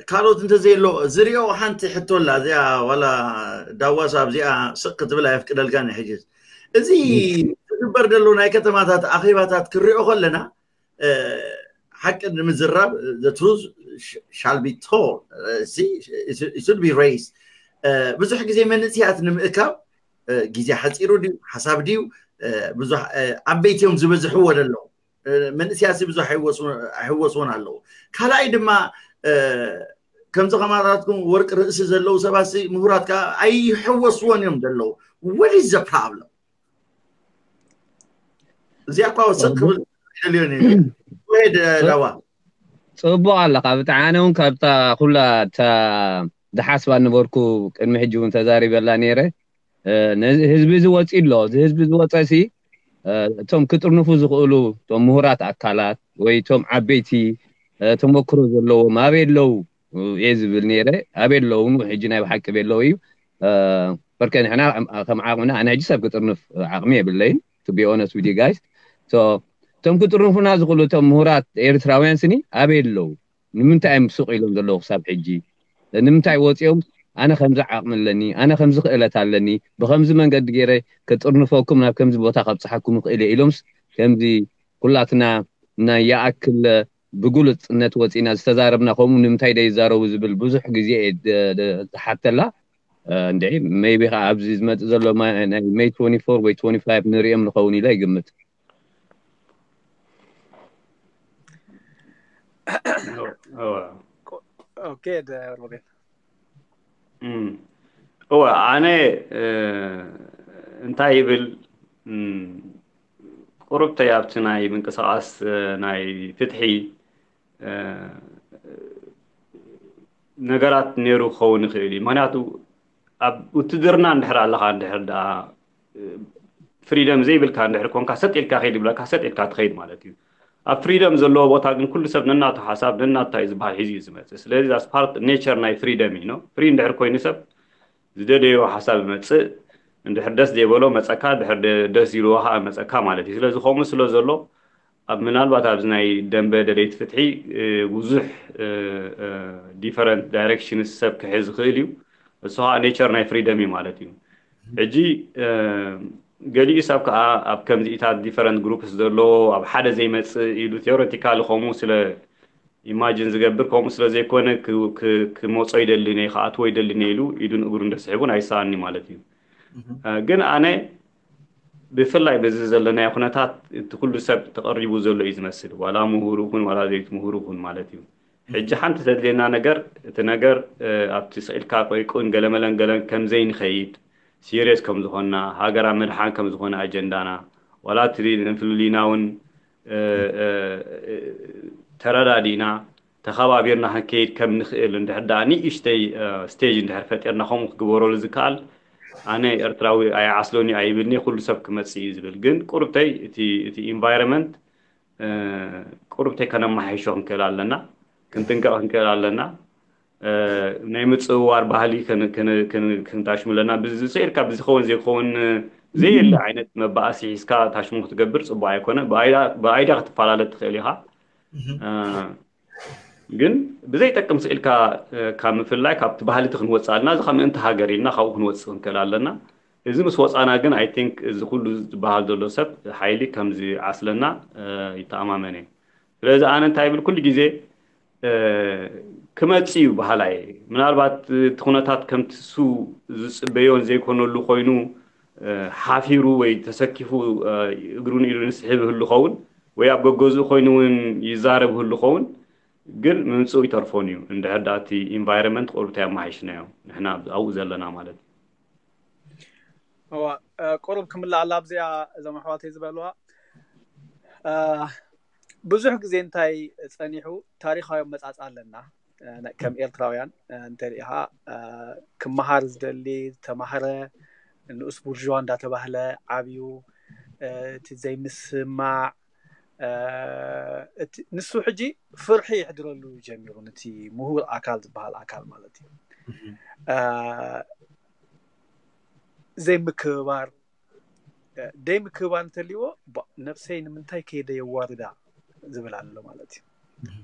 ካልኦት እንተዘየሎ ዝሪኦ ሓንቲ ሕቶ ኣላ እዚኣ ዋላ ዳዋስ ኣብዚኣ ስቅ ክትብል ኣየፍቅደልካን ሕጅስ እዚ ዝግበር ዘሎ ናይ ከተማታት ኣኼባታት ክሪኦ ከለና ሓቂ ንምዝራብ the truth shall be told should be raised ብዙሕ ግዜ መንእስያት ንምእካብ ግዜ ሓፂሩ ድዩ ሓሳብ ድዩ ብዙሕ ዓበይቲ እዮም ዝበዝሕዎ ዘለዉ መንእስያት ብዙሕ ኣይሕወስዎን ኣለዉ። ካልኣይ ድማ ከምዚ ከማታትኩም ወርቂ ርእሲ ዘለዉ ሰባት ምሁራት ከዓ ኣይሕወስዎን እዮም ዘለዉ። What is the problem? እዚኣ እኳ ወሰድ ክብል ደልዮን ሄድ ዳዋ ፅቡቅ ኣለካ ብጣዕሚ። ኣነ እውን ካብታ ኩላ እታ ዝሓስባ ነበርኩ ቅድሚ ሕጂ እውን ተዛሪበላ ነይረ። ህዝቢ ዝወፅ ኣሎ። እዚ ህዝቢ ዝወፀ ሲ እቶም ክጥርንፉ ዝኽእሉ እቶም ምሁራት ኣካላት ወይ እቶም ዓበይቲ ተመክሮ ዘለዎም ኣበይ ኣለዉ እየ ዝብል ነይረ። ኣበይ ኣለዉ ሕጂ ናይ ብሓቂ ኣበይ ኣለዉ እዩ። በርከ ንሕና ከም ዓቕምና ኣነ ሕጂ ሰብ ክጥርንፍ ዓቕሚ የብለይን to be honest with you guys። እቶም ክጥርንፉና ዝኽእሉ እቶም ምሁራት ኤርትራውያን ስኒ ኣበይ ኣለዉ? ንምንታይ እዮም ሱቕ ኢሎም ዘለዉ ክሳብ ሕጂ? ንምንታይ ወፂኦም ኣነ ከምዚ ዓቕሚ ኣለኒ፣ ኣነ ከምዚ ክእለት ኣለኒ፣ ብከምዚ መንገዲ ገይረ ከጥርንፈኩም ናብ ከምዚ ቦታ ከብፅሓኩም ይኽእል እየ ኢሎምስ ከምዚ ኩላትና ናይ ይኣክል ብግሉፅነት ወፂና ዝተዛረብና ከምኡ ንምንታይ ደይዛረቡ ዝብል ብዙሕ ግዜ እየ ዝሓተላ። እንድዒ maybe ከዓ ኣብዚ ዝመፅእ ዘሎ ናይ May twenty-four ወይ twenty-five ንሪኦም ንኸውን ኢለ ይግምት። እወ ኣነ እንታይ ይብል ቁሩብተይ ኣብቲ ናይ ምንቅስቃስ ናይ ፍትሒ ነገራት ነይሩ ክኸውን ይኽእል እዩ። ምክንያቱ ኣብ ውትድርና እንድሕር ኣለካ እንድሕር ደኣ ፍሪደም ዘይብልካ እንድሕር ኮንካ ሰጥ ኢልካ ከይድ ብለካ ሰጥ ኢልካ ትኸይድ ማለት እዩ። ኣብ ፍሪደም ዘለዎ ቦታ ግን ኩሉ ሰብ ነናቱ ሓሳብ ነናቱ እንታይ ዝበሃል ሒዙ እዩ ዝመፅእ። ስለዚ that's part nature ናይ ፍሪደም እዩ። ፍሪ እንድሕር ኮይኑ ሰብ ዝደለዮ ሓሳብ ይመፅእ። እንድሕር ደስ ዘይበሎ መፀካ፣ እንድሕር ደስ ኢልዎ ከዓ መፀካ ማለት እዩ። ስለዚ ከምኡ ስለ ዘሎ ኣብ ምናልባት ኣብዚ ናይ ደንበ ደለይቲ ፍትሒ ብዙሕ different directions ሰብ ክሕዝ ይኽእል እዩ። እሱ ከዓ nature ናይ ፍሪደም እዩ ማለት እዩ። ሕጂ ገሊኡ ሰብ ከዓ ኣብ ከምዚኢታት different groups ዘለዎ ኣብ ሓደ ዘይመፅእ ኢሉ theoretically ከምኡ ስለ imagine ዝገብር ከምኡ ስለ ዘይኮነ ክመፆ ይደልን እየ ክኣትዎ ይደልን እየ ኢሉ ኢዱን እግሩን ደስሒቡን ኣይሰኣኒ ማለት እዩ። ግን ኣነ ብፍላይ በዚ ዘለናዮ ኩነታት እቲ ኩሉ ሰብ ተቐሪቡ ዘሎ እዩ ዝመስል፣ ዋላ ምሁር ይኹን ዋላ ዘይት ምሁር ይኹን ማለት እዩ። ሕጂ ሓንቲ ዘድልየና ነገር እቲ ነገር ኣብቲ ስቕ ኢልካ ቆይቁን ገለመለን ገለን ከምዘይንኸይድ serious ከም ዝኾንና ሃገር ኣብ ምድሓን ከም ዝኾነ ኣጀንዳና ዋላ እቲ ንፍልልይና እውን ተረዳዲእና ተኸባቢርና ክንከይድ ከም ንኽእል እንድሕር ደኣ ንእሽተይ stage እንድሕር ፈጢርና ከምኡ ክግበረሉ ዝከኣል ኣነ ኤርትራዊ ኣይዓስሎን እዩ ኣይብልኒ ኩሉ ሰብ ክመፅእ እዩ ዝብል ግን ቁርብተይ እቲ environment ቁርብተይ ከነመሓይሾ ክንክእል ኣለና ክንጥንቀቕ ክንክእል ኣለና ናይ ምፅውዋር ባህሊ ክንታሽሙ ኣለና ብዝስዒርካ ብዝኸውን ዘይኸውን ዘየለ ዓይነት መባእሲ ሒዝካ ታሽሙ ክትገብር ፅቡቅ ኣይኮነ ብኣይዳ ክትፈላለ ትኽእል ኢኻ ግን ብዘይጠቅም ስኢልካ ካብ ምፍላይ ካብቲ ባህሊ እቲ ክንወፅእ ኣለና እዚ ካብ ምእንቲ ሃገር ኢልና ካብኡ ክንወፅእ ክንክእል ኣለና እዚ ምስ ወፃና ግን I think እዚ ኩሉ ዝበሃል ዘሎ ሰብ ሓይሊ ከም ዝዓስለና ይተኣማመን እየ ስለዚ ኣነ እንታይ ይብል ኩሉ ግዜ ክመፅእ እዩ በሃላይ ምናልባት እቲ ኩነታት ከምቲ እሱ ዝፅበዮን ዘይኮነሉ ኮይኑ ሓፊሩ ወይ ተሰኪፉ እግሩን ኢዱን ይስሕብ ይህሉ ኸውን ወይ ኣብ ገገዝኡ ኮይኑ እውን ይዛረብ ይህሉ ኸውን ግን ምምፅኡ ይተርፎን እዩ እንድሕር ደኣ እቲ environment ቁሩብ እንታይ ኣመሓይሽናዮ ንሕና ኣብኡ ዘለና ማለት እዩ እዋ ቁሩብ ክምልኣላ ኣብዚኣ እዞም ኣሕዋተይ ዝበልዋ ብዙሕ ግዜ እንታይ ፀኒሑ ታሪካዊ ኣመፃፅኣ ኣለና ከም ኤርትራውያን እንተሪኢኻ ክመሃር ዝደሊ ዝተማህረ ንኡስ ቡርዥዋ እንዳተባህለ ዓብዩ እቲ ዘይምስማዕ ንሱ ሕጂ ፍርሒ ይሕድረሉ ጀሚሩ ነቲ ምሁር ኣካል ዝበሃል ኣካል ማለት እዩ ዘይምክብባር ደይ ምክብባር እንተልዎ ነብሰይ ንምንታይ ከይደ የዋርዳ ዝብል ኣሎ ማለት እዩ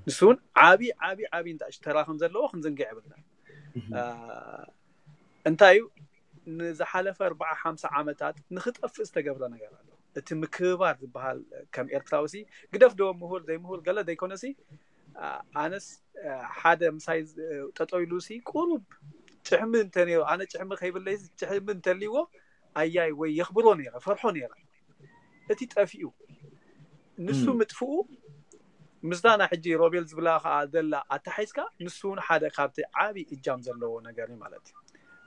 ንሱ እውን ዓብይ ዓብይ ዓብይ እንታሽ ተራ ከም ዘለዎ ክንዝንግዕ የብልና እንታይ እዩ ንዝሓለፈ ኣርባዓ ሓምሳ ዓመታት ንክጠፍእ ዝተገብረ ነገር ኣሎ እቲ ምክብባር ዝበሃል ከም ኤርትራዊ ሲ ግደፍ ዶ ምሁር ዘይምሁር ገለ ዘይኮነሲ ኣነስ ሓደ ምሳይ ጠጠው ኢሉ ሲ ቁሩብ ጭሕሚ እንተነይሩ ኣነ ጭሕሚ ከይብለይ ጭሕሚ እንተልዎ ኣያይ ወይ የኽብሮ ነይረ ፈርሖ ነይረ እቲ ጠፊኡ ንሱ ምጥፍኡ ምስታ ናይ ሕጂ ሮቤል ዝብላ ከዓ ዘላ ኣተሓይዝካ፣ ንሱ እውን ሓደ ካብቲ ዓብዪ እጃም ዘለዎ ነገር እዩ ማለት እዩ።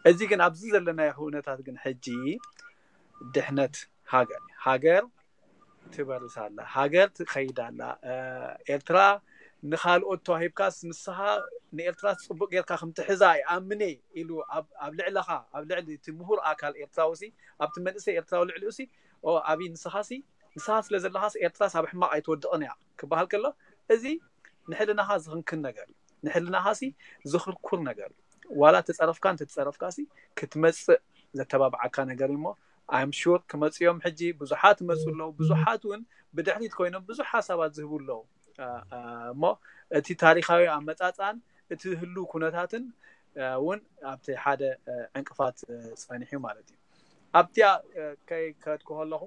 እዚ ግን ኣብዚ ዘለናዮ ኩነታት ግን ሕጂ ድሕነት ሃገር እዩ። ሃገር ትበርስ ኣላ፣ ሃገር ትኸይድ ኣላ። ኤርትራ ንኻልኦት ተዋሂብካስ ንስኻ ንኤርትራ ጽቡቅ ጌርካ ከም ትሕዛ ይኣምን እየ ኢሉ ኣብ ልዕለኻ፣ ኣብ ልዕሊ እቲ ምሁር ኣካል ኤርትራዊ ሲ፣ ኣብቲ መንእሰይ ኤርትራዊ ልዕሊኡ ሲ፣ ኦ ኣብይ ንስኻ ሲ ንስኻ ስለ ዘለኻስ ኤርትራስ ኣብ ሕማቕ ኣይትወድቕን እያ ክበሃል ከሎ፣ እዚ ንሕልናኻ ዝኽንክን ነገር እዩ። ንሕልናኻ ሲ ዝኽርኩር ነገር እዩ። ዋላ ተጸረፍካ እንተተጸረፍካ ሲ ክትመጽእ ዘተባብዓካ ነገር እዩ እሞ፣ I'm sure ክመጽኡ እዮም። ሕጂ ብዙሓት ይመጹ ኣለዉ፣ ብዙሓት እውን ብድሕሪት ኮይኖም ብዙሕ ሓሳባት ዝህቡ ኣለዉ። እሞ እቲ ታሪኻዊ ኣመጻጽኣን እቲ ህሉ ኩነታትን እውን ኣብቲ ሓደ ዕንቅፋት ጸኒሑ ማለት እዩ። ኣብቲኣ ከይከድኩ ከለኹ፣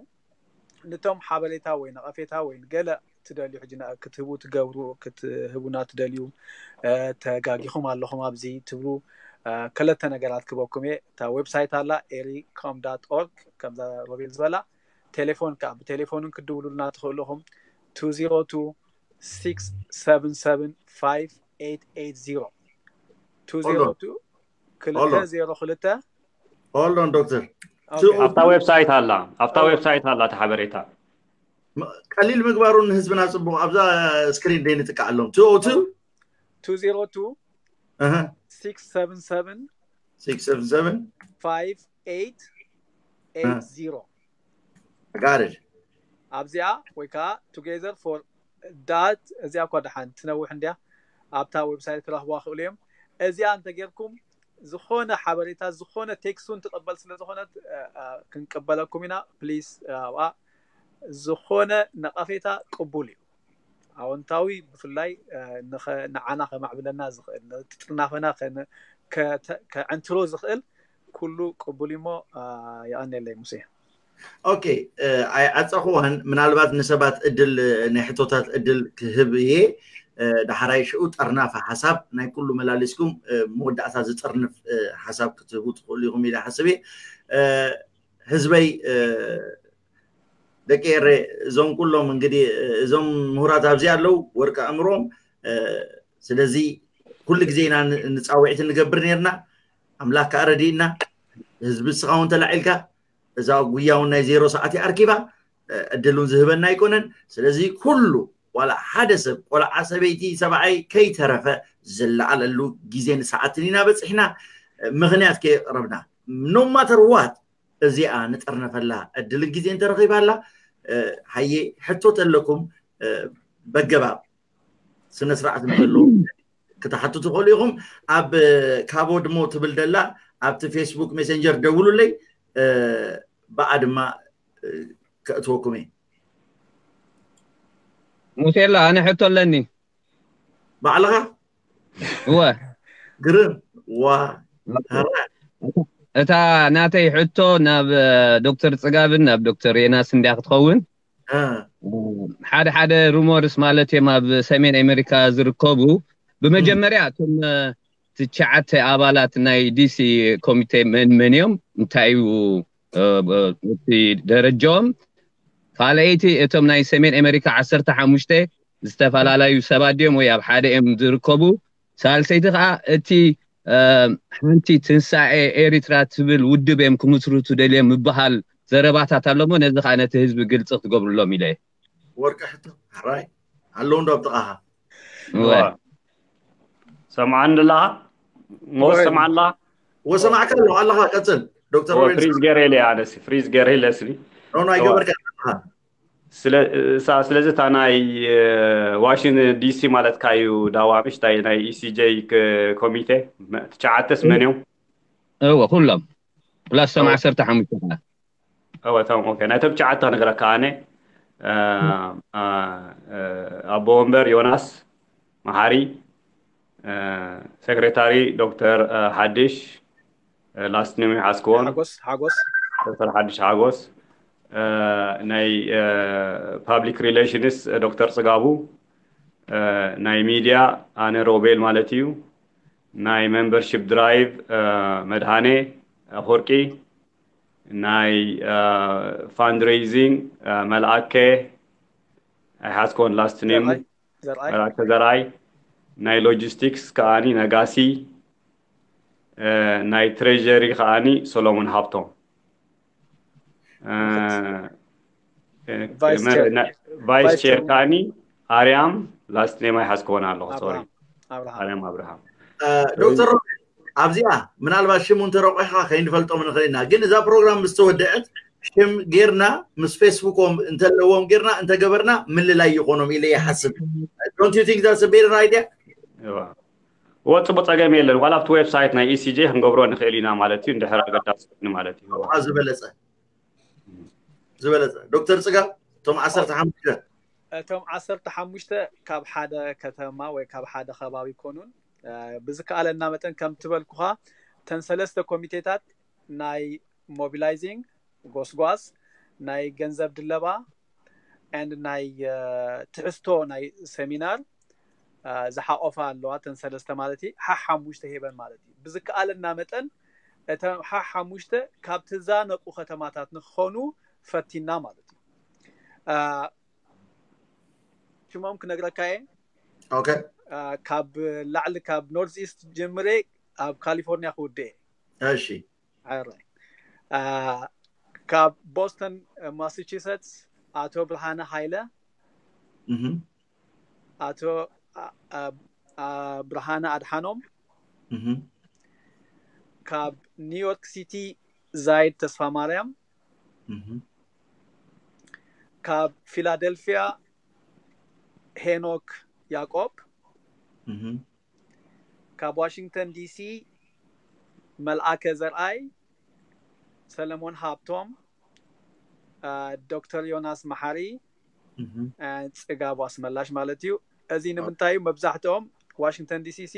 ነቶም ሓበሬታ ወይ ነቐፌታ ወይ ገለ ትደልዩ፣ ሕጂ ክትህቡ ትገብሩ ክትህቡና ትደልዩ፣ ተጋጊኹም ኣለኹም ኣብዚ ትብሉ፣ ክልተ ነገራት ክበኩም እየ። እታ ዌብሳይት ኣላ፣ ኤሪኮም ዳት ኦርግ፣ ከምዛ ሮቤል ዝበላ። ቴሌፎን ከዓ ብቴሌፎንን ክትድውሉልና ትኽእሉ ኢኹም። two zero two six seven seven five eight eight zero። two zero two ክልተ ዜሮ ክልተ። ሆልዶን ዶክተር፣ ኣብታ ዌብሳይት ኣላ፣ ኣብታ ዌብሳይት ኣላ እቲ ሓበሬታ። ቀሊል ምግባሩ ንህዝብና ጽቡቕ። ኣብዛ ስክሪን ደይ ንጥቃዓሎም። two oh two two zero two six seven seven six seven seven five eight eight zero። ጋርድ ኣብዚኣ ወይ ከዓ together for that፣ እዚኣ እኳ ደሓን ትነውሕ እንድያ፣ ኣብታ ዌብሳይት ክረኽብዋ ክእሉ እዮም። እዚኣ እንተጌርኩም ዝኾነ ሓበሬታ፣ ዝኾነ ቴክስት እውን ትቕበል ስለ ዝኾነት ክንቅበለኩም ኢና። ፕሊስ ኣብኣ ዝኾነ ነቐፌታ ቅቡል እዩ። ኣወንታዊ ብፍላይ ንዓና ከማዕብለና ዝኽእል፣ ነቲ ጥርናፈና ከዕንትሮ ዝኽእል ኩሉ ቅቡል እሞ የቐንየለይ ሙሴ። ኦኬ፣ ኣይዓፀኹዋን። ምናልባት ንሰባት እድል፣ ናይ ሕቶታት እድል ክህብ እየ። ዳሕራይ ሽኡ ጠርናፈ ሓሳብ ናይ ኩሉ መላሊስኩም መወዳእታ ዝጥርንፍ ሓሳብ ክትህቡ ትኽእሉ ኢኹም ኢለ ሓስብ እየ። ህዝበይ፣ ደቂ ኤረ፣ እዞም ኩሎም እንግዲህ እዞም ምሁራት ኣብዚ ኣለዉ፣ ወርቂ ኣእምሮም። ስለዚ ኩሉ ግዜ ኢና ንፃውዒት ንገብር ነርና። ኣምላክ ከዓ ረዲእና። ህዝቢ ንስኻ እውን ተላዒልካ፣ እዛ ጉያ እውን ናይ ዜሮ ሰዓት ኣርኪባ፣ ዕድል እውን ዝህበና ኣይኮነን። ስለዚ ኩሉ ዋላ ሓደ ሰብ፣ ቆልዓ፣ ሰበይቲ፣ ሰብኣይ ከይተረፈ ዝለዓለሉ ግዜን ሰዓትን ኢና በፂሕና። ምኽንያት ከየቕረብና፣ no matter what፣ እዚኣ ንጠርነፈላ ዕድልን ግዜ እንተረኺባላ፣ ሃየ ሕቶ ተለኩም፣ በገባብ ስነ ስርዓት እንተሎ ክትሓቱ ትኽእሉ ኢኹም። ኣብ ካቦድሞ ትብል ደላ ኣብቲ ፌስቡክ ሜሴንጀር ደውሉለይ፣ ብኣ ድማ ከእትወኩም እየ። ሙሴላ፣ ኣነ ሕቶ ኣለኒ። ባዕልኻ? እወ። ግርም። ዋ። እታ ናተይ ሕቶ ናብ ዶክተር ጽጋብን ናብ ዶክተር ዮናስ እንድያ ክትኸውን። ሓደ ሓደ ሩሞርስ ማለት እዮም ኣብ ሰሜን ኣሜሪካ ዝርከቡ። ብመጀመርያ እቶም ትሽዓተ ኣባላት ናይ ዲሲ ኮሚቴ መን መን እዮም? እንታይ እዩ እቲ ደረጃኦም? ካልኣይቲ እቶም ናይ ሰሜን ኣሜሪካ ዓሰርተ ሓሙሽተ ዝተፈላለዩ ሰባት ድዮም ወይ ኣብ ሓደ እዮም ዝርከቡ? ሳልሰይቲ ከዓ እቲ ሓንቲ ትንሳኤ ኤሪትራ ትብል ውድብ እዮም ክምስርቱ ደልዮም ምበሃል ዘረባታት ኣሎ እሞ ነዚ ከዓ ነቲ ህዝቢ ግልፂ ክትገብርሎም ኢለ እየ። ወርቂ ሕቶ ሕራይ ኣለዉ እንዶ ኣብ ጥቓኻ? ሰምዓኒ ኣለኻ? ሞስ ሰምዓ ኣለኻ? ወሰማዕካ ኣለኹ ኣለኻ። ቀፅል ዶክተር ሮቤል። ፍሪዝ ገይረ ኢለ ኣነሲ ፍሪዝ ገይረ ኢለስኒ ኖ ኣይገበርካ ኣለኻ። ስለዚ እታ ናይ ዋሽንግተን ዲሲ ማለትካ እዩ ዳዋ ምሽታይ ናይ ኢሲጀይ ኮሚቴ ትሽዓተስ መን እዮም? እወ ኩሎም ፕላስ ቶም ዓሰርተ ሓሙሽተ ከኣ እወ ቶም ኦኬ ናይቶም ትሽዓተ ክነግረካ ኣነ ኣቦ ወንበር ዮናስ መሓሪ፣ ሴክሬታሪ ዶክተር ሓድሽ፣ ላስት ኔም ይሓዝክዎን ሓጎስ ሓጎስ ዶክተር ሓድሽ ሓጎስ፣ ናይ ፓብሊክ ሪሌሽንስ ዶክተር ጽጋቡ፣ ናይ ሚድያ ኣነ ሮቤል ማለት እዩ፣ ናይ ሜምበርሺፕ ድራይቭ መድሃኔ ኣፈወርቂ፣ ናይ ፋንድሬይዚንግ መልኣከ፣ ኣይሓዝኮን last name ዘርኣይ ዘርኣይ መላከ ዘርኣይ፣ ናይ logistics ከዓኒ ነጋሲ፣ እ፣ ናይ treasury ከዓኒ ሰሎሞን ሃብቶም። እ፣ እ፣ Vice መ- chair- ና- vice vice chair chair- ከዓኒ ኣርያም፣ last name ኣይሓዝኮን ኣለኹ፣ sorry፣ ኣብርሃም ኣብርሃም ኣርያም ኣብርሃም። ዶክተር ሮቤል ኣብዚኣ ምናልባት ሽሙ እንተረቑሕካ ከይንፈልጦም ንኽእል ኢና፣ ግን እዛ ፕሮግራም ምስ ተወደአት ሽም ጌርና ምስ ፌስቡኮም እንተለዎም ጌርና እንተገበርና ምልላይ ይኾኖም ኢለ ይሓስብ። Don't you think that's a better idea? እዋ። እወ፣ ጽቡቅ፣ ጸገም የለን። ዋላ ኣብቲ ዌብሳይት ናይ E C J ክንገብሮ ንኽእል ኢና ማለት እዩ፣ እንድሕር ኣገዳሲ ኮይኑ ማለት እዩ። እዋ። እዋ ዝበለጸ ዝበለጸ። ዶክተር ጽጋብ፣ እቶም ዓሰርተ ሓሙሽተ እቶም ዓሰርተ ሓሙሽተ ካብ ሓደ ከተማ ወይ ካብ ሓደ ከባቢ ይኮኑን። እ፣ ብዝከኣለና መጠን ከም ትበልኩኻ እተን ሰለስተ ኮሚቴታት ናይ ሞቢላይዚንግ፣ ጎስጓስ፣ ናይ ገንዘብ ድለባ and ናይ እ፣ ትሕዝቶ ናይ ሰሚናር እ፣ ዝሓቆፋ ኣለዋ። እተን ሰለስተ ማለት እዩ፣ ሓ ሓሙሽተ ሄበን ማለት እዩ። ብዝከኣለና መጠን እተን ሓ ሓሙሽተ ካብ ትዛነቁ ከተማታት ንክኾኑ ፈቲና ማለት እዩ። እ፣ ሽሞም ክነግረካ እየ። ኦኬ። እ፣ ካብ ላዕሊ ካብ ኖርዝ ኢስት ጀምሬ ኣብ ካሊፎርኒያ ክውድእ እየ። እሺ። ሕራይ። እ፣ ካብ ቦስተን፣ እ፣ ማሳቹሴትስ ኣቶ ብርሃነ ሃይለ፣ እህ ኣቶ ኣ- ኣ- ኣ- ብርሃነ ኣድሓኖም፣ እህ ካብ ኒውዮርክ ሲቲ ዛይድ ተስፋ ማርያም፣ እህ ካብ ፊላደልፊያ ሄኖክ ያቆብ፣ እህ ካብ ዋሽንግተን ዲሲ መልኣከ ዘርኣይ፣ ሰለሞን ሃብቶም፣ እ፣ ዶክተር ዮናስ መሓሪ፣ እህ እ፣ ጽጋብ ኣስመላሽ ማለት እዩ። እዚ ንምንታይ እዩ? መብዛሕትኦም ዋሽንግተን ዲሲ ሲ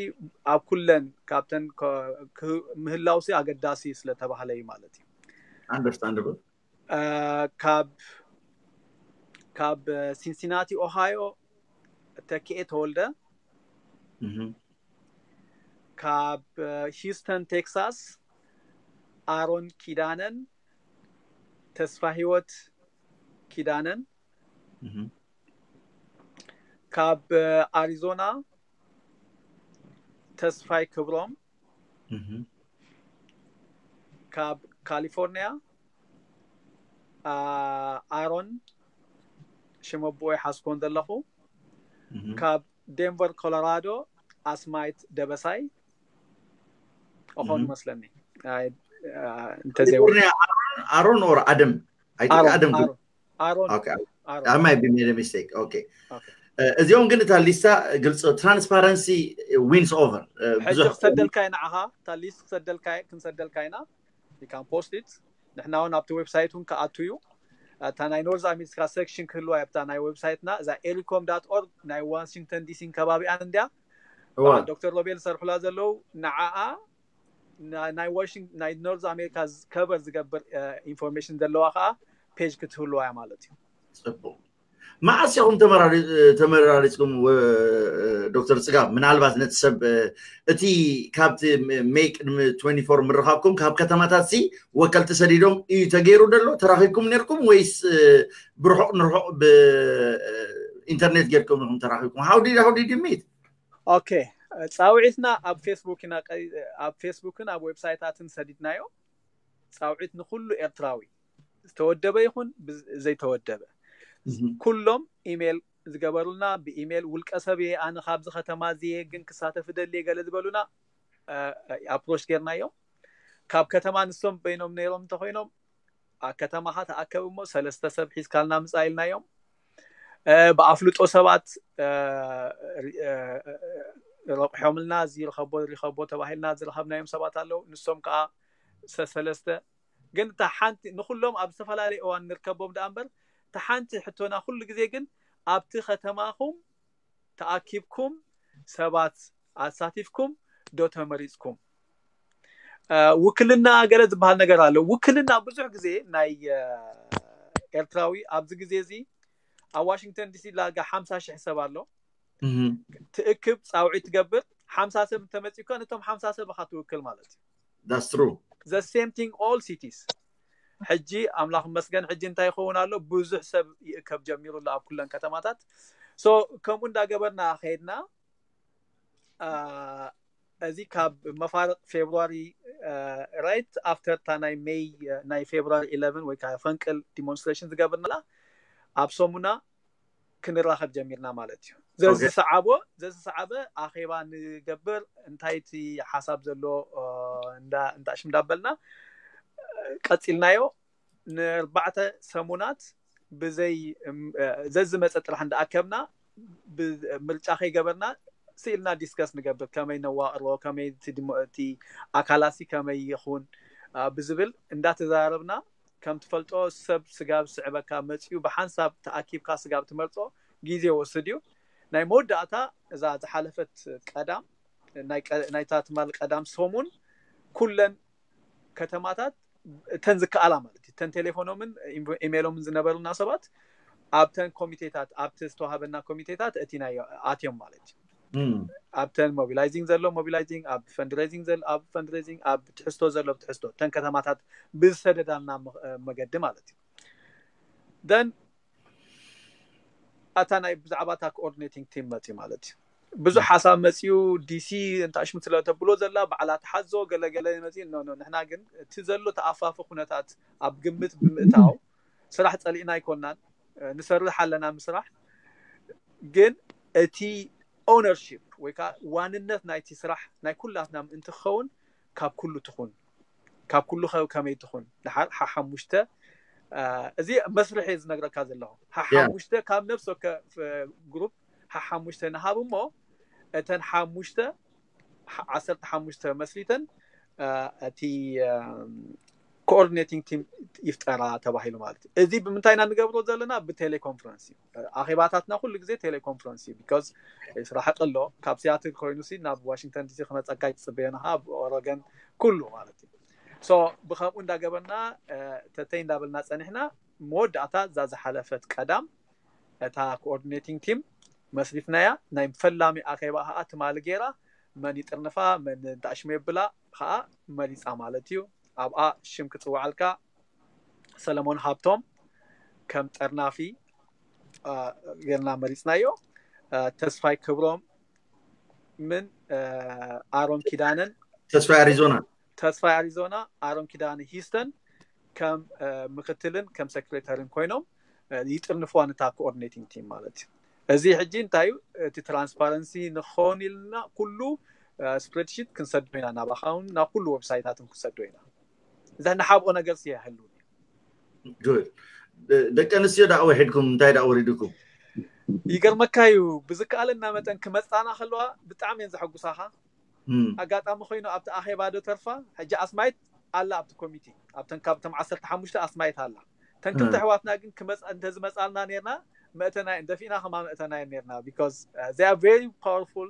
ኣብ ኩለን ካብተን ከ- ክህ- ምህላው ሲ ኣገዳሲ ስለተባህለ እዩ ማለት እዩ። Understandable። እ፣ ካብ ካብ ሲንሲናቲ ኦሃዮ ተኪኤ ተወልደ፣ እህ ካብ ሂውስተን ቴክሳስ ኣሮን ኪዳነን፣ ተስፋ ህይወት ኪዳነን፣ እህ ካብ ኣሪዞና ተስፋይ ክብሮም፣ እህ ካብ ካሊፎርኒያ ኣ- ኣሮን ሽመቦ ይሓስኮን ዘለኹ፣ እህ ካብ ዴንቨር ኮሎራዶ ኣስማይት ደበሳይ እኾን እህ ይመስለኒ። ኣይ፣ ኣ፣ እንተዘይወ ካሊፎርኒያ ኣሮን or ኣደም? I think ኣሮን ኣደም ግን ኣሮን ኣሮን Okay. ኣሮን I might be made a mistake. Okay. Okay. እ፣ እዚኦም ግን እታ ሊስታ ግልፂ፣ transparency wins over። እ፣ ሕጂ ብዙሕ ክሰደልካ ኢና ንዓኻ፣ እታ ሊስት ክሰደልካ ክንሰደልካ ኢና። You can post it። ንሕና እውን ኣብቲ ዌብሳይት እውን ክኣቱ እዩ። እታ ናይ ኖርዝ ኣሜሪካ ሴክሽን ክህልዋ እያ፣ ኣብታ ናይ ዌብሳይትና እዛ ኤሪኮም ዳት ኦርግ ናይ ዋሽንግተን ዲሲን ከባቢኣን እንድያ። እዋ። በዓል ዶክተር ሮቤል ዝሰርሑላ ዘለዉ ንዓኣ ና- ናይ ዋሽንግ ናይ ኖርዝ ኣሜሪካ ከቨር ዝገብር ኢንፎርሜሽን ዘለዋ ከዓ ፔጅ ክትህልዋ እያ ማለት እዩ። ፅቡቅ። መዓስ ኢኹም ተመራሪ- ተመራሪፅኩም ወ- ዶክተር ፅጋብ? ምናልባት ነቲ ሰብ እ፣ እቲ ካብቲ ሜይ ቅድሚ ትወንቲ ፎር ምርኻብኩም ካብ ከተማታት ሲ ወከልቲ ሰዲዶም እዩ ተገይሩ ዘሎ? ተራኺብኩም ነርኩም ወይስ እ፣ ብርሑቕ ንርሑቕ ብኢንተርኔት ጌርኩም ኢኹም ተራኺብኩም? How did, how did you meet? ኦኬ፣ ፃውዒትና ኣብ ፌስቡክ ኢና ቀ- ኣብ ፌስቡክን ኣብ ዌብሳይታትን ሰዲድናዮ። ፃውዒት ንኩሉ ኤርትራዊ ዝተወደበ ይኹን ብዝ- ዘይተወደበ እህ ኩሎም ኢሜይል ዝገበሩልና፣ ብኢሜይል ውልቀ ሰብ እየ ኣነ ካብዚ ከተማ እዚ እየ ግን ክሳተፍ እደሊ እየ ገለ ዝበሉና ኣፕሮች ጌርናዮም። ካብ ከተማ ንሶም በይኖም ነይሮም እንተኮይኖም ኣብ ከተማኻ ተኣከብ እሞ ሰለስተ ሰብ ሒዝካልና ምፃእ ኢልናዮም። እ፣ ብኣፍልጦ ሰባት እ፣ ሪ- እ፣ ረቑሖምልና እዚ ርኸቦ ሪኸቦ ተባሂልና ዝረኸብናዮም ሰባት ኣለዉ። ንሶም ከዓ ሰ- ሰለስተ ግን እታ ሓንቲ ንኩሎም ኣብ ዝተፈላለየ እዋን ንርከቦም ደኣ እምበር እታ ሓንቲ ሕቶና ኩሉ ግዜ ግን ኣብቲ ከተማኹም ተኣኪብኩም ሰባት ኣሳቲፍኩም ዶ ተመሪፅኩም? እ፣ ውክልና ገለ ዝበሃል ነገር ኣሎ። ውክልና ብዙሕ ግዜ ናይ እ፣ ኤርትራዊ ኣብዚ ግዜ እዚ ኣብ ዋሽንግተን ዲሲ ላጋ ሓምሳ ሽሕ ሰብ ኣሎ። እህ ትእክብ ፃውዒት ትገብር ሓምሳ ሰብ እንተመፂእካ ነቶም ሓምሳ ሰብ ኢኻ ትውክል ማለት እዩ። That's true። The same thing all cities። ሕጂ ኣምላኽ መስገን ሕጂ እንታይ ይኸውን ኣሎ? ብዙሕ ሰብ ይእከብ ጀሚሩ ኣሎ ኣብ ኩለን ከተማታት። So ከምኡ እንዳገበርና ከይድና እዚ ካብ መፋርቕ ፌብሩዋሪ right after እታ ናይ ሜይ ናይ ፌብሩዋሪ eleven ወይ ከዓ ፈንቅል ዲሞንስትሬሽን ዝገብርና ኣብ ሰሙና ክንራኸብ ጀሚርና ማለት እዩ። ዘዝሰዓቦ ዘዝሰዓበ ኣኼባ ንገብር እንታይ እቲ ሓሳብ ዘሎ እንዳ ሽም እንዳበልና ቀፂልናዮ። ንኣርባዕተ ሰሙናት ብዘይ ዘዝመፀ ጥራሕ እንዳኣከብና ምርጫ ከይገበርና ስኢልና ዲስከስ ንገብር፣ ከመይ ነዋቅሮ፣ ከመይ እቲ ኣካላሲ ከመይ ይኹን ብዝብል እንዳተዛረብና ከም ትፈልጦ ሰብ ስጋብ ስዕበካ መፅኡ ብሓንሳብ ተኣኪብካ ስጋብ ትመርፆ ግዜ ወስድ እዩ። ናይ መወዳእታ እዛ ዝሓለፈት ቀዳም ናይታ ትማል ቀዳም ሰሙን ኩለን ከተማታት እተን ዝከኣላ ማለት እዩ እተን ቴሌፎኖምን ኢሜሎምን ዝነበሩና ሰባት ኣብተን ኮሚቴታት ኣብቲ ዝተዋሃበና ኮሚቴታት እቲ ናይ ኣትዮም ማለት እዩ። ኣብተን ሞቢላይዚንግ ዘሎ ሞቢላይዚንግ ኣብ ፈንድሬዚንግ ዘሎ ኣብ ፈንድሬዚንግ ኣብ ትሕዝቶ ዘሎ ትሕዝቶ እተን ከተማታት ብዝሰደዳልና መገዲ ማለት እዩ። Then ኣታ ናይ ብዛዕባ እታ ኮኦርዲኔቲንግ ቲም መፅዩ ማለት እዩ። ብዙሕ ሓሳብ መፅዩ ዲሲ እንታሽሙ ስለ ተብሎ ዘላ በዓላ ተሓዞ ገለገለ መፅዩ ኖ ኖ ንሕና ግን እቲ ዘሎ ተኣፋፊ ኩነታት ኣብ ግምት ብምእታው ስራሕ ፀሊእና ኣይኮናን፣ ንሰርሕ ኣለና ምስራሕ ግን እቲ ኦነርሺፕ ወይ ከዓ ዋንነት ናይቲ ስራሕ ናይ ኩላትና ምእንቲ ክኸውን ካብ ኩሉ ትኹን ካብ ኩሉ ከመይ ትኹን ድሓር ሓሓሙሽተ እዚ መስርሕ እየ ዝነግረካ ዘለኹ። ሓሓሙሽተ ካብ ነፍሲ ወከፍ ግሩፕ ሓሓሙሽተ ንሃብ እሞ እተን ሓሙሽተ ዓሰርተ ሓሙሽተ መስሪተን እቲ ኮኦርዲኔቲንግ ቲም ይፍጠራ ተባሂሉ ማለት እዩ። እዚ ብምንታይ ኢና ንገብሮ ዘለና? ብቴሌኮንፈረንስ እዩ። ኣኼባታትና ኩሉ ግዜ ቴሌኮንፈረንስ እዩ። ቢካዝ ስራሕ ኣሎ ካብ ሲያትል ኮይኑ ሲ ናብ ዋሽንግተን ዲሲ ክመፀካ ይፅበየና ኣብ ኦረገን ኩሉ ማለት እዩ። So ብከምኡ እንዳገበርና ተተይ እንዳበልና ፀኒሕና መወዳእታ እዛ ዝሓለፈት ቀዳም እታ ኮኦርዲኔቲንግ ቲም መስሪትናያ ናይ ፈላሚ ኣኼባ ከዓ ትማሊ ገይራ መን ይጥርንፋ መን እንዳሽሙ የብላ ከዓ መሪፃ ማለት እዩ። ኣብኣ ሽም ክፅዋዓልካ ሰለሞን ሃብቶም ከም ጠርናፊ ጌርና መሪፅናዮ። ተስፋይ ክብሮም ምን ኣሮን ኪዳነን ተስፋይ ኣሪዞና ተስፋይ ኣሪዞና ኣሮን ኪዳነ ሂስተን ከም ምክትልን ከም ሴክሬታሪን ኮይኖም ይጥርንፍዋ ነታ ኮኦርዲኔቲንግ ቲም ማለት እዩ። እዚ ሕጂ እንታይ እዩ እቲ ትራንስፓረንሲ ንክኸውን ኢልና ኩሉ ስፕሬድሺት ክንሰዶ ኢና ናባኻውን ናብ ኩሉ ዌብሳይታትን ክንሰዶ ኢና። እዛ ንሓብኦ ነገር ስየህሉ ደቂ ኣንስትዮ ዳኣ ወሒድኩም እንታይ ዳኣ ወሪድኩም? ይገርመካ እዩ ብዝከኣለና መጠን ክመፃና ከለዋ ብጣዕሚ እየን ዘሐጉሳኻ። ኣጋጣሚ ኮይኑ ኣብቲ ኣኼባ ዶ ተርፋ ሕጂ ኣስማይት ኣላ ኣብቲ ኮሚቴ ኣብተን ካብቶም ዓሰርተ ሓሙሽተ ኣስማይት ኣላ። ተን ክልተ ኣሕዋትና ግን ክመፃ እንተዝመፃልና ነርና መእተና እየን ደፊእና ከማ መእተና እየን ነርና because they are very powerful።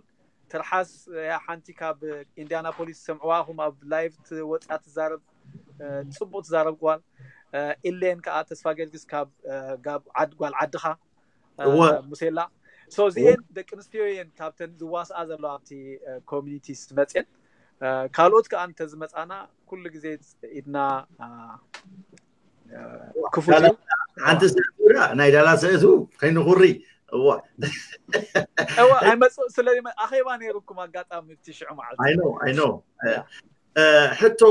ትርሓስ እያ ሓንቲ ካብ ኢንዲያናፖሊስ ሰምዕዋ ኹም ኣብ ላይቭ ወፅያ ትዛረብ ፅቡቅ ትዛረብ ጓል ኢሌን ከዓ ተስፋ ገርግስ ካብ ጓል ዓድኻ ሙሴላ እዚኤን ደቂ ኣንስትዮ እየን ካብተን ዝዋስኣ ዘለዋ ኣብቲ ኮሚኒቲ ዝመፅኤን ካልኦት ከዓ እንተዝመፃና ኩሉ ግዜ ኢድና ክፉት እዩ። ሓንቲ ሰእቱ ናይ ዳላ ሰእቱ ከይንኩሪ እዋ እዋ ኣይመፅእ ስለ ኣኼባ ነይሩኩም ኣጋጣሚ እቲ ሽዑ መዓልቲ ኣይኖ ኣይኖ ሕቶ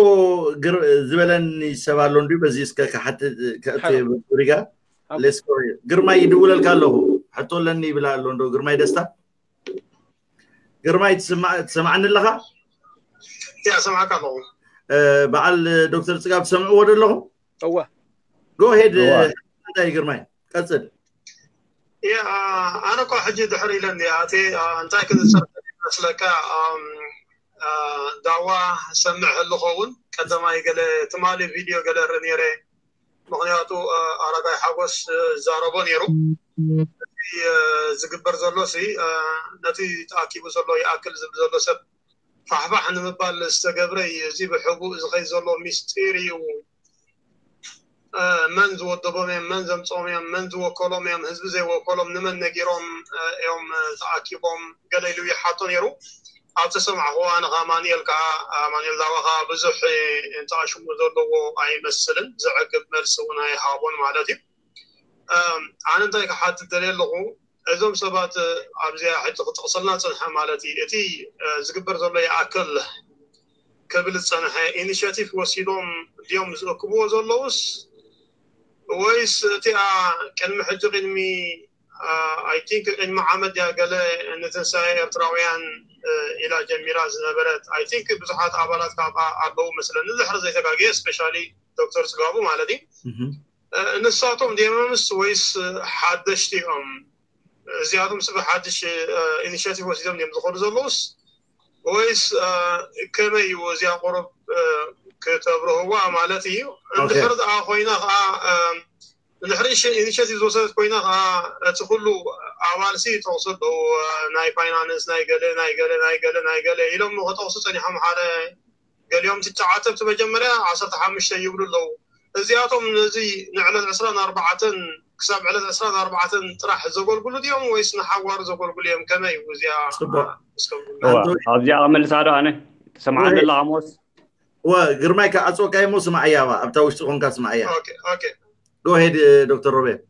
ዝበለኒ ሰብ ኣሎ እንዲ በዚ እስከ ክሓትት ሪጋ ግርማይ ይድውለልካ ኣለኹ ሕቶ ኣለኒ ይብላ ኣሎ እንዶ ግርማይ ደስታ ግርማይ ትሰማዕኒ ኣለኻ? ያ ሰማዕካ ኣለኹ። በዓል ዶክተር ፅጋብ ትሰምዕዎ ዶ ኣለኹም? እወ ጎሄድ እንታይ ግርማይ ቀፅል። ኣነ እኳ ሕጂ ድሕር ኢለ እንዲ ኣቴ እንታይ ክንዝፀር መስለካ ዳዋ ሰምዕ ህልኸውን ቀደማይ ገለ ትማሊ ቪድዮ ገለ ርኢ ነይረ ምክንያቱ ኣረጋይ ሓጎስ ዛረቦ ነይሩ። ዝግበር ዘሎ ሲ ነቲ ተኣኪቡ ዘሎ ይኣክል ዝብል ዘሎ ሰብ ፋሕፋሕ ንምባል ዝተገብረ እዩ። እዚ ብሕቡእ ዝኸይ ዘሎ ሚስጢር እዩ። መን ዝወደቦም እዮም፣ መን ዘምፅኦም እዮም፣ መን ዝወከሎም እዮም፣ ህዝቢ ዘይወከሎም ንመን ነጊሮም እዮም ተኣኪቦም ገለ ኢሉ ይሓቶ ነይሩ። ኣብቲ ሰማዕኹ ኣነ ከኣ ኣማኑኤል ከኣ ኣማኑኤል ዳዋ ከኣ ብዙሕ እንተኣሽሙ ዘለዎ ኣይመስልን፣ ዘዕግብ መልሲ እውን ኣይሃቦን ማለት እዩ። ኣነ እንታይ ክሓትት ደልየ ኣለኹ፣ እዞም ሰባት ኣብዚኣ ሕጂ ክጠቕሰልና ዝጸንሐ ማለት እዩ፣ እቲ ዝግበር ዘሎ ይኣክል ክብል ዝጸንሐ ኢኒሽቲቭ ወሲዶም ድዮም ዝእክብዎ ዘለውስ፣ ወይስ እቲኣ ቅድሚ ሕጂ ቅድሚ ኣይ ቲንክ ቅድሚ ዓመት ድያ ገለ ንትንሳኤ ኤርትራውያን ኢላ ጀሚራ ዝነበረት ኣይ ቲንክ ብዙሓት ኣባላት ካብኣ ኣለዉ መስለኒ፣ ዝሕር ዘይተጋግየ ስፔሻሊ ዶክተር ጽጋቡ ማለት እዩ። ንሳቶም ድየምስ ወይስ ሓደሽቲ እዮም? እዚኣቶም ስብ ሓድሽ ኢኒሽቲቭ ወሲዶም ድዮም ዝኸዱ ዘለውስ ወይስ ከመይ እዩ? እዚኣ ቁሩብ ክተብርህዋ ማለት እዩ። እንድሕር ደኣ ኮይና ከዓ እንድሕር ኢኒሽቲቭ ዝወሰደት ኮይና ከዓ እቲ ኩሉ ኣባልሲ ይጠቕሱ ኣለዉ፣ ናይ ፋይናንስ ናይ ገለ ናይ ገለ ናይ ገለ ናይ ገለ ኢሎም ከጠቕሱ ጸኒሖም። ሓደ ገሊኦም ትሽዓተ እቲ መጀመርያ ዓሰርተ ሓሙሽተ ይብሉ ኣለዉ። እዚኣቶም ነዚ ንዕለት ዕስራን ኣርባዕተን ክሳብ ዕለት ዕስራን ኣርባዕተን ጥራሕ ዘገልግሉ ድዮም ወይስ ንሓዋሩ ዘገልግሉ እዮም? ከመይ እዩ እዚኣ? ጽቡቕ። እስከ ኣብዚኣ ክመልሳ ዶ ኣነ ትሰምዓኒ ኣለኻ ሞስ? ግርማይ ክዓፅወካ እሞ ስማዕያ ኣብታ ውሽጢ ኮንካ ስማዕያ። ጎሄድ ዶክተር ሮቤል።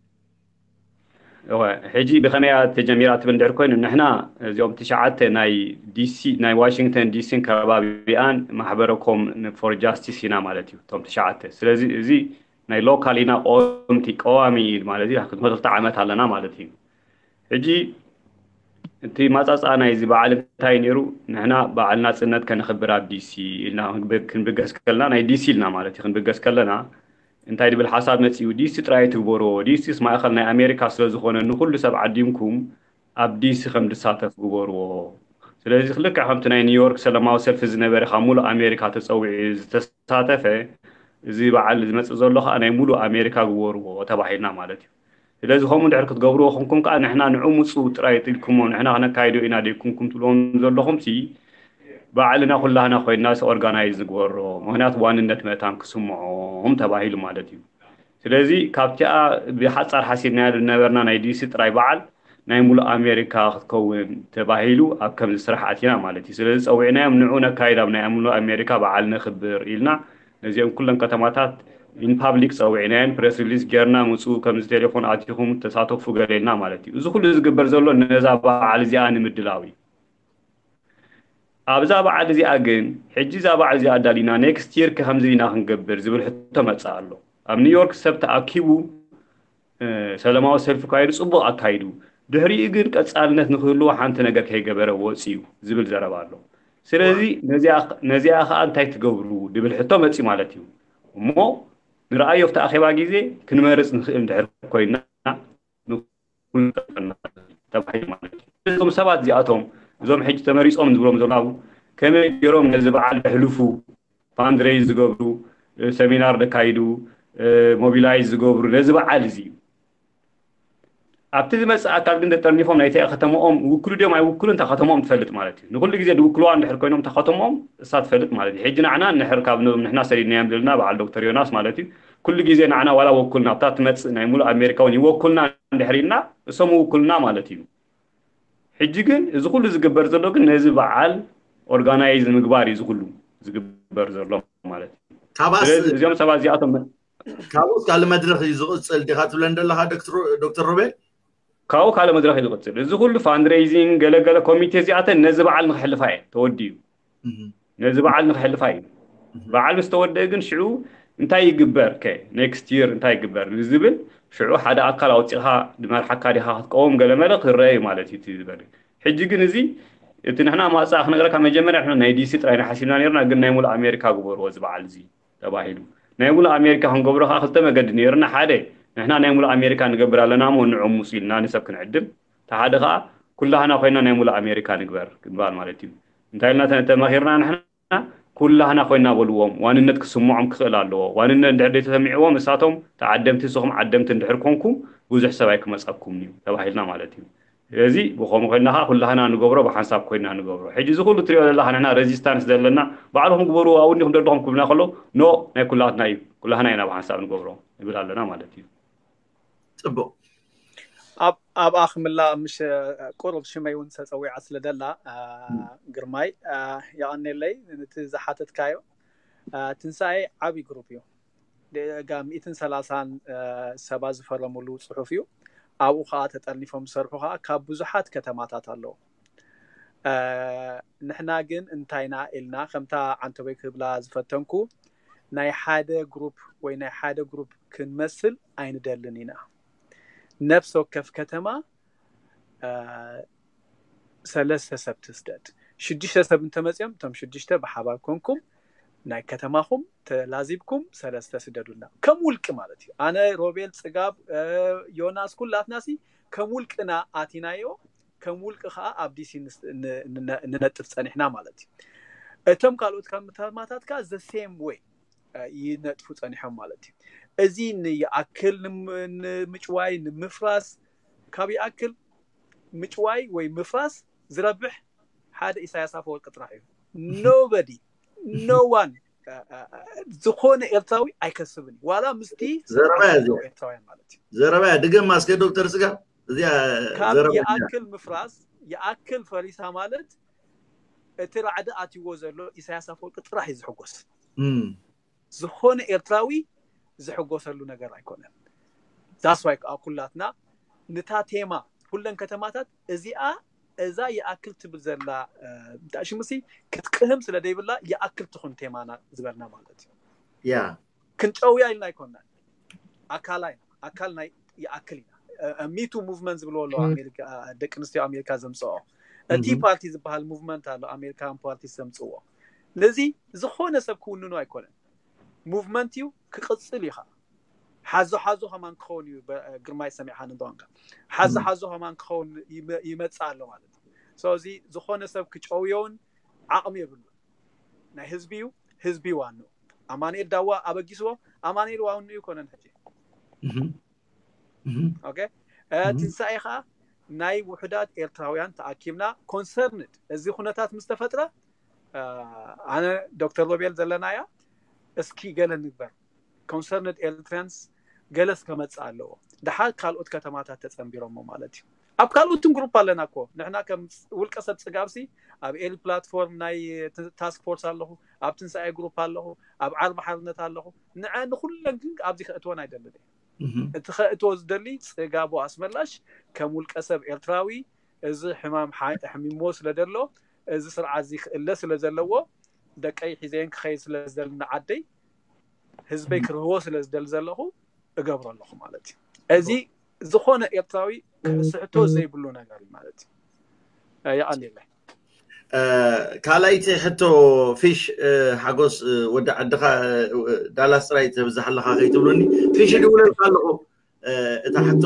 ሕጂ ብኸመያ ተጀሚራ ትብል እንድሕር ኮይኑ ንሕና እዚኦም ትሽዓተ ናይ ዲሲ ናይ ዋሽንግተን ዲሲን ከባቢኣን ማሕበረኮም ፎር ጃስቲስ ኢና ማለት እዩ እቶም ትሽዓተ። ስለዚ እዚ ናይ ሎካል ኢና ቆምቲ ቀዋሚ ማለት እዩ። ክንድመቶ ክልተ ዓመት ኣለና ማለት እዩ። ሕጂ እቲ ማፃፃ ናይዚ በዓል እንታይ ነይሩ? ንሕና በዓል ናፅነት ከነኽብር ኣብ ዲሲ ኢልና ክንብገስ ከለና ናይ ዲሲ ኢልና ማለት እዩ። ክንብገስ ከለና እንታይ ድብል ሓሳብ መፂኡ? ዲሲ ጥራይ ትግበርዎ፣ ዲሲስ ማእኸል ናይ ኣሜሪካ ስለዝኾነ ንኩሉ ሰብ ዓዲምኩም ኣብ ዲሲ ከም ድሳተፍ ግበርዎ። ስለዚ ክልክዕ ከምቲ ናይ ኒውዮርክ ሰላማዊ ሰልፊ ዝነበረ ካብ ሙሉእ ኣሜሪካ ተፀዊዑ ዝተሳተፈ እዚ በዓል ዝመፅእ ዘሎ ከዓ ናይ ሙሉእ ኣሜሪካ ግበርዎ ተባሂልና ማለት እዩ። ስለዚ ከምኡ እንድሕር ክትገብርዎ ኮንኩም ከዓ ንሕና ንዑ ምፁ ጥራይ ኢልኩሞ ንሕና ክነካይዶ ኢና ደይኩንኩም ትብልዎም ዘለኹም ሲ በዓልና ኩላህና ኮይንና ኦርጋናይዝ ንግበሮ። ምክንያቱ ዋንነት መታን ክስምዖም ተባሂሉ ማለት እዩ። ስለዚ ካብቲኣ ብሓፃር ሓሲብናያ ዝነበርና ናይ ዲሲ ጥራይ በዓል ናይ ሙሉእ ኣሜሪካ ክትከውን ተባሂሉ ኣብ ከምዚ ስራሕ ኣቲና ማለት እዩ። ስለዚ ፀዊዕናዮም ንዑ ነካይድ ኣብ ናይ ሙሉእ ኣሜሪካ በዓል ነኽብር ኢልና ነዚኦም ኩለን ከተማታት ኢን ፓብሊክ ፀዊዕናየን ፕረስ ሪሊዝ ጌርና ምፁ ከምዚ ቴሌፎን ኣቲኹም ተሳተፉ ገለ ኢልና ማለት እዩ። እዚ ኩሉ ዝግበር ዘሎ ነዛ በዓል እዚኣ ንምድላው እዩ። ኣብዛ በዓል እዚኣ ግን ሕጂ እዛ በዓል እዚኣ ኣዳሊና ኔክስት ይር ከ ከምዚ ኢና ክንገብር ዝብል ሕቶ መፅእ ኣሎ። ኣብ ኒውዮርክ ሰብ ተኣኪቡ ሰላማዊ ሰልፊ ካይዱ ፅቡቕ ኣካይዱ ድሕሪኡ ግን ቀፃልነት ንክህልዎ ሓንቲ ነገር ከይገበረ ወፂኡ ዝብል ዘረባ ኣሎ። ስለዚ ነዚኣ ከዓ እንታይ ትገብሩ ድብል ሕቶ መፂ ማለት እዩ። እሞ ንረኣዮ ኣብቲ ኣኼባ ግዜ ክንመርፅ ንኽእል እንድሕር ኮይና ተባሂሉ ማለት እዩ። እዞም ሰባት እዚኣቶም እዞም ሕጂ ተመሪፆም ዝብሎም ዘለዉ ከመይ ገይሮም ነዚ በዓል ዘሕልፉ ፋንድሬይዝ ዝገብሩ ሰሚናር ዘካይዱ ሞቢላይዝ ዝገብሩ ነዚ በዓል እዚ እዩ። ኣብቲ ዝመፅእ ኣካል ግን ተጠርኒፎም ናይቲ ከተማኦም ውክሉ ድዮም ኣይውክሉ እንታ ከተማኦም ትፈልጥ ማለት እዩ። ንኩሉ ግዜ ድውክልዋ እንድሕር ኮይኖም እታ ከተማኦም እሳ ትፈልጥ ማለት እዩ። ሕጂ ንዓና እንድሕር ካብ ንሕና ሰዲድናዮም ዘለና በዓል ዶክተር ዮናስ ማለት እዩ ኩሉ ግዜ ንዓና ዋላ ወኩልና ኣብታ ትመፅእ ናይ ሙሉእ ኣሜሪካ እውን ይወኩልና እንድሕር ኢልና እሶም ይውክሉና ማለት እዩ። ሕጂ ግን እዚ ኩሉ ዝግበር ዘሎ ግን ነዚ በዓል ኦርጋናይዝ ንምግባር እዩ እዚ ኩሉ ዝግበር ዘሎ ማለት እዩ። ስለዚ እዚኦም ሰባት እዚኣቶም ካብኡ ካልእ መድረኽ እዩ ዝቕፅል ዲኻ ትብለን ዘለኻ ዶክተር ሮቤል? ካብኡ ካልእ መድረኽ እዩ ዝቕፅል። እዚ ኩሉ ፋንድሬይዚንግ ገለገለ ኮሚቴ እዚኣተን ነዚ በዓል ንክሕልፋ እየን ተወዲኡ ነዚ በዓል ንክሕልፋ እዩ። በዓል ምስ ተወደአ ግን ሽዑ እንታይ ይግበር ከ ኔክስት ይር እንታይ ይግበር ንዝብል ሽዑ ሓደ ኣካል ኣውፂእኻ ድመርሓካ ዲኻ ክትቀውም ገለመለ ክረአ እዩ ማለት እዩ ዝበል። ሕጂ ግን እዚ እቲ ንሕና ማፃ ክነግረካ መጀመርያ ናይ ዲሲ ጥራይ ንሓሲብና ነርና ግን ናይ ሙሉእ ኣሜሪካ ግበርዎ እዚ በዓል እዚ ተባሂሉ ናይ ሙሉእ ኣሜሪካ ክንገብሮ ከዓ ክልተ መገዲ ነይርና ሓደ ንሕና ናይ ሙሉእ ኣሜሪካ ንገብር ኣለና እሞ ንዑ ምፁ ኢልና ንሰብ ክንዕድም ተሓደ ከዓ ኩላህና ኮይና ናይ ሙሉእ ኣሜሪካ ንግበር ግንባር ማለት እዩ። እንታይ ኢልና ተመኺርና ንሕና ኩላህና ኮይና በልዎም ዋንነት ክስምዖም ክኽእል ኣለዎ። ዋንነት እንድሕር ዘይተሰሚዕዎም እሳቶም ተዓደምቲ ንስኹም ዓደምቲ እንድሕር ኮንኩም ብዙሕ ሰብ ኣይክመፀኩምን እዩ ተባሂልና ማለት እዩ። ስለዚ ብኸምኡ ኮይና ከዓ ኩላህና ንገብሮ ብሓንሳብ ኮይና ንገብሮ። ሕጂ እዚ ኩሉ ትሪኦ ዘለካ ንሕና ሬዚስታንስ ዘለና ባዕልኹም ግበርዎ ኣብኡ እንዲኹም ደለኹም ክብልና ከሎ ኖ ናይ ኩላትና እዩ ኩላህና ኢና ብሓንሳብ ንገብሮ ንብል ኣለና ማለት እዩ። ፅቡቅ ኣብኣ ክምላእ ምሽ ቁሩብ ሽመይ እውን ተፀዊዓ ስለ ደላ ግርማይ የቐኔለይ። ነቲ ዝሓተትካዮ ትንሳኤ ዓብዪ ግሩፕ እዩ። ጋ ሚእትን ሰላሳን ሰባት ዝፈረሙሉ ፅሑፍ እዩ። ኣብኡ ከዓ ተጠርኒፎም ዝሰርሑ ከዓ ካብ ብዙሓት ከተማታት ኣለዉ። ንሕና ግን እንታይና ኢልና ከምታ ዓንተቦይ ክብላ ዝፈተንኩ ናይ ሓደ ግሩፕ ወይ ናይ ሓደ ግሩፕ ክንመስል ኣይንደልን ኢና። ነፍስ ወከፍ ከተማ ሰለስተ ሰብ ትስደድ። ሽዱሽተ ሰብ እንተመፅኦም እቶም ሽዱሽተ ብሓባር ኮንኩም ናይ ከተማኹም ተላዚብኩም ሰለስተ ስደዱልና ከም ውልቂ ማለት እዩ። ኣነ፣ ሮቤል፣ ፅጋብ፣ ዮናስ ኩላትናሲ ከም ውልቅና ኣቲናዮ፣ ከም ውልቂ ከዓ ኣብ ዲሲ ንነጥፍ ፀኒሕና ማለት እዩ። እቶም ካልኦት ከተማታት ከዓ the same way ይነጥፉ ፀኒሖም ማለት እዩ። እዚ ንይኣክል ንምጭዋይ ንምፍራስ፣ ካብ ይኣክል ምጭዋይ ወይ ምፍራስ ዝረብሕ ሓደ ኢሳያስ ኣፈወርቂ ጥራሕ እዩ። Nobody, no one ዝኾነ ኤርትራዊ ኣይከስብን እዩ። ዋላ ምስቲ ዘረባ እያ እዚኣ። ኤርትራውያን ማለት እዩ። ዘረባ እያ። ድገም እስከ ዶክተር ስጋ፣ እዚኣ ካብ ዘረባ እያ። ይኣክል ምፍራስ ይኣክል ፈሪሳ ማለት እቲ ራዕዲ ኣትይዎ ዘሎ ኢሳያስ ኣፈወርቂ ጥራሕ እዩ ዝሕጎስ። እም፣ ዝኾነ ኤርትራዊ ዝሕጎሰሉ ነገር ኣይኮነን። That's why ከዓ ኩላትና ንታ ቴማ ኩለን ከተማታት እዚኣ እዛ ይኣክል ትብል ዘላ እንታይ ሽምሲ ክትቅህም ስለ ደይብላ ይኣክል ትኹን ቴማና ዝበልና ማለት እዩ። ያ ክንጨውያ ኢልና ኣይኮናን። ኣካላይ ኣካል ናይ ይኣክል ኢና። ሚቱ ሙቭመንት ዝብልዎ ኣለዉ ኣሜሪካ፣ ደቂ ኣንስትዮ ኣሜሪካ ዘምፅኦ ቲ እም፣ ፓርቲ ዝበሃል ሙቭመንት ኣሎ፣ ኣሜሪካን ፓርቲ ዘምፅዎ። ነዚ ዝኾነ ሰብ ክውንኑ ኣይኮነን። ሙቭመንት እዩ፣ ክቕፅል እዩ። ከዓ ሓዞ ሓዞ ከማን ክኸውን እዩ። በ- ግርማይ ሰሚዕካ እንተኾንካ ሓዞ እም። ሓዞ ከማን ክኸውን ይመ- ይመፅእ ኣሎ ማለት እዩ። ስለዚ ዝኾነ ሰብ ክጨውዮውን ዓቕሚ የብሉ። ናይ ህዝቢ እዩ፣ ህዝቢ ዋኑ። ኣማኑኤል ዳዋ ኣበጊስዎ፣ ኣማኑኤል ዋኑ ይኮነን ሕጂ። እም፣ እም፣ ኦኬ እ፣ እም። ትንሳኤ ከዓ ናይ ውሑዳት ኤርትራውያን ተኣኪብና ኮንሰርንድ እዚ ኩነታት ምስ ተፈጥረ እ፣ ኣነ ዶክተር ሮቤል ዘለናያ እስኪ ገለ ንግበር። ኮንሰርንድ ኤርትራንስ ገለስ ከመፅእ ኣለዎ። ደሓር ካልኦት ከተማታት ተፀንቢሮሞ ማለት እዩ። ኣብ ካልኦትን ግሩፕ ኣለና እኮ። ንሕና ከም ውልቀ ሰብ ፅጋብሲ ኣብ ኤሊ ፕላትፎርም ናይ ታስክ ፎርስ ኣለኹ፣ ኣብ ትንሳኤ ግሩፕ ኣለኹ፣ ኣብ ዓርቢ ሓርነት ኣለኹ። ንዐ ንኩለን ግን ኣብዚ ከእትወን ኣይደልን እየ። እም፣ እቲ ከእትዎ ዝደሊ ፅጋቡ ኣስመላሽ ከም ውልቀ ሰብ ኤርትራዊ እዚ ሕማም ሓ- ሕሚሞ ስለ ደሎ እዚ ስርዓት እዚ ክእለ ስለ ዘለዎ ደቀይ ሒዘየን ክኸይድ ስለ ዝደሊ ንዓደይ ህዝበይ ክርህዎ ስለ ዝደሊ ዘለኹ እገብሮ ኣለኹ ማለት እዩ። እዚ ዝኾነ ኤርትራዊ ክስሕቶ ዘይብሉ ነገር እዩ ማለት እዩ። እ፣ የቐንየለይ። እ፣ ካልኣይቲ ሕቶ ፊሽ፣ እ፣ ሓጎስ፣ እ፣ ወዲ ዓድኻ፣ እ፣ ዳላስ ጥራይ ተብዝሕ ኣለኻ ከይትብሉኒ። ፊሽ ይድውለልካ ኣለኹ። እ፣ እታ ሕቶ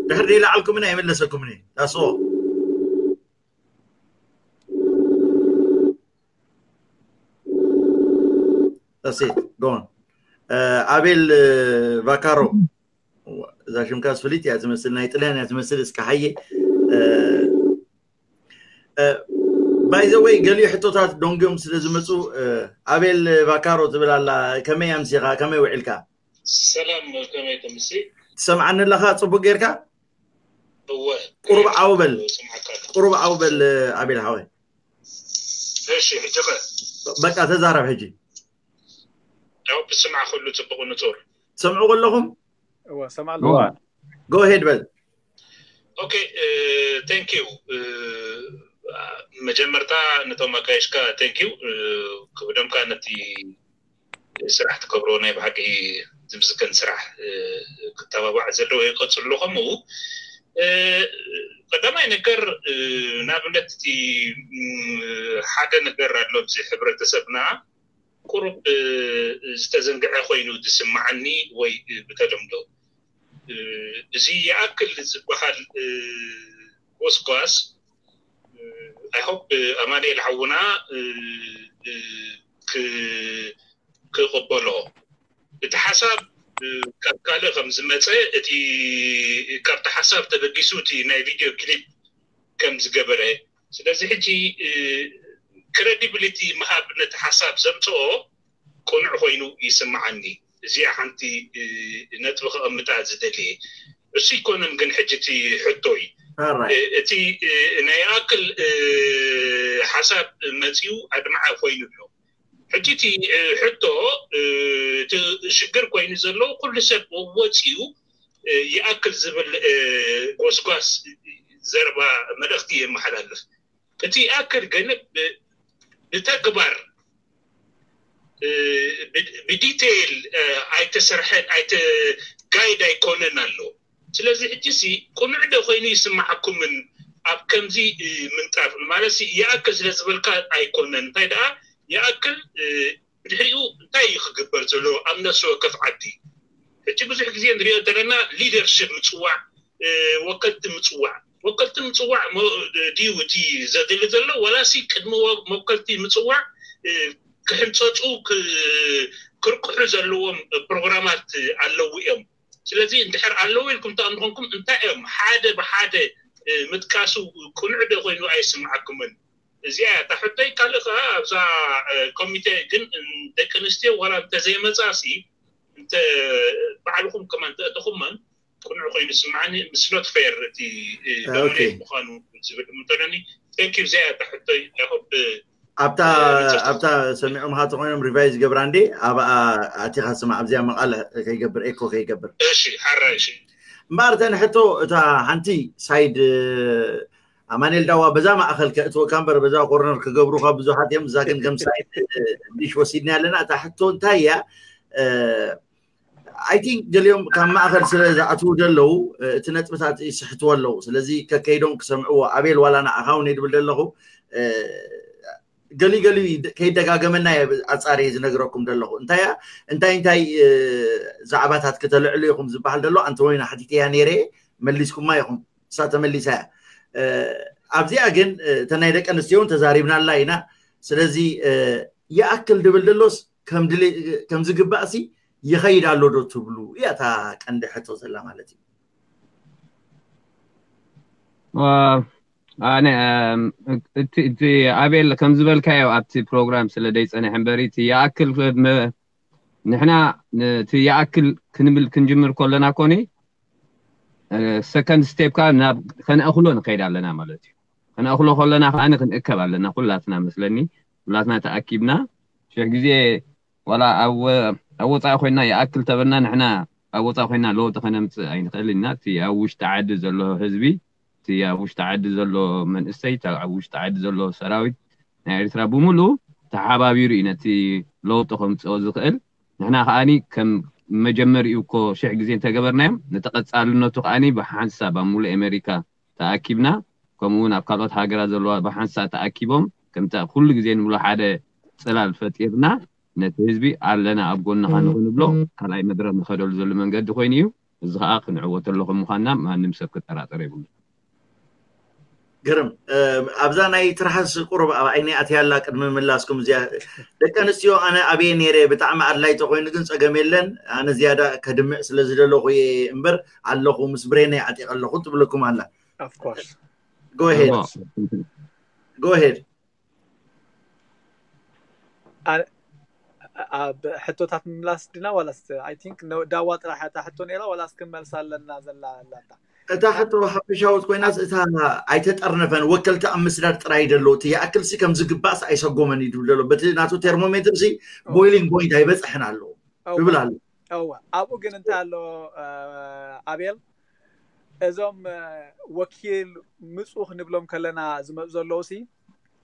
ድሕሪ ደይለዓልኩምኒ ኣይመለሰኩምኒ። ዳስዎ ዳሴት ጎን ኣቤል እ፣ ቫካሮ፣ እዛ ሽምካ ስፍሊት እያ ትመስል፣ ናይ ጥልያን እያ ትመስል። እስከ ሓየ ባይዘወይ ገሊኡ ሕቶታት ደንጎም ስለ ዝመፁ እ፣ ኣቤል ቫካሮ ትብል ኣላ። ከመይ ኣምሲኻ፣ ከመይ ውዒልካ? ሰላም፣ ከመይ ተምሲ? ትሰምዓኒ ኣለኻ ፅቡቅ ጌርካ? እወ። ቁሩብ ዓው በል። ስምዓካ ኣለኹ። ቁሩብ ዓው በል ኣቤል ሓወይ። እሺ፣ ሕጂ ኸ? በቃ ተዛረብ ሕጂ። ያው ብስምዓ ኩሉ ጽቡቕ ንጹር። ትሰምዑ ከለኹም? እወ፣ ሰምዓ ኣለኹ። እወ። ጎ ሄድ በል። ኦኬ፣ ቴንክ ዩ። መጀመርታ ነቶም ኣጋይሽካ ቴንክ ዩ። ክብደምካ ነቲ ስራሕ ትገብሮ ናይ ብሓቂ ዝምስገን ስራሕ፣ እ፣ ክተባባዕ ዘለዎ ይቀጽሉ። ከምኡ፣ እ፣ ቀዳማይ ነገር፣ እ፣ ንኣብነት እቲ፣ ም፣ ሓደ ነገር ኣሎ ኣብዚ ሕብረተሰብና ቁሩብ፣ እ፣ ዝተዘንግዐ ኮይኑ ዝስምዓኒ ወይ፣ እ፣ ብተለምዶ፣ እ፣ እዚ ይኣክል ዝበሃል፣ እ፣ ጎስጓስ፣ እ፣ ኣይ ሆፕ ኣማኑኤል ሓውና፣ እ፣ እ፣ ክ-፣ ክቕበሎ። እቲ ሓሳብ፣ እ፣ ካብ ካልእ ከም ዝመጸ፣ እቲ፣ ካብቲ ሓሳብ ተበጊሱ እቲ ናይ ቪድዮ ክሊፕ ከም ዝገበረ። ስለዚ ሕጂ፣ እ፣ ክሬዲቢሊቲ ምሃብ ነቲ ሓሳብ ዘምጽኦ ቅኑዕ ኮይኑ ይስምዓኒ። እዚኣ ሓንቲ ነጥቢ ከቐምጣ ዝደልየ። እሱ ይኮነን ግን ሕጂ እቲ ሕቶይ እቲ ናይ ኣክል ሓሳብ መፂኡ ኣድማዓ ኮይኑ ኣሎ። ሕጂ እቲ ሕቶ እቲ ሽግር ኮይኑ ዘሎ ኩሉ ሰብ ወፂኡ ይኣክል ዝብል ጎስጓስ ዘረባ መልእኽቲ የመሓላልፍ። እቲ ይኣክል ግን ብተግባር ብዲቴይል ኣይተሰርሐን ኣይተ ጋይድ ኣይኮነን ኣሎ። ስለዚ ሕጂ ሲ ቁኑዕ ዶ ኮይኑ ይስማዓኩምን ኣብ ከምዚ ምንጣፍ ማለት ሲ ይኣክል ስለ ዝበልካ ኣይኮነን። እንታይ ደኣ ይኣክል ድሕሪኡ እንታይ እዩ ክግበር ዘሎ ኣብ ነፍሲ ወከፍ ዓዲ? ሕጂ ብዙሕ ግዜ ንሪኦ ዘለና ሊደርሽፕ ምፅዋዕ፣ ወከልቲ ምፅዋዕ፣ ወከልቲ ምፅዋዕ ድዩ እቲ ዘድሊ ዘሎ? ዋላሲ ቅድሚ መወከልቲ ምፅዋዕ ክሕንፀፁ ክርቅሑ ዘለዎም ፕሮግራማት ኣለዉ እዮም። ስለዚ እንድሕር ኣለዉ ኢልኩም ተቐምጥኹምኩም እንታይ እዮም ሓደ ብሓደ ምጥቃሱ ቅኑዕ ዶ ኮይኑ ኣይስምዓኩምን? እዚኣ እታ ሕቶይ። ካልእ ከዓ ኣብዛ ኮሚቴ ግን ደቂ ኣንስትዮ ዋላ እንተዘይመፃሲ እንተ ባዕልኹም ከማን ተእተኹመን ቅኑዕ ኮይኑ ስምዓኒ። ምስ ኖት ፌር እቲ ዶሚኔት ምዃኑ ዝብል እንተለኒ። ቴንክ ዩ። እዚኣ እታ ሕቶይ። ኣብታ ኣብታ ሰሚዖምካ ተኮይኖም ሪቫይዝ ገብራ እንዴ ኣብኣ ኣቲካ ስማዕ ኣብዚኣ መቃለ ከይገብር ኤኮ ከይገብር። እሺ ሓራይ እሺ። እምበኣር እተን ሕቶ እታ ሓንቲ ሳይድ ኣማኔል ዳዋ በዛ ማእኸል ከእትወካ እምበር በዛ ኮርነር ክገብሩካ ብዙሓት እዮም። እዛ ግን ከም ሳይድ ዲሽ ወሲድና ኣለና። እታ ሕቶ እንታይ እያ? ኣይ ቲንክ ገሊኦም ካብ ማእኸል ስለ ዝኣትዉ ዘለዉ እቲ ነጥብታት ይስሕትዎ ኣለዉ። ስለዚ ከከይዶም ክሰምዕዎ ኣቤል ዋላ ንዓኻ እውን ይድብል ዘለኹ ገሊ ገሊ ከይደጋገመና ኣፃሪ ዝነግረኩም ዘለኹ እንታይ እንታይ እንታይ ዛዕባታት ክተልዕሉ ኢኹም ዝበሃል ዘሎ ኣንተ ወይና ሓቲተያ ነይረ መሊስኩማ ኢኹም። እሳ ተመሊሳ እያ። ኣብዚኣ ግን እተ ናይ ደቂ ኣንስትዮ እውን ተዛሪብናላ ኢና። ስለዚ ይኣክል ድብል ደሎስ ከም ዝግባእ ሲ ይኸይድ ኣሎ ዶ ትብሉ እያ እታ ቀንዲ ሕቶ ዘላ ማለት እዩ። ኣነ እቲ ኣቤል ከም ዝበልካዮ ኣብቲ ፕሮግራም ስለ ደይፀንሐ እምበሪ እቲ ይኣክል ንሕና እቲ ይኣክል ክንብል ክንጅምር ከለና ኮኒ ሰከንድ ስቴፕ ካ ናብ ከነእክሎ ንኸይድ ኣለና ማለት እዩ። ከነእክሎ ከለና ከዓ ክንእከብ ኣለና ኩላትና መስለኒ። ኩላትና ተኣኪብና ሽሕ ግዜ ዋላ ኣብ ወፃኢ ኮይና ይኣክል ተበልና ንሕና ኣብ ወፃኢ ኮይና ለውጢ ከነምፅእ ኣይንኽእል ኢና። እቲ ኣብ ውሽጢ ዓዲ ዘሎ ህዝቢ እቲ ኣብ ውሽጢ ዓዲ ዘሎ መንእሰይ ኣብ ውሽጢ ዓዲ ዘሎ ሰራዊት ናይ ኤርትራ ብምሉእ ተሓባቢሩ እዩ ነቲ ለውጢ ከምፅኦ ዝኽእል። ንሕና ከዓኒ ከም መጀመሪኡ እኮ ሽሕ ግዜ እንተገበርናዮም ነቲ ቀፃልነቱ ከዓኒ ብሓንሳብ ኣብ ሙሉእ ኣሜሪካ ተኣኪብና ከምኡ እውን ኣብ ካልኦት ሃገራት ዘለዋ ብሓንሳብ ተኣኪቦም ከምቲ ኩሉ ግዜ ንብሎ ሓደ ፅላል ፈጢርና ነቲ ህዝቢ ኣለና ኣብ ጎንኻ ንኽንብሎ ካልኣይ መድረክ ንኸደሉ ዘሎ መንገዲ ኮይኑ እዩ። እዚ ከዓ ክንዕወተሉ ከም ምዃንና ማንም ሰብ ክጠራጠር የብሉ። ግርም ኣብዛ ናይ ትርሓስ ቁሩብ ኣብ ዓይነይ ኣትያላ ቅድሚ ምላስኩም እዚኣ ደቂ ኣንስትዮ ኣነ ኣብየ ነይረ ብጣዕሚ ኣድላይ ተኮይኑ ግን ፀገም የለን ኣነ ዝያዳ ከድምዕ ስለ ዝደለኹ እየ እምበር ኣለኹ ምስ ብሬነይ ዓጢቀ ኣለኹ ትብለኩም ኣላ። ጎሄድ ጎሄድ ኣብ ሕቶታት ምምላስ ድና ዋላስ ኣይ ቲንክ ዳዋ ጥራሕ እታ ሕቶ ነይራ ዋላስ ክንመልሳ ኣለና ዘላ ኣላታ እታ ሕቶ ሓፈሻዊት ኮይናስ እታ ኣይተጠርነፈን ወከልቲ ኣብ ምስዳድ ጥራይ ደሎ እቲ ይኣክል ሲ ከም ዝግባእስ ኣይሰጎመን እዩ ድብል ዘሎ በቲ ናቱ ቴርሞሜትር ሲ ቦይሊንግ ቦይንት ኣይበፅሕን ኣለዎ ይብል ኣሎ። እወ ኣብኡ ግን እንታይ ኣሎ ኣቤል እዞም ወኪል ምፁ ክንብሎም ከለና ዝመፁ ዘለዉ ሲ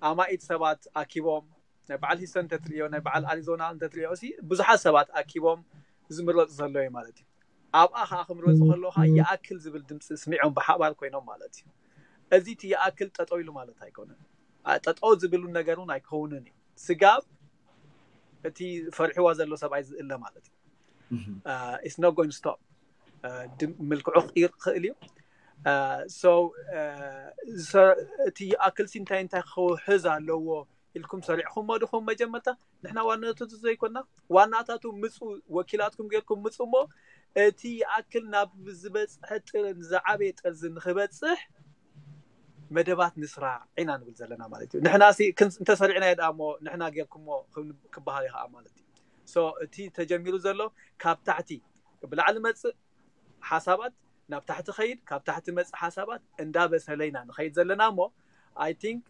ኣማኢት ሰባት ኣኪቦም ናይ በዓል ሂሰን እንተትሪኦ ናይ በዓል ኣሪዞና እንተትሪኦ ሲ ብዙሓት ሰባት ኣኪቦም ዝምረፁ ዘሎ እዩ ማለት እዩ። ኣብኣ ከዓ ክምረፁ ከለዉ ከዓ ይኣክል ዝብል ድምፂ ስሚዖም ብሓባር ኮይኖም ማለት እዩ። እዚ እቲ ይኣክል ጠጠው ኢሉ ማለት ኣይኮነን። ጠጠው ዝብሉ ነገር እውን ኣይከውንን እዩ። ስጋብ እቲ ፈሪሕዋ ዘሎ ሰብኣይ ዝእለ ማለት እዩ። It's not going to stop። ምልክዑ ክቅይር ክኽእል እዩ። So እቲ ይኣክል ሲ እንታይ እንታይ ክውሕዝ ኣለዎ ኢልኩም ሰሪዕኹሞ ድኹም መጀመርታ ንሕና ዋናታቱ ዘይኮና ዋናታቱ ምፁ ወኪላትኩም ጌርኩም ምፁ እሞ እቲ ይኣክል ናብ ዝበፅሐ ጥርን ዝዓበየ ጠርዚ ንክበፅሕ መደባት ንስራ ኢና ንብል ዘለና ማለት እዩ። ንሕና ሲ እንተሰሪዕናዮ ደኣ እሞ ንሕና ጌርኩሞ ክበሃል እዩ ከዓ ማለት እዩ። So እቲ ተጀሚሩ ዘሎ ካብ ታሕቲ ብላዕሊ መፅእ ሓሳባት ናብ ታሕቲ ኸይድ፣ ካብ ታሕቲ መፅእ ሓሳባት እንዳበሰለ ኢና ንኸይድ ዘለና እሞ፣ I think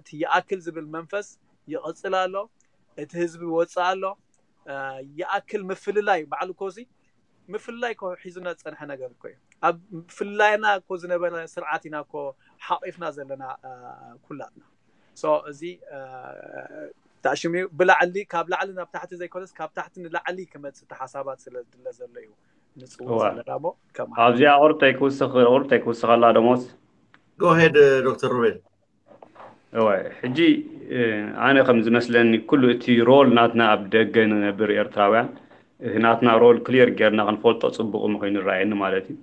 እቲ ይኣክል ዝብል መንፈስ ይቕፅል ኣሎ። እቲ ህዝቢ ይወፅእ ኣሎ። ይኣክል ምፍልላይ ባዕሉ ኮዚ ምፍልላይ ኮ ሒዙና ዝፀንሐ ነገር እኮ እዩ። ኣብ ምፍልላይና እኮ ዝነበረ ስርዓት ኢና እኮ ሓቂፍና ዘለና ኩላትና። So እዚ ታሽሚ ብላዕሊ፣ ካብ ላዕሊ ናብ ታሕቲ ዘይኮነስ ካብ ታሕቲ ንላዕሊ ክመፅእ ሓሳባት ስለ ዝድለ ዘሎ እዩ ንፅውዕ ዘለና ሞ። ኣብዚኣ ቁርጠይ ክውስኽ ቁርጠይ ክውስኸላ ደሞስ። Go ahead ዶክተር ሩቤል። እወ፣ ሕጂ ኣነ ከም ዝመስለኒ ኩሉ እቲ ሮል ናትና ኣብ ደገ ንነብር ኤርትራውያን፣ እቲ ናትና ሮል ክሊር ጌርና ክንፈልጦ ጽቡቕ ምኾይኑ ይረኣየኒ ማለት እዩ።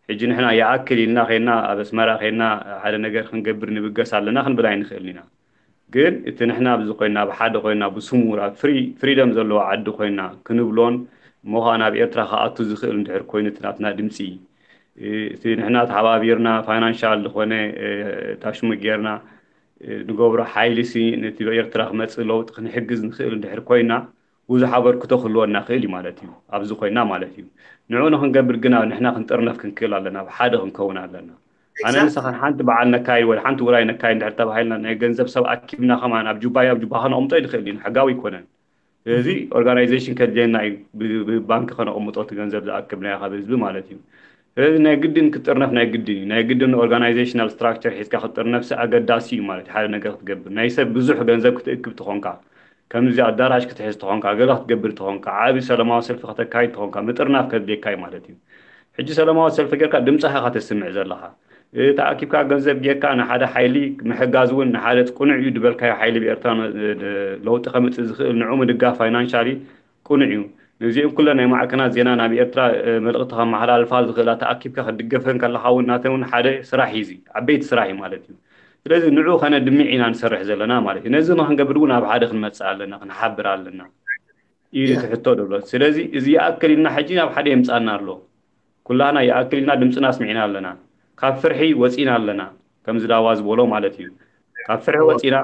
ሕጂ ንሕና ይኣክል ኢልና ኸይና ኣብ ኣስመራ ኸይና ሓደ ነገር ክንገብር ንብገስ ኣለና ክንብል ኣይንኽእልን ኢና። ግን እቲ ንሕና ኣብዚ ኮይና ኣብ ሓደ ኮይና ብስሙር ኣብ ፍሪደም ዘለዎ ዓዲ ኮይና ክንብሎን እሞ ኸኣ ናብ ኤርትራ ክኣቱ ዝኽእል እንድሕር ኮይኑ እቲ ናትና ድምፂ እቲ ንሕና ተሓባቢርና ፋይናንሻል ዝኾነ ታሽሙ ጌርና ንገብሮ ሓይሊ ሲ ነቲ ኤርትራ ክመፅእ ለውጢ ክንሕግዝ ንኽእል እንድሕር ኮይና ብዙሕ ኣበርክቶ ክህልወና ክእል እዩ ማለት እዩ። ኣብዚ ኮይና ማለት እዩ። ንዑ ንክንገብር ግና ንሕና ክንጥርነፍ ክንክእል ኣለና፣ ብሓደ ክንከውን ኣለና። ኣነ ንስኻን ሓንቲ በዓል ነካይድ ወይ ሓንቲ ውራይ ነካይድ እንድሕር ተባሂልና ናይ ገንዘብ ሰብ ኣኪብና ከማን ኣብ ጁባይ ኣብ ጁባ ከነቕምጦ ይንኽእል እዩ፣ ሕጋዊ ኣይኮነን። ስለዚ ኦርጋናይዜሽን ከድልየና እዩ፣ ብባንክ ከነቕምጦ እቲ ገንዘብ ዝኣክብናዮ ካብ ህዝቢ ማለት እዩ። ስለዚ ናይ ግድን ክጥርነፍ ናይ ግድን እዩ። ናይ ግድን ኦርጋናይዜሽናል ስትራክቸር ሒዝካ ክጥርነፍሲ ኣገዳሲ እዩ ማለት ሓደ ነገር ክትገብር። ናይ ሰብ ብዙሕ ገንዘብ ክትእክብ ትኾንካ፣ ከምዚ ኣዳራሽ ክትሕዝ ትኾንካ፣ ገለ ክትገብር ትኾንካ፣ ዓቢ ሰላማዊ ሰልፊ ከተካይድ ትኾንካ፣ ምጥርናፍ ከድልየካ እዩ ማለት እዩ። ሕጂ ሰላማዊ ሰልፊ ጌርካ ድምፅኻ ኢኻ ተስምዕ ዘለኻ። ተኣኪብካ ገንዘብ ጌርካ ንሓደ ሓይሊ ምሕጋዝ እውን ንሓደ ቅኑዕ እዩ ዝበልካዮ ሓይሊ ብኤርትራ ለውጢ ከምፅእ ዝኽእል ንዑ ምድጋፍ ፋይናንሻሊ ቅኑዕ እዩ። ነዚኦም ኩለን ናይ ማዕከናት ዜና ናብ ኤርትራ መልእኽቲ ከመሓላልፋ ዝኽእላ ተኣኪብካ ክትድገፈን ከለኻ እውን ናተን እውን ሓደ ስራሕ እዩ፣ እዚ ዓበይቲ ስራሕ እዩ ማለት እዩ። ስለዚ ንዑ ከነድምዕ ኢና ንሰርሕ ዘለና ማለት እዩ። ነዚ ንክንገብር እውን ኣብ ሓደ ክንመፅእ ኣለና፣ ክንሓብር ኣለና እዩ እቲ ሕቶ ደሎ። ስለዚ እዚ ይኣክል ኢልና ሕጂ ናብ ሓደ የምፃና ኣሎ። ኩላህና ይኣክል ኢልና ድምፅና ኣስሚዕና ኣለና። ካብ ፍርሒ ወፂና ኣለና፣ ከምዚ ዳዋ ዝበሎ ማለት እዩ። ካብ ፍርሒ ወፂና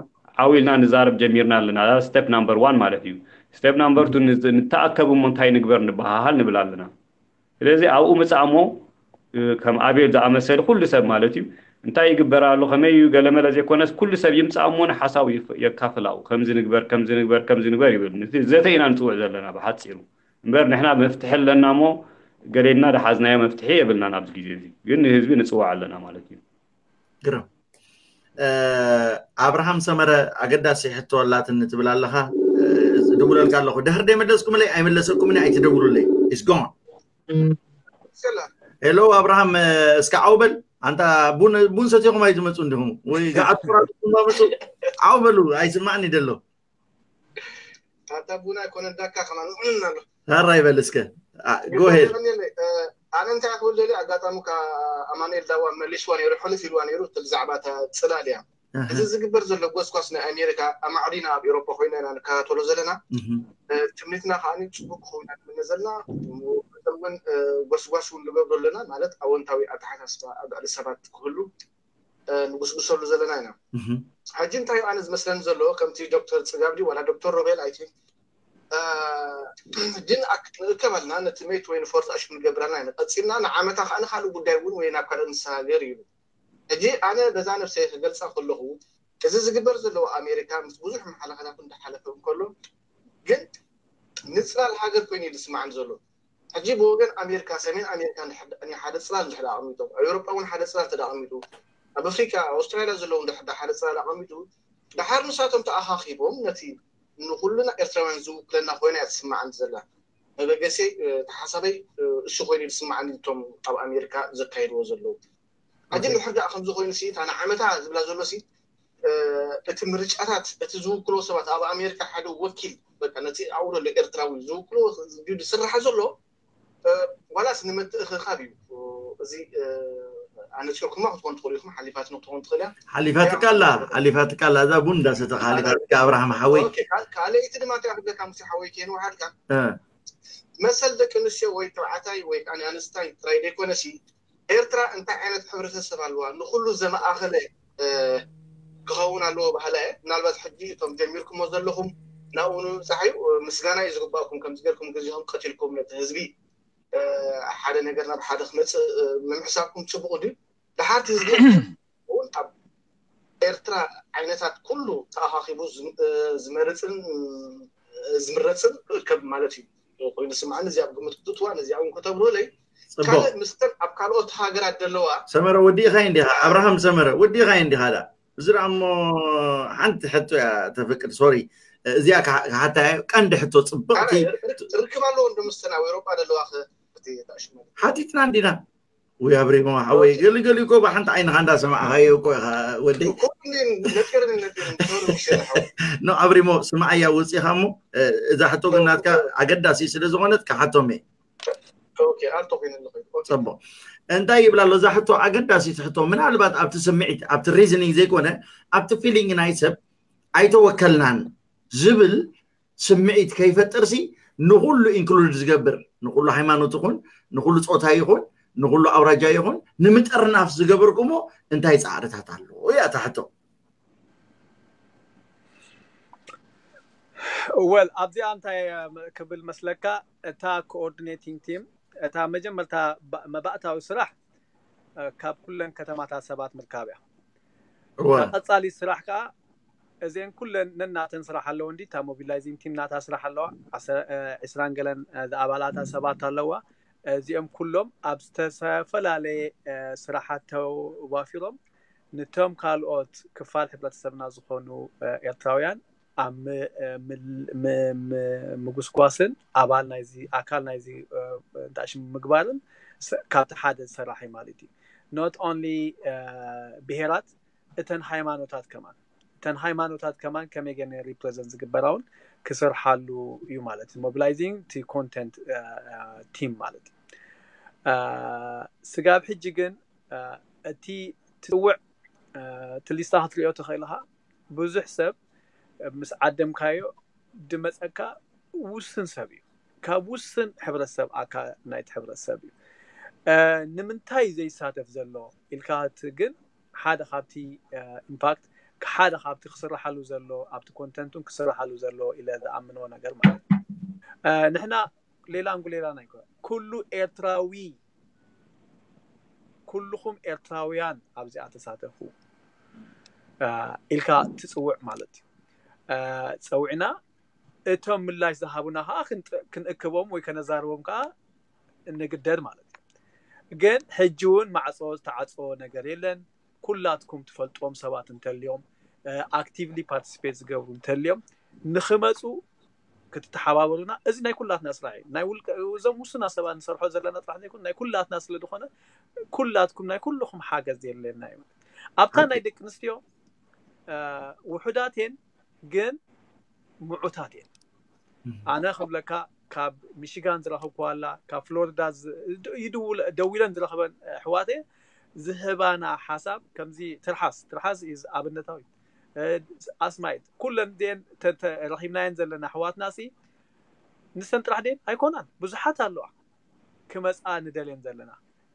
ዓው ኢልና ንዛረብ ጀሚርና ኣለና። ስቴፕ ናምበር ዋን ማለት እዩ። ስቴፕ ናምበር ቱ ንተኣከብ እሞ እንታይ ንግበር ንበሃሃል ንብል ኣለና። ስለዚ ኣብኡ ምፃእ እሞ ከም ኣቤል ዝኣመሰለ ኩሉ ሰብ ማለት እዩ እንታይ ይግበር ኣሎ ከመይ እዩ ገለመለ ዘይኮነስ ኩሉ ሰብ ይምፃእ እሞ ንሓሳቡ የካፍላኡ ከምዚ ንግበር ከምዚ ንግበር ከምዚ ንግበር ይብል። ዘተ ኢና ንፅውዕ ዘለና ብሓፂሩ። እምበር ንሕና መፍትሒ ኣለና እሞ ገሌና ደሓዝናዮ መፍትሒ የብልናን ኣብዚ ግዜ እዚ። ግን ንህዝቢ ንፅውዕ ኣለና ማለት እዩ። ግርም ኣብርሃም ሰመረ ኣገዳሲ ሕቶ ኣላትኒ ትብል ኣለኻ። ዝድውለልካ ኣለኹ ድሕር ደይመለስኩምለይ ኣይመለሰኩምኒ ኣይትደውሉለይ። It's gone። ሄሎ ኣብርሃም እስካ ዓውበል ኣንታ ቡን ሰቲኹም ኣይትመፁ እንዲኹም ወይ ገዓትኩራ መፁ። ዓውበሉ ኣይስማዕኒ ደሎ። ኣታ ቡና ኣይኮነ ዳካ ከማን ኣሎ። ታራ ይበል እስከ ጎሄድ። ኣነ እንታይ ክብል ደልየ ኣጋጣሚ ኣማኑኤል ዳዋ መሊስዋ ነይሩ ሕልፍ ኢልዋ ነይሩ እቲ ብዛዕባ እታ ፅላል እያ። እዚ ዝግበር ዘሎ ጎስጓስ ናይ ኣሜሪካ ኣማዕዲና ኣብ ኤሮፓ ኮይና ኢና ንከታተሎ ዘለና። ትምኒትና ከዓ ፅቡቅ ክኸውን ኢና ንምነ ዘለና። እውን ጎስጓስ እውን ንገብሮ ኣለና ማለት ኣወንታዊ ኣተሓሳስባ ኣብ ልዕሊ ሰባት ክህሉ ንጉስጉሰሉ ዘለና ኢና። ሕጂ እንታይ ኣነ ዝመስለኒ ዘሎ ከምቲ ዶክተር ፅጋብ ድዩ ዋላ ዶክተር ሮቤል ኣይቲ ግን ንእከብ ኣለና ነቲ ሜት ወይ ንፎርት ኣሽ ክንገብር ኣለና ኢና። ቀፂልና ንዓመታ ከዓ ንካልእ ጉዳይ እውን ወይ ናብ ካልእ ንሰጋገር እዩ። ሕጂ ኣነ በዛ ነብሰይ ክገልፃ ከለኹ እዚ ዝግበር ዘለዎ ኣሜሪካ ምስ ብዙሕ መሓለኸላት እንዳሓለፈ እንከሎ ግን ንፅላል ሃገር ኮይኑ እዩ ዝስማዕኒ ዘሎ። ሕጂ ብወገን ኣሜሪካ ሰሜን ኣሜሪካ ሓደ ፅላል እንድሕር ኣቐሚጦም ኣብ ኤውሮጳ እውን ሓደ ፅላል ተዳ ኣቐሚጡ ኣብ ኣፍሪካ ኣውስትራሊያ ዘለዉ እንድሕር ሓደ ፅላል ኣቐሚጡ ድሓር ንሳቶም ተኣኻኺቦም ነቲ ንኩልና ኤርትራውያን ዝውክለና ኮይና እያ ትስማዓኒ ዘላ። መበገሰይ ተሓሳበይ እሱ ኮይኑ ዝስማዓኒ እቶም ኣብ ኣሜሪካ ዘካየድዎ ዘለዉ። ሕጂ እንድሕር ደኣ ከምዚ ኮይኑ ሲ እታ ንዓመታ ዝብላ ዘሎ ሲ እቲ ምርጫታት እቲ ዝውክሎ ሰባት ኣብ ኣሜሪካ ሓደ ወኪል በቃ ነቲ ኣብኡ ዘሎ ኤርትራዊ ዝውክሎ ድዩ ዝስራሕ ዘሎ ዋላስ ንምትእኽኻብ እዩ። እዚ ኣነፂርኩማ ክትኮን ትኽእሉ ኢኹም ሓሊፋትኒ ክትኮን ትኽእል እያ። ሓሊፋትካ ኣላ ሓሊፋትካ ኣላ እዛ ቡን እንዳሰተኻ ሓሊፋትካ ኣብርሃም ሓወይ። ካልኣይቲ ድማ እንታይ ክብለካ ሙሴ ሓወይ ከየንውሓልካ መሰል ደቂ ኣንስትዮ ወይ ተባዕታይ ወይ ኣንስታይ ጥራይ ዘይኮነሲ ኤርትራ እንታይ ዓይነት ሕብረተሰብ ኣለዋ ንኩሉ ዘመኣኸለ ክኸውን ኣለዎ ባህላ እየ። ምናልባት ሕጂ እቶም ጀሚርኩሞ ዘለኹም ናብኡ ንምብፃሕ እዩ። ምስጋና እዩ ዝግባእኩም፣ ከምዚ ጌርኩም ግዜኹም ቀቲልኩም ነቲ ህዝቢ ሓደ ነገር ናብ ሓደ ክመፅእ ምምሕሳብኩም ፅቡቕ ድዩ? ደሓርቲ ህዝቢ እውን ኣብ ኤርትራ ዓይነታት ኩሉ ተኣኻኺቡ ዝመርፅን ዝምረፅን ክእከብ ማለት እዩ ኮይኑ ስምዓኒ። እዚኣ ኣብ ግምት ክትእትዋ፣ ነዚኣ እውን ከተብርሁለይ። ካልእ ምስተን ኣብ ካልኦት ሃገራት ዘለዋ ሰመረ ወዲእኻ እንዲኻ ኣብርሃም ሰመረ ወዲእኻ እንዲኻ ዳ እዚ ደኣ እሞ ሓንቲ ሕቶ እያ ተፍቅድ ሶሪ እዚኣ ክሓታ ቀንዲ ሕቶ ፅብቕቲ ርክብ ኣለዎ እንዶ ምስተን ኣብ ኤሮጳ ዘለዋ ሓቲትና እንዲና ወይ ኣብሪሞ ሓወይ ገሊገሊ እኮ ብሓንቲ ዓይንኻ እንዳሰማዕኻዮ እኮ ኢኻ ወደይ ኖ ኣብሪሞ ስማዓያ ውፅኢኻ እሞ እዛ ሕቶ ግን ናትካ ኣገዳሲ ስለ ዝኾነት ክሓቶም እየ ፅቡቅ እንታይ ይብል ኣሎ እዛ ሕቶ ኣገዳሲት ሕቶ ምናልባት ኣብቲ ስምዒት ኣብቲ reasoning ዘይኮነ ኣብቲ feeling ናይ ሰብ ኣይተወከልናን ዝብል ስምዒት ከይፈጥርሲ ንኩሉ include ዝገብር ንኩሉ ሃይማኖት ይኹን ንኩሉ ፆታ ይኹን ንኩሉ ኣውራጃ ይኹን ንምጥርናፍ ዝገበርኩሞ እንታይ ፃዕርታት ኣሎ እያ እታ ሕቶ well ኣብዚኣ እንታይ ክብል መስለካ እታ coordinating team እታ መጀመርታ መባእታዊ ስራሕ ካብ ኩለን ከተማታት ሰባት ምርካብ እያ እታ ቀፃሊ ስራሕ ከዓ እዚአን ኩለን ነናተን ስራሕ ኣለዎ እንዲ እታ mobilizing team ናታ ስራሕ ኣለዋ ዕስራን ገለን ኣባላታ ሰባት ኣለዋ እዚኦም ኩሎም ኣብ ዝተፈላለየ ስራሓት ተዋፊሮም ንቶም ካልኦት ክፋል ሕብረተሰብና ዝኾኑ ኤርትራውያን ኣብ ምጉስጓስን ኣባል ናይዚ ኣካል ናይዚ እንታሽም ምግባርን ካብቲ ሓደ ዝሰራሕ እዩ ማለት እዩ not only ብሄራት እተን ሃይማኖታት ከማን እተን ሃይማኖታት ከማን ከመይ ገይረን represent ዝግበራውን ክሰርሓሉ እዩ ማለት እዩ mobilizing ቲ content team ማለት እዩ ስጋብ ሕጂ ግን እቲ ትፅውዕ እቲ ሊስታ ክትሪኦ ትኽእል ኢኻ ብዙሕ ሰብ ምስ ዓደምካዮ ድመፀካ ውስን ሰብ እዩ ካብ ውስን ሕብረተሰብ ኣካል ናይቲ ሕብረተሰብ እዩ ንምንታይ ዘይሳተፍ ዘሎ ኢልካ ግን ሓደ ካብቲ impact ሓደ ካብቲ ክስራሓሉ ዘሎ ኣብቲ content ን ክስራሓሉ ዘሎ ኢለ ዝኣምኖ ነገር ማለት እዩ ንሕና ሌላ እንጉሌላ ናይ ኩሉ ኤርትራዊ ኩልኹም ኤርትራውያን ኣብዚኣ ተሳተፉ ኢልካ ትፅውዕ ማለት እዩ ፀውዕና እቶም ምላሽ ዝሃቡና ከዓ ክንእክቦም ወይ ከነዛርቦም ከዓ እንግደድ ማለት እዩ ግን ሕጂ እውን ማዕፆ ዝተዓፀወ ነገር የለን ኩላትኩም ትፈልጥዎም ሰባት እንተልዮም actively participate ዝገብሩ እንተልዮም ንክመፁ ክትተሓባበሩና እዚ ናይ ኩላትና ስራሕ እዩ ናይ ውልቀ እዞም ውሱና ሰባት ንሰርሖ ዘለና ጥራሕ ዘይኮን ናይ ኩላትና ስለ ዝኾነ ኩላትኩም ናይ ኩልኹም ሓገዝ የድልየና እዩ ኣብታ ናይ ደቂ ኣንስትዮ ውሑዳት እየን ግን ምዑታት እየን ኣነ ክብለካ ካብ ሚሽጋን ዝረኸብኩዋ ኣላ ካብ ፍሎሪዳ ደዊለን ዝረኸበን ኣሕዋት እየ ዝህባና ሓሳብ ከምዚ ትርሓስ ትርሓስ እዩ ኣብነታዊ ኣስማይት ኩለን ዜን ረኺብናየን ዘለና ኣሕዋትና ሲ ንሰን ጥራሕ ደን ኣይኮናን ብዙሓት ኣለዋ ክመፃ ንደልየን ዘለና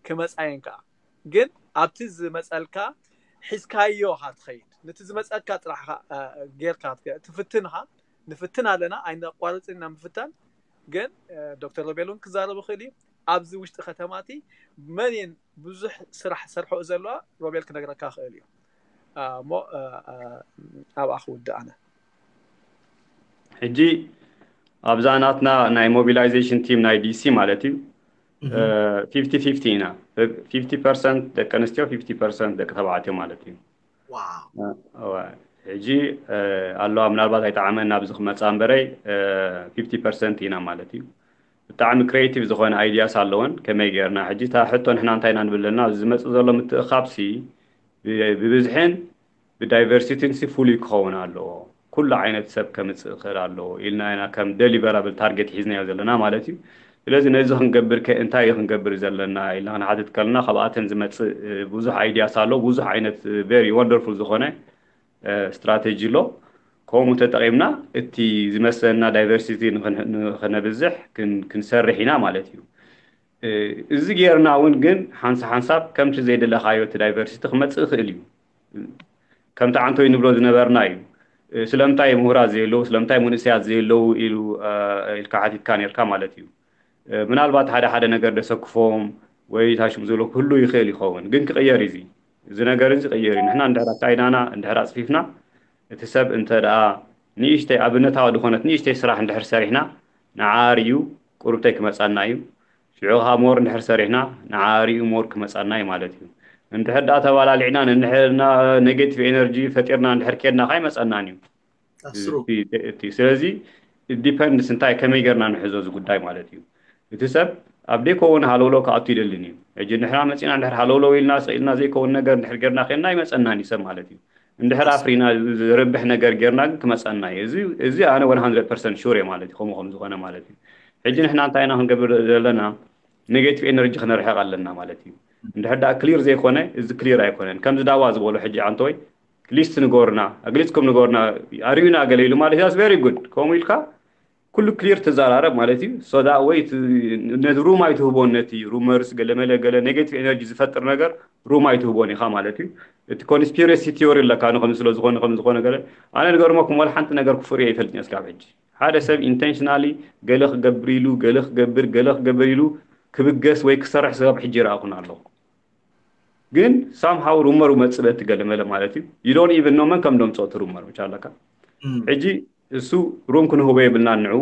ክመፃየን ከዓ ግን ኣብቲ ዝመፀልካ ሒዝካዮ ካ ትኸይድ ነቲ ዝመፀልካ ጥራሕ ጌርካ ትፍትን ካ ንፍትን ኣለና ኣይነቋርፅን ኢና ምፍታን ግን ዶክተር ሮቤል እውን ክዛረብ ይኽእል እዩ ኣብዚ ውሽጢ ከተማቲ መን እየን ብዙሕ ስራሕ ሰርሖ ዘለዋ ሮቤል ክነግረካ ክእል እዩ እሞ ኣብኣ ክውድእ ኣነ ሕጂ ኣብዛ ናትና ናይ mobilization team ናይ ዲሲ ማለት እዩ ፊፍቲ ፊፍቲ ኢና ፊፍቲ ፐርሰንት ደቂ ኣንስትዮ ፊፍቲ ፐርሰንት ደቂ ተባዕትዮ ማለት እዩ ሕጂ ኣለዋ ምናልባት ኣይጠዓመን ናብዚ ክመፃ እምበረይ ፊፍቲ ፐርሰንት ኢና ማለት እዩ ብጣዕሚ creative ዝኾነ ideas ኣለወን ከመይ ጌርና ሕጂ እታ ሕቶ ንሕና እንታይ ኢና ንብል ዘለና ዝመፅእ ዘሎ ምትእኻብሲ ብብዝሕን ብዳይቨርሲቲን ሲ ፍሉይ ክኸውን ኣለዎ ኩሉ ዓይነት ሰብ ከምፅእ ክእል ኣለዎ ኢልና ኢና ከም deliverable target ሒዝናዮ ዘለና ማለት እዩ ስለዚ ነዚ ክንገብር ከ እንታይ እዩ ክንገብር ዘለና ኢልና ክንሓትት ከለና ካብኣተን ዝመፅእ ብዙሕ ideas ኣሎ ብዙሕ ዓይነት very wonderful ዝኾነ strategy ኣሎ ከምኡ ተጠቒምና እቲ ዝመሰለና diversity ንኸነብዝሕ ክንሰርሕ ኢና ማለት እዩ እዚ ጌርና እውን ግን ሓንሳ ሓንሳብ ከምቲ ዘይደለኻዮ እቲ diversity ክመፅእ ይኽእል እዩ ከምቲ ዓንቶይ ንብሎ ዝነበርና እዩ ስለምንታይ ምሁራት ዘየለዉ ስለምንታይ መንእሰያት ዘየለዉ ኢሉ ኢልካ ሓቲትካ ነርካ ማለት እዩ። ምናልባት ሓደ ሓደ ነገር ደሰክፎም ወይ ታሽም ዘሎ ክህሉ ይኽእል ይኸውን፣ ግን ክቕየር እዩ። እዚ ነገር እዚ ክቕየር እዩ። ንሕና እንድሕር ኣካይዳና እንድሕር ኣፅፊፍና፣ እቲ ሰብ እንተ ደኣ ንእሽተይ ኣብነታዊ ዝኾነት ንእሽተይ ስራሕ እንድሕር ሰሪሕና፣ ንዓር እዩ ቁርብተይ ክመፃና እዩ። ሽዑ ከዓ ሞር እንድሕር ሰሪሕና፣ ንዓር እዩ ሞር ክመፃና እዩ ማለት እዩ። እንድሕር ደኣ ተባላሊዕና፣ እንድሕር ኔጌቲቭ ኤነርጂ ፈጢርና እንድሕር ኬድና ከዓ ይመፀናን እዩ። ኣስሩ እቲ እቲ ስለዚ ዲፐንድስ እንታይ ከመይ ጌርና ንሕዞ እዚ ጉዳይ ማለት እዩ። እቲ ሰብ ኣብ ደይከውን ሃለውለው ክኣቱ ይደልን እዩ። ሕጂ ንሕና መፂና እንድሕር ሃለውለው ኢልና ስኢልና ዘይከውን ነገር እንድሕር ጌርና ኬንና ይመፀናን እዩ ሰብ ማለት እዩ። እንድሕር ኣፍሪና ዝርብሕ ነገር ጌርና ግን ክመፀና እዩ። እዚ እዚ ኣነ one hundred percent ሹር እየ ማለት እዩ። ከምኡ ከም ዝኾነ ማለት እዩ። ሕጂ ንሕና እንታይ ኢና ክንገብር ዘለና? ኔጌቲቭ ኤነርጂ ክነርሕቕ ኣለና ማለት እዩ። እንድሕር ደኣ ክሊር ዘይኮነ እዚ ክሊር ኣይኮነን። ከምዚ ዳዋ ዝበሎ ሕጂ ኣንቶይ ሊስት ንገሩና፣ ኣግሊፅኩም ንገሩና፣ ኣርእዩና ገለ ኢሉ ማለት እዩ። ቨሪ ጉድ። ከምኡ ኢልካ ኩሉ ክሊር ትዘራረብ ማለት እዩ። ሶ ዳት ወይ ነቲ ሩም ኣይትህቦን፣ ነቲ ሩመርስ ገለመለ ገለ ኔጌቲቭ ኤነርጂ ዝፈጥር ነገር ሩም ኣይትህቦን ኢኻ ማለት እዩ። እቲ ኮንስፒረሲ ቲዮሪ ኣለካ ንከም ስለ ዝኾነ ከም ዝኾነ ገለ ኣነ ንገርመኩም ወላ ሓንቲ ነገር ክፉር እየ ይፈልጥ እስካብ ሕጂ ሓደ ሰብ ኢንቴንሽናሊ ገለ ክገብር ኢሉ ገለ ክገብር ገለ ክገብር ኢሉ ክብገስ ወይ ክሰርሕ ሰብ ሕጂ ይረኣኹን ኣለኹ። ግን ሳምሃው ሩመር መፅእ በቲ ገለመለ ማለት እዩ። You don't even know መን ከም ደምፅኦ እቲ ሩመር ብቻ ኣለካ። ሕጂ እሱ ሩም ክንህቦ የብልና፣ ንዑ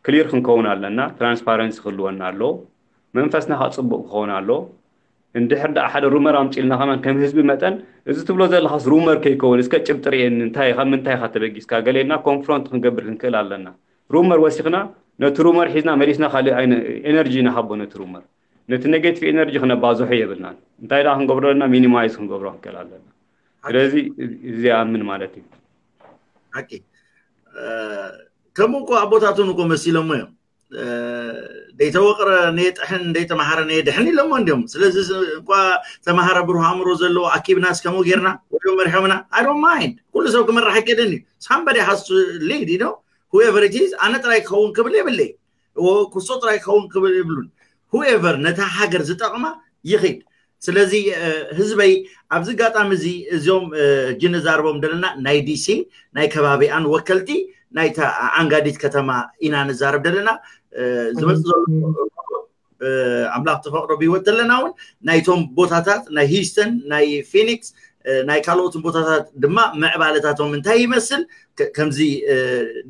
ክሊር ክንከውን ኣለና። ትራንስፓረንሲ ክህልወና ኣሎ። መንፈስና ከዓ ፅቡቅ ክኸውን ኣሎ። እንድሕር ደኣ ሓደ ሩመር ኣምፂልና ከማን ከም ህዝቢ መጠን እዚ ትብሎ ዘለካስ ሩመር ከይከውን እስከ ጭብጢ ርእየኒ፣ እንታይ ካብ ምንታይ ኢካ ተበጊስካ ገሌና ኮንፍሮንት ክንገብር ክንክእል ኣለና። ሩመር ወሲኽና ነቲ ሩመር ሒዝና መሊስና ካልእ ኤነርጂ ንሃቦ ነቲ ሩመር። ነቲ ኔጌቲቭ ኤነርጂ ክነባዝሖ የብልናን። እንታይ ደኣ ክንገብሮ ኣለና? ሚኒማይዝ ክንገብሮ ክንክእል ኣለና። ስለዚ እዚ ይኣምን ማለት እዩ። ሓቂ ከምኡ እኮ ኣቦታቱን እኮ መሲሎሞ እዮም። ደይተወቅረ ነየጥሕን ደይተማሃረ ነየድሕን ኢሎሞ እንዲዮም። ስለዚ እኳ ተማሃረ ብሩህ ኣእምሮ ዘለዎ ኣኪብና እስከምኡ ጌርና ወይ መርሖምና I don't mind። ኩሉ ሰብ ክመራሕ ኣይከደን እዩ። ሳምበዲ ሃስቱ ሊድ ነው። ሁኤቨር ኢት ኢዝ ኣነ ጥራይ ክኸውን ክብል የብለይ። ኩሶ ጥራይ ክኸውን ክብል የብሉን። ሁኤቨር ነታ ሃገር ዝጠቕማ ይኺድ። ስለዚ ህዝበይ ኣብዚ ኣጋጣሚ እዚ እዚኦም ሕጂ ንዛርቦም ዘለና ናይ ዲሲ ናይ ከባቢኣን ወከልቲ ናይታ ኣንጋዲት ከተማ ኢና ንዛረብ ዘለና። ዝመፅ ዘሎ ኣምላኽ ተፈቅዶ ብህይወት ዘለና እውን ናይቶም ቦታታት ናይ ሂውስተን ናይ ፊኒክስ ናይ ካልኦትን ቦታታት ድማ ምዕባለታቶም እንታይ ይመስል ከምዚ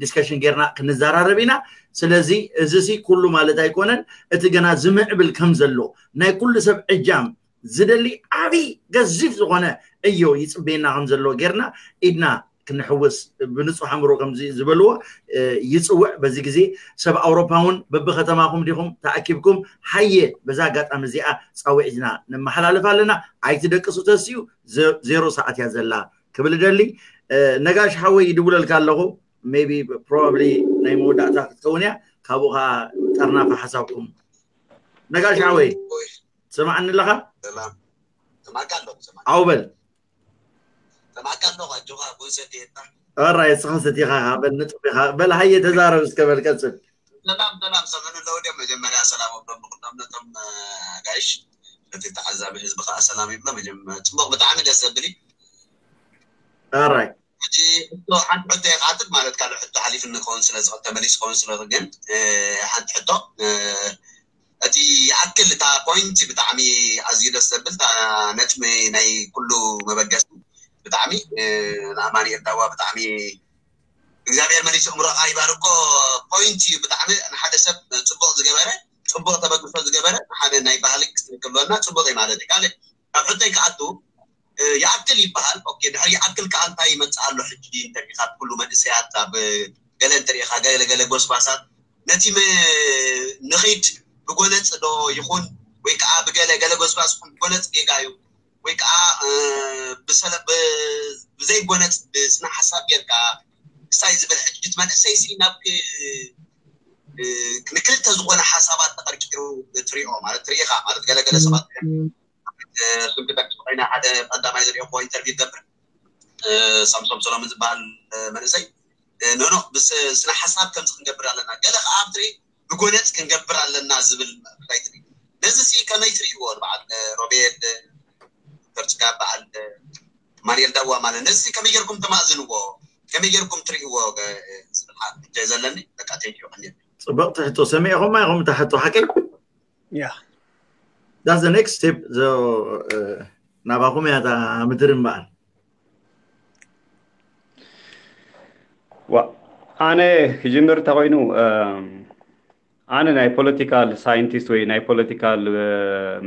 ዲስከሽን ጌርና ክንዘራረብ ኢና። ስለዚ እዚ ሲ ኩሉ ማለት ኣይኮነን። እቲ ገና ዝምዕብል ከም ዘሎ ናይ ኩሉ ሰብ ዕጃም ዝደሊ ዓብይ ገዚፍ ዝኾነ ዕዮ ይፅበየና ከም ዘሎ ጌርና ኢድና ክንሕውስ ብንፁሕ ኣእምሮ ከምዚ ዝበልዎ ይፅውዕ። በዚ ግዜ ሰብ ኣውሮፓ እውን በብከተማኹም ዲኹም ተኣኪብኩም ሃየ በዛ ኣጋጣሚ እዚኣ ፃውዒትና ነመሓላልፍ ኣለና። ኣይትደቅሱ ተስዩ ዜሮ ሰዓት እያ ዘላ ክብል ደሊ። ነጋሽ ሓወይ ይድውለልካ ኣለኹ። ሜቢ ፕሮባብሊ ናይ መወዳእታ ክትከውን እያ። ካብኡ ከዓ ጠርናፋ ሓሳብኩም ነጋሽ ሓወይ ትሰማዓኒ ኣለኻ? ሰማዕካ ኣለኹ ሰማዕካ ኣውበል ሰማዕካ ኣለኹ ኣጆኻ ጎሰት የታ ራይ እስኻ ሰቲኻ በል ንጥፍ ኢኻ በል ሃየ ተዛረብ እስከ በል ቀፅል ሰላም ሰላም ሰምዕኒ ኣለዉ ድዮም መጀመርያ ሰላም ኣብሎም ንኩሎም ነቶም ኣጋይሽ ነቲ ተዓዛቢ ህዝቢ ከዓ ሰላም ይብሎ መጀመ- ፅቡቅ ብጣዕሚ ደስ ዘብል እዩ ራይ ሕጂ ሕቶ ሓንቲ ሕቶ ይካትት ማለት ካልእ ሕቶ ሓሊፍኒ ክኸውን ስለ ዝኽእል ተመሊሱ ክኸውን ስለ ግን ሓንቲ ሕቶ እቲ ይኣክል እታ ፖይንት ብጣዕሚ ኣዝዩ ደስ ዘብል እታ ነጥቢ ናይ ኩሉ መበገሲ ብጣዕሚ ንኣማኒኤል ዳዋ ብጣዕሚ እግዚኣብሔር መሊሱ እምሮኻ ይባርኮ ፖይንት እዩ ብጣዕሚ ንሓደ ሰብ ፅቡቅ ዝገበረ ፅቡቅ ተበግሶ ዝገበረ ሓደ ናይ ባህሊ ክስንክብሎና ፅቡቅ እዩ ማለት እዩ ካልእ ኣብ ሕቶይ ክኣቱ ይኣክል ይበሃል። ኦኬ ድሕሪ ይኣክል ከዓ እንታይ ይመፅእ ኣሎ ሕጂ እንተሪኢኻ ብኩሉ መንእሰያት ኣብ ገለ እንተሪኢኻ ገለ ገለ ጎስጓሳት ነቲ ንኺድ ብጎነፅ ዶ ይኹን ወይ ከዓ ብገለ ገለ ጎስጓስ ይኹን ብጎነፅ ጌጋ እዩ ወይ ከዓ ብዘይጎነፅ ብስነ ሓሳብ ጌርካ ክሳይ ዝብል ሕጂ እቲ መንእሰይ ሲ ናብ ንክልተ ዝኾነ ሓሳባት ተቐርቂሩ ትሪኦ ማለት ትሪኢኻ ማለት ገለገለ ሰባት ስም ክጠቅስ ኮይና ሓደ ቀዳማይ ዝሪኦ ኢንተርቪው ገብር ሳምሶም ሰሎምን ዝበሃል መንእሰይ ኖኖ ስነ ሓሳብ ከምዚ ክንገብር ኣለና ገለ ከዓ ኣብ ትርኢ ብጎነፅ ክንገብር ኣለና ዝብል ራይት ነዚ ሲ ከመይ ትርእይዎ በዓል ሮቤል ዶክተር ፅጋብ በዓል ማንኤል ዳዋ ማለት ነዚ ሲ ከመይ ጌርኩም ተማእዝንዎ ከመይ ጌርኩም ትርእይዎ? እ፣ ዝብል ሓ-፣ ሕቶ እዩ ዘለኒ። በቃ፣ ቴንኪዩ። ጽብቕቲ ሕቶ ሰሚዕኹማ ኢኹም፣ እታ ሕቶ ሓቀይ? Yeah. That's the next step. So, uh, ናባኹም እያ እታ ምድሪ እምበኣር። ዋ፣ ኣነ ክጅምር እንተኾይኑ፣ እም፣ ኣነ ናይ ፖለቲካል ሳይንቲስት ወይ ናይ ፖለቲካል፣ እ፣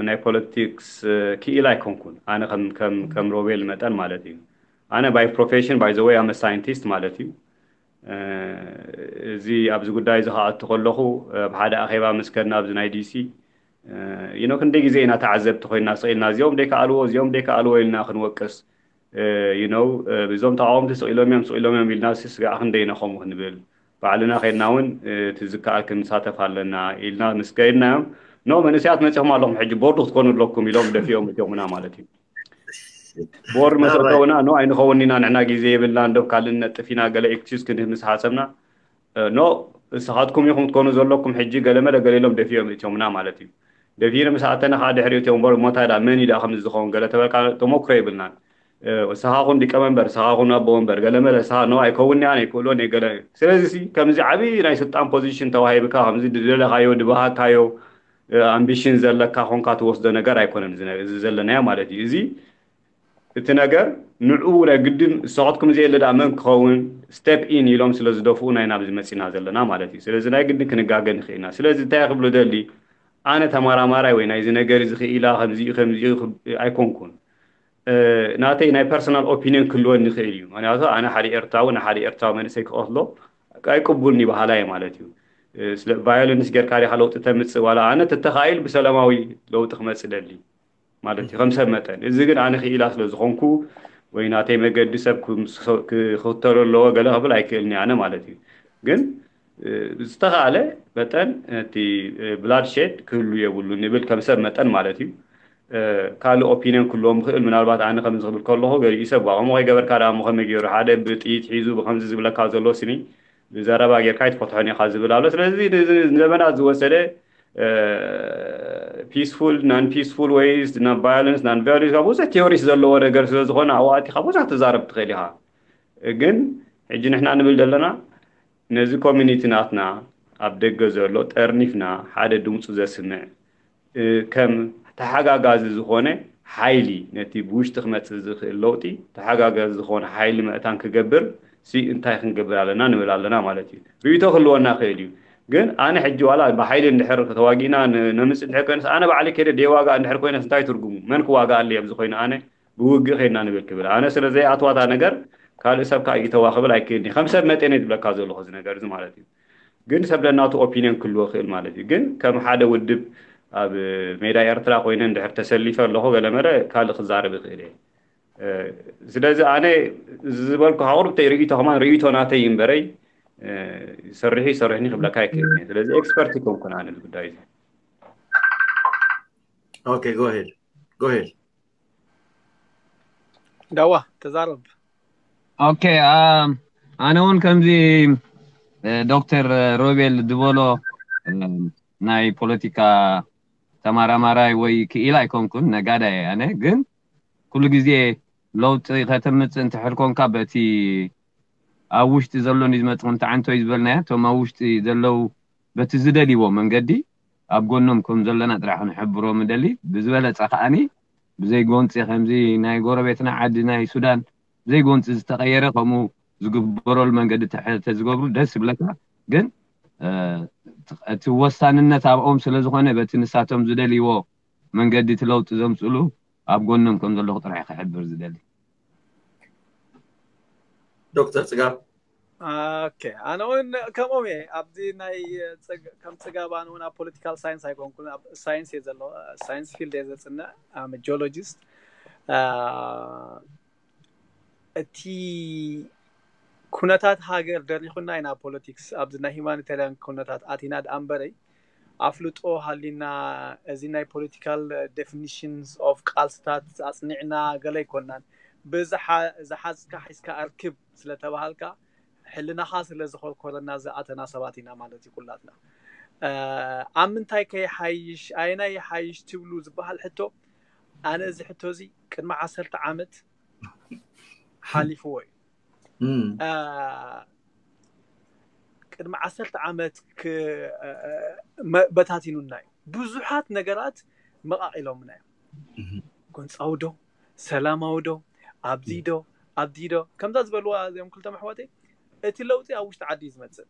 ናይ ፖለቲክስ፣ እ፣ ክኢላ ኣይኮንኩን። ኣነ ከም ከም ከም ሮቤል መጠን ማለት እዩ። ኣነ by profession, by the way, I'm a scientist ማለት እዩ። እ፣ እዚ ኣብዚ ጉዳይ እዚ ክኣቱ ከለኹ፣ ኣብ ሓደ ኣኼባ ምስ ከድና ኣብዚ ናይ ዲሲ፣ እ፣ you know፣ ክንደይ ግዜ ኢና ተዓዘብቲ ኮይና ስቕ ኢልና፣ እዚኦም ደይከኣልዎ፣ እዚኦም ደይከኣልዎ ኢልና ክንወቅስ፣ እ፣ you know፣ እ፣ እዞም ተቃወምቲ ስቕ ኢሎም እዮም፣ ስቕ ኢሎም እዮም ኢልና ሲ ስጋዕ ክንደይ ኢና ከምኡ ክንብል፣ ባዕልና ከድና እውን፣ እ፣ እቲ ዝከኣል ክንሳተፍ ኣለና ኢልና ምስ ከድናዮም፣ ኖ፣ መንእሰያት መጺኹም ኣለኹም፣ ሕጂ ቦርድ ክትኮኑ ኣለኩም ኢሎም ደፊኦም እትዮምና ማለት እዩ። ቦርድ ናባይ መስርተውና፣ ኖ፣ ኣይንኸውን ኢና፣ ንሕና ግዜ የብልና፣ እንደብ ካልእ ነጥፍ ኢና፣ ገለ ኤክስኪውዝ ክንህብ ምስ ሓሰብና፣ እ፣ ኖ፣ ንስኻትኩም ኢኹም ትኮኑ ዘለኩም፣ ሕጂ ገለ መለ ገለ ኢሎም ደፊኦም እትዮምና ማለት እዩ። ደፊነ ምስ ኣተና ከዓ ድሕሪ እቲኦም ቦርድ፣ ሞታይ ዳ መን እዩ ዳ ከምዚ ዝኸውን ገለ ተበልካ፣ ተሞክሮ የብልናን። እ፣ ንስኻ ኩን ሊቀመንበር፣ ንስኻ ኩን ኣቦ ወንበር፣ ገለ መለ፣ ንስኻ ኖ፣ ኣይከውን እያ፣ ኣይክእሎን እየ፣ ገለ። ስለዚ ሲ፣ ከምዚ ዓብዪ ናይ ስልጣን ፖዚሽን ተዋሂብካ፣ ከምዚ ዝደለኻዮ፣ ድባሃካዮ፣ እ፣ ኣምቢሽን ዘለካ ኮንካ ትወስዶ ነገር ኣይኮነን እዚ ነ-፣ እዚ ዘለናዮ ማለት እዩ። እዚ፣ እቲ ነገር ንዑ ናይ ግድን ንስኻትኩም ዘየለ ደኣ መን ክኸውን፣ ስቴፕ ኢን ኢሎም ስለ ዝደፍኡ ናይ ናብዚ መጺና ዘለና ማለት እዩ። ስለዚ ናይ ግድን ክንጋገ ንኽእል ኢና። ስለዚ እንታይ ክብሎ ደሊ፣ ኣነ ተመራማራይ ወይ ናይዚ ነገር እዚ ክኢላ ከምዚ እዩ፣ ከምዚ እዩ ክብ-፣ ኣይኮንኩን። እ፣ ናተይ ናይ ፐርሰናል ኦፒኒየን ክህልወኒ ይኽእል እዩ። ምክንያቱ ኣነ ሓደ ኤርትራዊ ንሓደ ኤርትራዊ መንእሰይ ክቐትሎ ኣይቅቡልኒ በሃላይ ማለት እዩ። እ፣ ስለ ቫዮለንስ ጌርካ ዲኻ ለውጢ ተምጽእ፣ ዋላ ኣነ ተተኻኢል ብሰላማዊ ለውጢ ክመጽእ ደሊ ማለት እዩ፣ ከም ሰብ መጠን። እዚ ግን ኣነ ክኢላ ስለ ዝኾንኩ ወይ ናተይ መገዲ ሰብ ክም-፣ ክኽተሎ ኣለዎ ገለ ክብል ኣይክእልኒ ኣነ ማለት እዩ። ግን፣ እ፣ ዝተኻእለ መጠን እቲ፣ እ፣ ብላድ ሼድ ክህሉ የብሉ ንብል ከም ሰብ መጠን ማለት እዩ። እ፣ ካልእ ኦፒንየን ክህልዎም ይኽእል። ምናልባት ኣነ ከምዚ ክብል ከለኹ ገሊኡ ሰብ፣ "ዋ፣ ከምኡ ከይገበርካ ደኣ እሞ ከመይ ገይሩ ሓደ ብጥይት ሒዙ ብከምዚ ዝብለካ ዘሎ ስኒ ብዘረባ ጌርካ ኣይትፈትሖን ኢኻ" ዝብል ኣሎ። ስለዚ ንዚ ንዘመናት ዝወሰደ፣ እ፣ ፒስፉል፣ ናን ፒስፉል ወይስ፣ ናን ቫዮለንስ፣ ናን ቫዮለንስ፣ ብዙሕ ቲዮሪስ ዘለዎ ነገር ስለ ዝኾነ፣ ኣብኡ ኣቲኻ ብዙሕ ትዛረብ ትኽእል ኢኻ። ግን ሕጂ ንሕና ንብል ዘለና፣ ነዚ ኮሚኒቲ ናትና ኣብ ደገ ዘሎ ጠርኒፍና ሓደ ድምፁ ዘስምዕ፣ እ፣ ከም ተሓጋጋዚ ዝኾነ ሓይሊ፣ ነቲ ብውሽጢ ክመጽእ ዝኽእል ለውጢ ተሓጋጋዚ ዝኾነ ሓይሊ መእታን ክገብር ሲ እንታይ ክንገብር ኣለና ንብል ኣለና ማለት እዩ። ርእይቶ ክህልወና ይኽእል እዩ። ግን ኣነ ሕጂ ዋላ ብሓይሊ እንድሕር ተዋጊእና ን-፣ ነምጽእ እንድሕር ኮይነስ፣ ኣነ ባዕለይ ከይደ ደይዋጋእ እንድሕር ኮይነስ እንታይ ትርጉሙ? መን ክዋጋኣለይ ኣብዚ ኮይኑ ኣነ ብውግእ ከይድና ንብል ክብል። ኣነ ስለ ዘይኣትዋታ ነገር ካልእ ሰብ ከኣ ይተዋ ክብል ኣይክእልኒ። ከም ሰብ መጠን እየ ዝብለካ ዘለኹ እዚ ነገር እዚ ማለት እዩ። ግን ሰብ ነናቱ ኦፒንየን ክህልዎ ይኽእል ማለት እዩ። ግን ከም ሓደ ውድብ ኣብ ሜዳ ኤርትራ ኮይነ እንድሕር ተሰሊፈ ኣለኹ ገለ መለ ካልእ ክዛረብ ይኽእል እየ። እ፣ ስለዚ ኣነ ዝበልኩ ኣቑርብተይ ርእይቶ ከማን ርእይቶ ናተይ እምበረይ፣ እ፣ ይሰርሕ ይሰርሕኒ ክብለካ ኣይክእልን እየ። ስለዚ ኤክስፐርት ይኮንኩን ኣነ እዚ ጉዳይ እዚ። Okay, go ahead. Go ahead. ዳዋ ተዛረብ። Okay, um, ኣነ እውን ከምዚ፣ እ፣ ዶክተር ሮቤል ዝበሎ፣ እ፣ ናይ ፖለቲካ ተመራማራይ ወይ ክኢላ ኣይኮንኩን፣ ነጋዳይ እየ ኣነ። ግን ኩሉ ግዜ ለውጢ ከተምጽእ እንተሕር ኮንካ በቲ ኣብ ውሽጢ ዘሎ ንዝመጽእ ከምቲ ዓንቶይ ዝበልናዮ፣ እቶም ኣብ ውሽጢ ዘለዉ በቲ ዝደልይዎ መንገዲ ኣብ ጎኖም ከም ዘለና ጥራሕ ክንሕብሮም እደሊ። ብዝበለጸ ከኣኒ ብዘይ ጎንጺ ከምዚ ናይ ጎረቤትና ዓዲ ናይ ሱዳን ብዘይ ጎንጺ ዝተቐየረ ከምኡ ዝግበረሉ መንገዲ ተሐ-፣ ተዝገብሩ ደስ ይብለካ። ግን፣ እ፣ እቲ ወሳንነት ኣብኦም ስለ ዝኾነ በቲ ንሳቶም ዝደልይዎ መንገዲ እቲ ለውጢ ዘምጽሉ ኣብ ጎኖም ከም ዘለኹ ጥራሕ ክሕብር ዝደሊ። ዶክተር ጽጋብ። ኦኬ፣ ኣነ እውን ከምኦም እየ። ኣብዚ ናይ ጽግ-፣ ከም ጽጋብ ኣነ እውን ኣብ ፖለቲካል ሳይንስ ኣይኮንኩን፣ ኣብ ሳይንስ እየ ዘሎ፣ ሳይንስ ፊልድ እየ ዘጽንዕ፣ ኣም ጂኦሎጂስት። አ፣ እቲ ኩነታት ሃገር ደሪኹና ኢና ፖለቲክስ፣ ኣብዚ ናይ ሂማኒታሪያን ኩነታት ኣቲና ደኣ እምበረይ፣ ኣፍልጦ ሃሊና፣ እዚ ናይ ፖለቲካል ዴፊኒሽንስ ኦፍ ቃልስታት ኣጽኒዕና ገለ ኣይኮናን። ብዝሓ-፣ ዝሓዝካ ሒዝካ ኣርክብ ስለተባሃልካ፣ ሕልናኻ ስለ ዝኮርኮረና ዝኣተና ሰባት ኢና ማለት እዩ ኩላትና። እ፣ ኣብ ምንታይ ከ ይሓይሽ፣ ኣየናይ ይሓይሽ ትብሉ ዝበሃል ሕቶ፣ ኣነ እዚ ሕቶ እዚ ቅድሚ ዓሰርተ ዓመት ሓሊፍዎ እዩ። እም፣ አ፣ ቅድሚ ዓሰርተ ዓመት ክ- አ፣ መ- በታቲኑና እዩ። ብዙሓት ነገራት መቃቂሎምና እዮም። እም፣ ጎንፃዊ ዶ፣ ሰላማዊ ዶ፣ ኣብዚ ዶ፣ ኣብዚ ዶ፣ ከምዛ ዝበልዋ እዚኦም ክልተ ኣሕዋተይ፣ እቲ ለውጢ ኣብ ውሽጢ ዓዲ እዩ ዝመፅእ።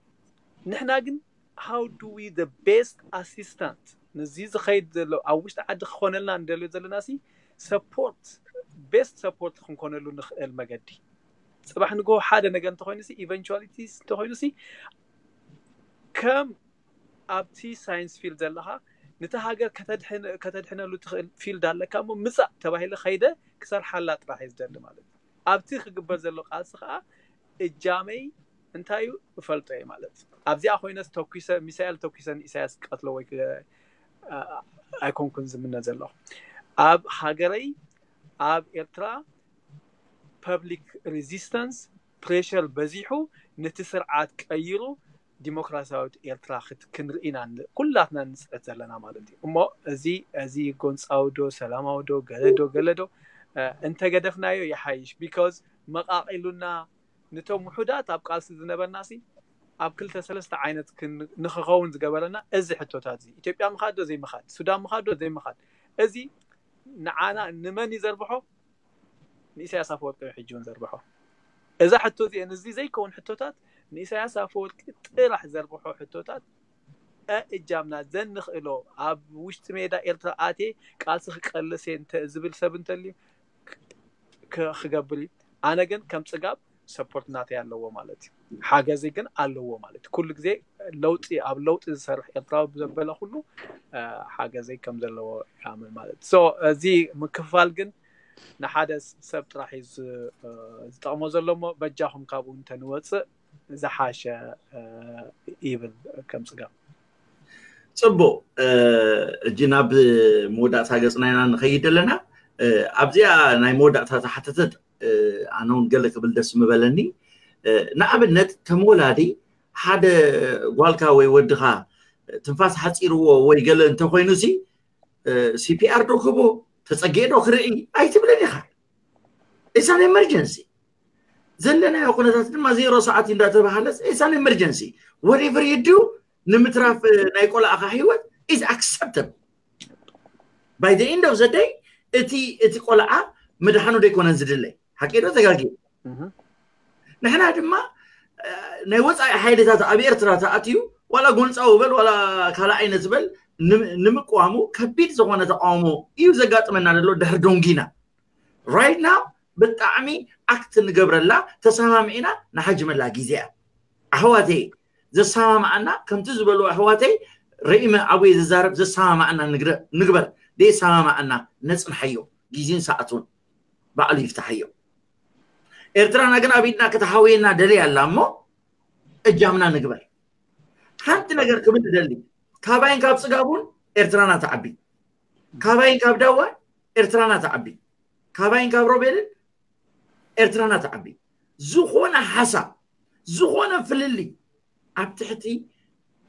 ንሕና ግን how do we the best assistant ንዚ ዝኸይድ ዘሎ ኣብ ውሽጢ ዓዲ ክኾነልና እንደልዮ ዘለና ሲ support, best support ክንኮነሉ ንኽእል መገዲ። ፅባሕ ንግሆ ሓደ ነገር እንተኾይኑ ሲ፣ eventualities እንተኾይኑ ሲ፣ ከም ኣብቲ ሳይንስ ፊልድ ዘለኻ፣ ነቲ ሃገር ከተድሕን- ከተድሕነሉ ትኽእል ፊልድ ኣለካ እሞ ምፃእ ተባሂለ ከይደ ክሰርሓላ ጥራሕ እየ ዝደሊ ማለት እዩ። ኣብቲ ክግበር ዘሎ ቃልሲ ከዓ እጃመይ እንታይ እዩ እፈልጦ እየ ማለት እዩ። ኣብዚኣ ኮይነስ ተኩሰ፣ ሚሳኤል ተኩሰ ንኢሳያስ ክቀትሎ ወይ ክ- አ- ኣይኮንኩን ዝምነ ዘለኹ። ኣብ ሃገረይ፣ ኣብ ኤርትራ፣ public resistance, pressure በዚሑ ነቲ ስርዓት ቀይሩ ዲሞክራሲያዊት ኤርትራ ክት- ክንርኢ ኢና ን- ኩላትና ንፅዕት ዘለና ማለት እዩ። እሞ እዚ እዚ ጎንፃዊ ዶ፣ ሰላማዊ ዶ፣ ገለ ዶ፣ ገለ ዶ፣ እ፣ እንተገደፍናዮ ይሓይሽ። ቢካዝ መቃቂሉና፣ ነቶም ውሑዳት ኣብ ቃልሲ ዝነበርና ሲ ኣብ ክልተ ሰለስተ ዓይነት ክን- ንክኸውን ዝገበረና እዚ ሕቶታት እዚ፣ ኢትዮጵያ ምኻድ ዶ ዘይምኻድ፣ ሱዳን ምኻድ ዶ ዘይምኻድ፣ እዚ ንዓና ንመን እዩ ዘርብሖ? ንኢሳያስ ኣፈወርቂ እዩ ሕጂ እውን ዘርብሖ። እዛ ሕቶ እዚአን፣ እዚ ዘይከውን ሕቶታት፣ ንኢሳያስ ኣፈወርቂ ጥራሕ ዘርብሖ ሕቶታት፣ እ እጃምና ዘንኽእሎ፣ ኣብ ውሽጢ ሜዳ ኤርትራ ኣትየ ቃልሲ ክቀልስ እየ እንተ ዝብል ሰብ እንተልዩ፣ ክ- ክገብር እዩ። ኣነ ግን ከም ፅጋብ ሰፖርት ናተይ ኣለዎ ማለት እዩ። ሓገዘይ ግን ኣለዎ ማለት እዩ። ኩሉ ግዜ ለውጢ፣ ኣብ ለውጢ ዝሰርሕ ኤርትራዊ ዘበለ ኩሉ፣ እ፣ ሓገዘይ ከም ዘለዎ ይኣምን ማለት እዩ። ሶ እዚ ምክፍፋል ግን ንሓደ ሰብ ጥራሕ እዩ ዝ- እ፣ ዝጠቕሞ ዘሎ እሞ፣ በጃኹም ካብኡ እንተንወፅእ ዝሓሸ፣ እ፣ ይብል ከም ፅጋብ። ፅቡቅ። እ፣ እጂ ናብ መወዳእታ ገፅና ኢና ንኸይድ ዘለና። እ፣ ኣብዚኣ ናይ መወዳእታ ዝሓተተት፣ እ፣ ኣነ እውን ገለ ክብል ደስ ምበለኒ። እ፣ ንኣብነት ከም ወላዲ ሓደ ጓልካ ወይ ወድኻ ትንፋስ ሓፂርዎ ወይ ገለ እንተኮይኑ ሲ፣ እ፣ ሲ ፒ ኣር ዶ ክቦ፣ ተፀጊኤ ዶ ክርኢ ኣይትብልን ኢኻ። ኢሳን ኤመርጀንሲ ዘለናዮ ኩነታት ድማ ዜሮ ሰዓት እንዳተባሃለ ኢሳን ኤመርጀንሲ። Whatever you do ንምትራፍ ናይ ቆልኣኻ ህይወት is acceptable። By the end of the day እቲ እቲ ቆልዓ ምድሓኑ ደይኮነን ዝድለይ። ሓቂ ዶ ተጋጊ? ንሕና ድማ፣ እ፣ ናይ ወፃኢ ሓይልታት ኣብ ኤርትራ ተኣትዩ፣ ዋላ ጎንፃዊ በል ዋላ ካልእ ዓይነት በል፣ ንም- ንምቅዋሙ ከቢድ ዝኾነ ተቃውሞ እዩ ዘጋጥመና ዘሎ ድሕሪ ዶንጊና። Right now ብጣዕሚ ኣክት ንገብረላ፣ ተሰማሚዕና ንሓጅመላ ግዜ እያ። ኣሕዋተይ፣ ዘሰማማዓና፣ ከምቲ ዝበሉ ኣሕዋተይ፣ ረኢመ ኣብየ ዝዛረብ፣ ዘሰማማዓና ንግረ- ንግበር። ደየሰማማዓና ነፅንሓዮ፣ ግዜን ሰዓቱን ባዕሉ ይፍትሓዮ። ኤርትራና ግን ኣብ ኢድና ከተሓውየና ደልያ ኣላ እሞ እጃምና ንግበር። ሓንቲ ነገር ክብል እደሊ፣ ካባይን ካብ ፅጋቡን ኤርትራና ትዓቢ፣ ካባይን ካብ ዳዋን ኤርትራና ትዓቢ፣ ካባይን ካብ ሮቤልን ኤርትራና ትዓቢ። ዝኾነ ሓሳብ፣ ዝኾነ ፍልልይ ኣብ ትሕቲ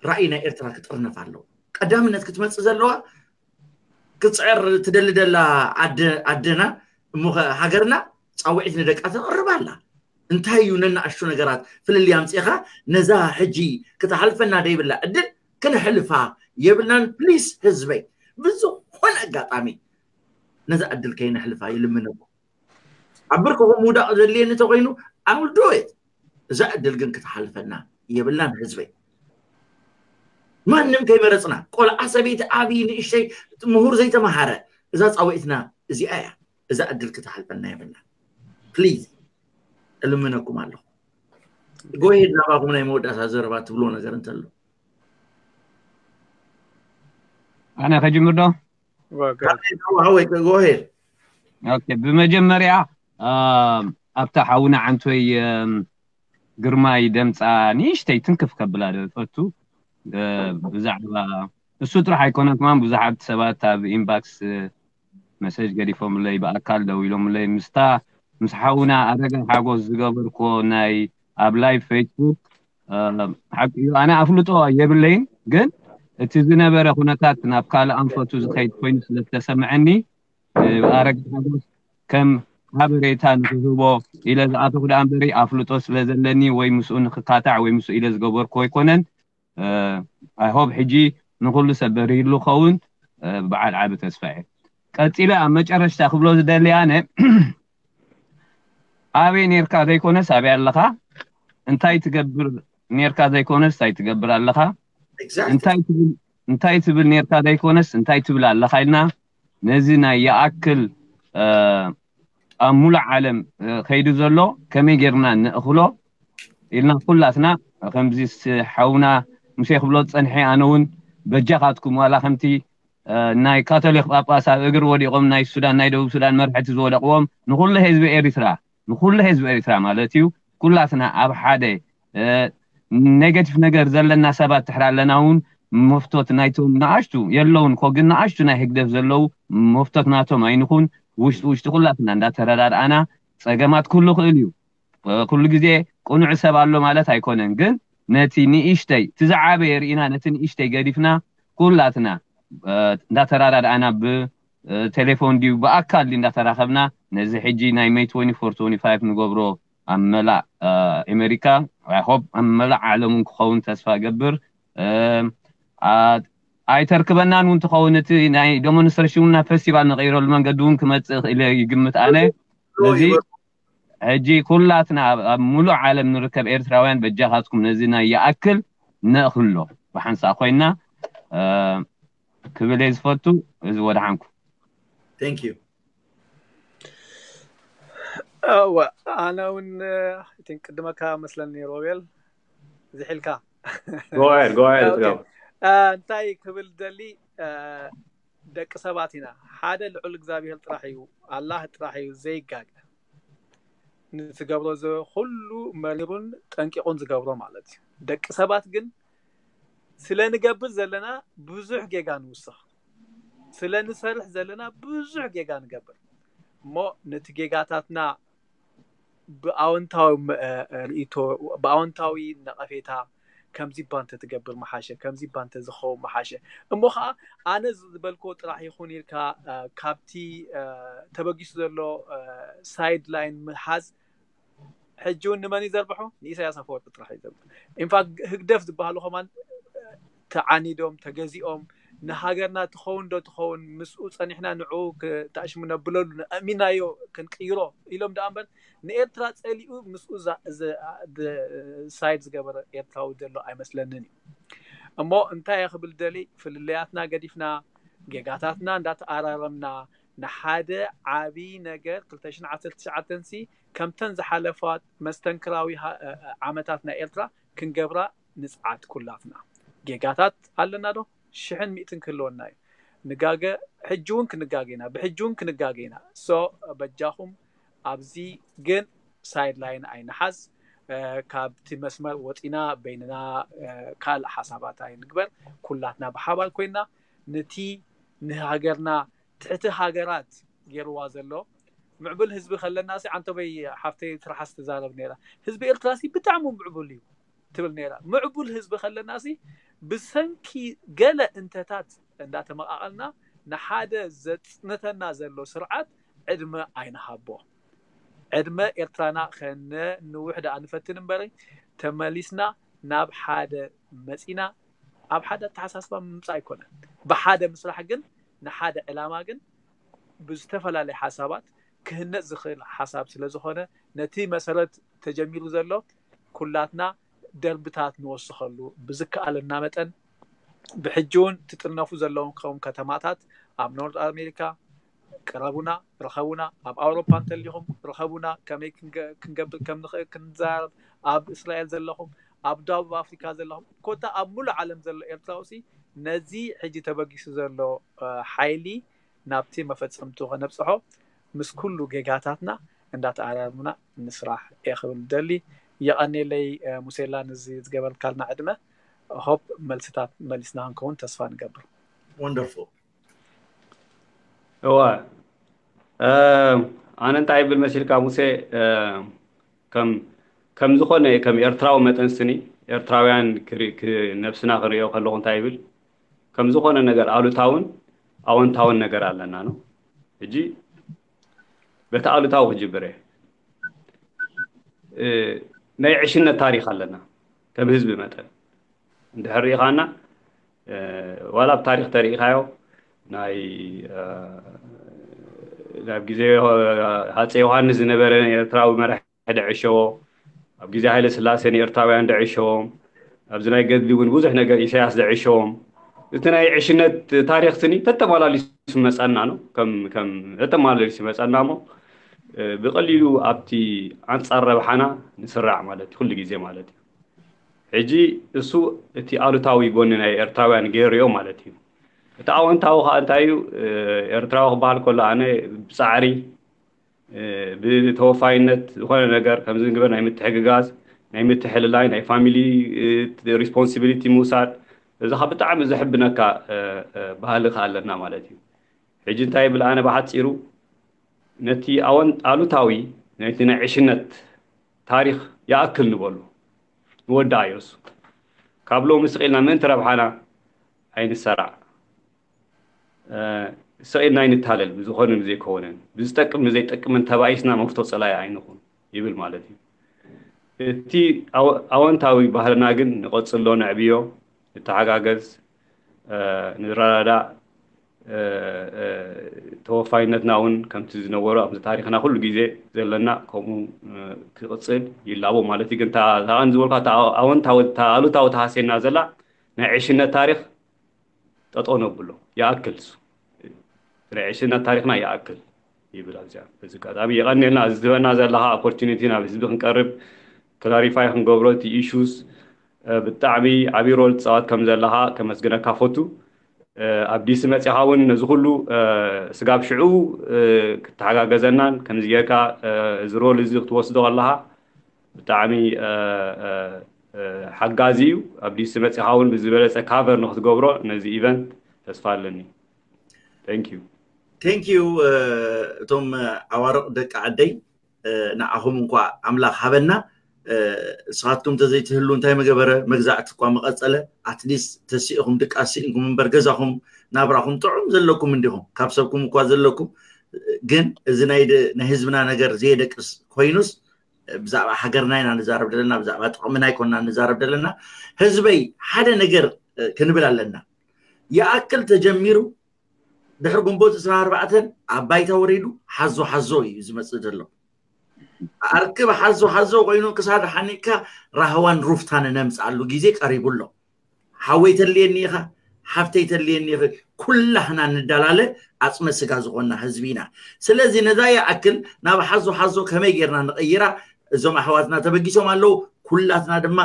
ራእይ ናይ ኤርትራ ክጥርነፍ ኣለዎ። ቀዳምነት ክትመፅእ ዘለዋ፣ ክትፅዕር ትደሊ ደላ ኣደ- ኣደና እሞ ኸ ሃገርና ፃውዒት ንደቃ ተቕርብ ኣላ። እንታይ እዩ ነናእሽቱ ነገራት ፍልልይ ኣምፂኻ ነዛ ሕጂ ክትሓልፈና ደይብላ ዕድል ክንሕልፋ የብልናን። ፕሊስ ህዝበይ፣ ብዝኾነ ኣጋጣሚ ነዛ ዕድል ከይነሕልፋ ይልምነኩም። ኣብ ብርክኹም ምውዳቕ ዘድልየኒ እንተኾይኑ፣ I will do it። እዛ ዕድል ግን ክትሓልፈና የብላን ህዝበይ። ማንም ከይመረፅና፣ ቆልዓ፣ ሰበይቲ፣ ዓብዪ፣ ንእሽተይ፣ ምሁር፣ ዘይተምሃረ፣ እዛ ፃውዒትና እዚኣ እያ። እዛ ዕድል ክትሓልፈና የብላን። ፕሊዝ እልምነኩም ኣለኹ። ጎሄድ ናባኹም ናይ መወዳእታ ዘረባ ትብሎ ነገር እንተሎ። ኣነ ከጅምር ዶ? ጎሄድ። ኦኬ፣ ብመጀመርያ፣ አ፣ ኣብታ ሓውና ዓንቶይ፣ እም፣ ግርማይ ደምፃ ንእሽተይ ትንክፍ ከብላ ዶ ይፈቱ። እ፣ ብዛዕባ እሱ ጥራሕ ኣይኮነን፣ ከማን ብዙሓት ሰባት ኣብ ኢንባክስ፣ እ፣ መሰጅ ገዲፎምለይ፣ ብኣካል ደዊሎምለይ። ምስታ ምስ ሓውና ኣረጋ ሓጎስ ዝገበርኮ ናይ ኣብ ላይቭ ፌስቡክ፣ እ፣ ሓቂ እዩ፣ ኣነ ኣፍልጦ የብለይን፣ ግን እቲ ዝነበረ ኩነታት ናብ ካልእ ኣንፈቱ ዝኸይድ ኮይኑ ስለ ዝተሰምዐኒ፣ እ፣ ኣረጋ ሓጎስ ከም ሓበሬታ ንክህቦ ኢለ ዝኣተኹ ደኣ እምበሪ ኣፍልጦ ስለ ዘለኒ ወይ ምስኡ ንክካታዕ ወይ ምስኡ ኢለ ዝገበርኩ ኣይኮነን። I hope ሕጂ ንኩሉ ሰብ በሪህሉ ኸውን በዓል ዓቢ ተስፋ እየ። ቀጺለ ኣብ መጨረሽታ ክብሎ ዝደሊ ኣነ ኣበይ ኔርካ ዘይኮነስ ኣበይ ኣለኻ፣ እንታይ ትገብር ኔርካ ዘይኮነስ እንታይ ትገብር ኣለኻ፣ እንታይ ትብል እንታይ ትብል ኔርካ ዘይኮነስ እንታይ ትብል ኣለኻ ኢልና ነዚ ናይ ይኣክል ኣብ ሙሉእ ዓለም ከይዱ ዘሎ ከመይ ጌርና ንእኽሎ ኢልና ኩላትና ከምዚ ሓውና ሙሴ ክብሎ ዝጸንሐ ኣነ እውን በጃኻትኩም ዋላ ከምቲ ናይ ካቶሊክ ጳጳስ ኣብ እግሪ ወዲቖም ናይ ሱዳን ናይ ደቡብ ሱዳን መርሕቲ ዝወደቕዎም ንኩሉ ህዝቢ ኤሪትራ ንኩሉ ህዝቢ ኤሪትራ ማለት እዩ ኩላትና ኣብ ሓደ ኔጋቲቭ ነገር ዘለና ሰባት ትሕር ኣለና እውን መፍቶት ናይቶም ንኣሽቱ የለውን ኮ ግን ንኣሽቱ ናይ ህግደፍ ዘለዉ መፍቶት ናቶም ኣይንኹን ውሽጢ ውሽጢ ኩላትና እንዳተረዳድኣና ጸገማት ኩሉ ክእል እዩ ኩሉ ግዜ ቅኑዕ ሰብ ኣሎ ማለት ኣይኮነን ግን ነቲ ንእሽተይ እቲ ዝዓበየ ርኢና ነቲ ንእሽተይ ገዲፍና ኩላትና እንዳተረዳድኣና ብቴሌፎን ድዩ ብኣካል ድዩ እንዳተራኸብና ነዚ ሕጂ ናይ ሜይ ትወንቲ ፎር ትወንቲ ፋይቭ ንገብሮ ኣብ መላእ ኣሜሪካ ሆፕ ኣብ መላእ ዓለም እውን ክኸውን ተስፋ እገብር ኣይተርክበናን እውን ትኸውን እቲ ናይ ዴሞንስትሬሽን እና ፌስቲቫል ንቀይረሉ መንገዲ እውን ክመፅእ ክእል ይግምት ኣነ ነዚ ሕጂ ኩላትና ኣብ ሙሉእ ዓለም ንርከብ ኤርትራውያን በጃኻትኩም ነዚ ናይ ይኣክል ነእኽሎ ብሓንሳእ ኮይና ክብል እየ ዝፈቱ እዚ ወድሓንኩ Thank you እወ ኣነ እውን ቲን ቅድመካ መስለኒ ሮቤል ዝሒልካ Go ahead, go ahead. እንታይ ክብል ደሊ ደቂ ሰባት ኢና ሓደ ልዑል እግዚኣብሔር ጥራሕ እዩ ኣላህ ጥራሕ እዩ ዘይጋገ ንዝገብሮ ኩሉ መሪሩን ጠንቂቑን ዝገብሮ ማለት እዩ ደቂ ሰባት ግን ስለ ንገብር ዘለና ብዙሕ ጌጋ ንውስኽ ስለ ንሰርሕ ዘለና ብዙሕ ጌጋ ንገብር እሞ ነቲ ጌጋታትና ብኣወንታዊ ርእቶ ብኣወንታዊ ነቐፌታ ከምዚ ባንተ ትገብር መሓሸ ከምዚ ባንተ ዝኸውን መሓሸ እሞ ከዓ ኣነ ዝበልኮ ጥራሕ ይኹን ኢልካ ካብቲ ተበጊሱ ዘሎ ሳይድ ላይን ምሓዝ ሕጂ እውን ንመን ይዘርብሖ ንኢሳያስ ኣፈወርቂ ጥራሕ ይዘርብ ኢንፋክት ህግደፍ ዝበሃሉ ከማን ተዓኒዶም ተገዚኦም ንሃገርና ትኸውን ዶ ትኸውን ምስኡ ፀኒሕና ንዑ ተኣሽሙ ነብለሉ ኣእሚናዮ ክንቅይሮ ኢሎም ደኣ እምበር ንኤርትራ ፀሊኡ ምስኡ ሳይድ ዝገበረ ኤርትራዊ ዘሎ ኣይመስለንን እዩ እሞ እንታይ ክብል ደሊ ፍልለያትና ገዲፍና ጌጋታትና እንዳተኣራረምና ንሓደ ዓብይ ነገር ክልተ ሽሕን ዓሰርተ ትሽዓተን ሲ ከምተን ዝሓለፋ መስተንክራዊ ዓመታት ናይ ኤርትራ ክንገብራ ንፅዓት ኩላትና ጌጋታት ኣለና ዶ ሽሕን ሚእትን ክህልወና እዩ ንጋገ ሕጂ እውን ክንጋገ ኢና ብሕጂ እውን ክንጋገ ኢና ሶ በጃኹም ኣብዚ ግን ሳይድ ላይን ኣይንሓዝ ካብቲ መስመር ወፂና በይንና ካልእ ሓሳባት ኣይንግበር ኩላትና ብሓባር ኮይና ነቲ ንሃገርና ትሕቲ ሃገራት ገይርዋ ዘሎ ምዕቡል ህዝቢ ከለና ሲ ዓንተበይ ሓፍተይ ትርሓስ ትዛረብ ነራ ህዝቢ ኤርትራ ሲ ብጣዕሚ ምዕቡል እዩ ትብል ነራ ምዕቡል ህዝቢ ከለና ሲ ብሰንኪ ገለ እንተታት እንዳተመቃቀልና ንሓደ ዘፅንተና ዘሎ ስርዓት ዕድመ ኣይንሃቦ ዕድመ ኤርትራና ከነንውሕ ደኣ ንፈትን እምበሪ ተመሊስና ናብ ሓደ መፂና ኣብ ሓደ ኣተሓሳስባ ምምፃእ ኣይኮነን ብሓደ ምስራሕ ግን ንሓደ ዕላማ ግን ብዝተፈላለየ ሓሳባት ክህነፅ ዝኽእል ሓሳብ ስለ ዝኾነ ነቲ መሰረት ተጀሚሩ ዘሎ ኩላትና ደርብታት ንወስኸሉ ብዝከኣለና መጠን ብሕጂ እውን ትጥርነፉ ዘለዎም ከም ከተማታት ኣብ ኖርት ኣሜሪካ ቅረቡና ርኸቡና ኣብ ኣውሮፓ እንተሊኹም ርኸቡና ከመይ ክንገብር ከም ንኽእል ክንዛረብ ኣብ እስራኤል ዘለኹም ኣብ ደቡብ ኣፍሪካ ዘለኹም ኮታ ኣብ ሙሉእ ዓለም ዘሎ ኤርትራውሲ ነዚ ሕጂ ተበጊሱ ዘሎ ሓይሊ ናብቲ መፈፀምቱ ከነብፅሖ ምስ ኩሉ ጌጋታትና እንዳተኣራርምና ንስራሕ እየ ክብል ደሊ የቐኔለይ ሙሴላ ንዚ ዝገበርካልና ዕድመ ሆፕ መልስታት መሊስና ክንከውን ተስፋ ንገብር Wonderful እዋ ኣነ እንታይ ይብል መሲልካ ሙሴ ከም ከም ዝኾነ ከም ኤርትራዊ መጠን ስኒ ኤርትራውያን ነብስና ክንሪኦ ከለኹ እንታይ ይብል ከም ዝኾነ ነገር ኣሉታውን ኣወንታውን ነገር ኣለና ነው እጂ በቲ ኣሉታዊ ክጅብር እየ። እ፣ ናይ ዕሽነት ታሪኽ ኣለና ከም ህዝቢ መጠን። እንድሕር ርኢኻና፣ እ፣ ዋላ ኣብ ታሪኽ ተርኢኻዮ፣ ናይ፣ እ፣ ናብ ግዜ ዮ-፣ ሃፀይ ዮሃንስ ዝነበረ ኤርትራዊ መራሒ ደዕሸዎ፣ ኣብ ግዜ ሃይለ ስላሴ ንኤርትራውያን ደዕሸዎም፣ ኣብዚ ናይ ገድሊ እውን ብዙሕ ነገር ኢሳያስ ደዕሸዎም። እቲ ናይ ዕሽነት ታሪኽ ስኒ ተተማላሊሱ መጸና ነው። ከም፣ ከም ተተማላሊሱ መጸና እሞ፣ እ፣ ብቐሊሉ ኣብቲ ኣንጻር ረብሓና ንስራዕ ማለት እዩ፣ ኩሉ ግዜ ማለት እዩ። ሕጂ እሱ እቲ ኣሉታዊ ጎኒ ናይ ኤርትራውያን ገይሩ ሪኦ ማለት እዩ። እቲ ኣወንታዊ ከኣ እንታይ እዩ? እ፣ ኤርትራዊ ክበሃል ከሎ ኣነ ብጻዕሪ፣ እ፣ ብተወፋይነት ዝኾነ ነገር ከምዚ ንግበር ናይ ምትሕግጋዝ፣ ናይ ምትሕልላይ፣ ናይ ፋሚሊ፣ እ፣ ሪስፖንሲቢሊቲ ምውሳድ፣ እዚ ኸኣ ብጣዕሚ ዘሕብነካ፣ እ፣ እ፣ ባህሊ ከኣ ኣለና ማለት እዩ። ሕጂ እንታይ ይብል ኣነ ብሓጺሩ ነቲ ኣወን-፣ ኣሉታዊ ናይቲ ናይ ዕሽነት ታሪኽ ይኣክል ንበሉ። ንወዳእዮ እሱ። ካብ ሎሚ ስቕ ኢልና ምእንቲ ረብሓና ኣይንሰራዕ። እ፣ ስቕ ኢልና ኣይንታለል፣ ብዝኾነ ብዘይኮነን። ብዝጠቅም ብዘይጠቅምን ተባኢስና መፍቶ ጸላኢ ኣይንኹን ይብል ማለት እዩ። እቲ ኣወ-፣ ኣወንታዊ ባህልና ግን ንቐጽሎ፣ ነዕብዮ፣ ንተሓጋገዝ፣ እ፣ ንረዳዳእ፣ እ፣ እ፣ ተወፋይነትና እውን ከምቲ ዝነበሮ ኣብዚ ታሪኽና ኩሉ ግዜ ዘለና ከምኡ፣ እ፣ ክቕጽል ይላቦ ማለት እዩ። ግን እታ፣ እታ ቀንዲ ዝበልኳ እታ ኣወንታዊ፣ እታ ኣሉታዊ ተሃስየና ዘላ ናይ ዕሽነት ታሪኽ ጠጠው ነብሎ። ይኣክል እሱ። ናይ ዕሽነት ታሪኽና ይኣክል ይብል ኣብዚኣ። በዚ ኣጋጣሚ የቐንየልና፣ እዚ ትህበና ዘለኻ ኦፖርቹኒቲ ናብ ህዝቢ ክንቀርብ፣ ክላሪፋይ ክንገብሮ እቲ ኢሹስ፣ እ፣ ብጣዕሚ ዓብዪ ሮል ትጻወት ከም ዘለኻ ከመስግነካ ፈቱ። እ፣ ኣብ ዲሲ መጺኻ እውን ነዚ ኩሉ፣ እ፣ ስጋብ ሽዑ፣ እ፣ ክትተሓጋገዘናን ከምዚ ጌርካ፣ እ፣ እዚ ሮል እዚ ክትወስዶ ከለኻ ብጣዕሚ፣ እ፣ እ፣ እ፣ ሓጋዚ እዩ። ኣብ ዲሲ መጺኻ እውን ብዝበለጸ ካቨር ንክትገብሮ ነዚ ኢቨንት ተስፋ ኣለኒ። Thank you። Thank you፣ እ፣ እቶም ዓዋርቕ ደቂ ዓደይ፣ እ፣ ንዓኹም እንኳ ኣምላኽ ሃበና። እ፣ ንስኻትኩም ተዘይትህሉ እንታይ መገበረ? መግዛእቲ እኳ መቐጸለ። ኣትሊስት ተሲእኹም ድቃስ ስኢንኩም እምበር ገዛኹም ናብራኹም ጥዑም ዘለኩም እንዲኹም። ካብ ሰብኩም እኳ ዘለኩም፣ ግን እዚ ናይ ደ-፣ ናይ ህዝብና ነገር ዘየደቅስ ኮይኑስ፣ ብዛዕባ ሃገርና ኢና ንዛረብ ዘለና፣ ብዛዕባ ጥቕምና ኣይኮንና ንዛረብ ዘለና። ህዝበይ፣ ሓደ ነገር፣ እ፣ ክንብል ኣለና። ይኣክል ተጀሚሩ ድሕሪ ግንቦት ዕስራን ኣርባዕተን ኣብ ባይታ ወሪዱ ሓዞ ሓዞ እዩ ዝመጽእ ዘሎ። ኣርክብ ሓዞ ሓዞ ኮይኑ ክሳድ ሓኒቅካ ራህዋን ሩፍታን ነምጽኣሉ ግዜ ቀሪቡ ኣሎ። ሓወይ ተልየኒ ኢኻ፣ ሓፍተይ ተልየኒ ኢኺ፣ ኩላህና ንዳላለ ኣጽመ ስጋ ዝኾንና ህዝቢ ኢና። ስለዚ ነዛ ይኣክል ናብ ሓዞ ሓዞ ከመይ ጌርና ንቐይራ? እዞም ኣሕዋትና ተበጊሶም ኣለዉ። ኩላትና ድማ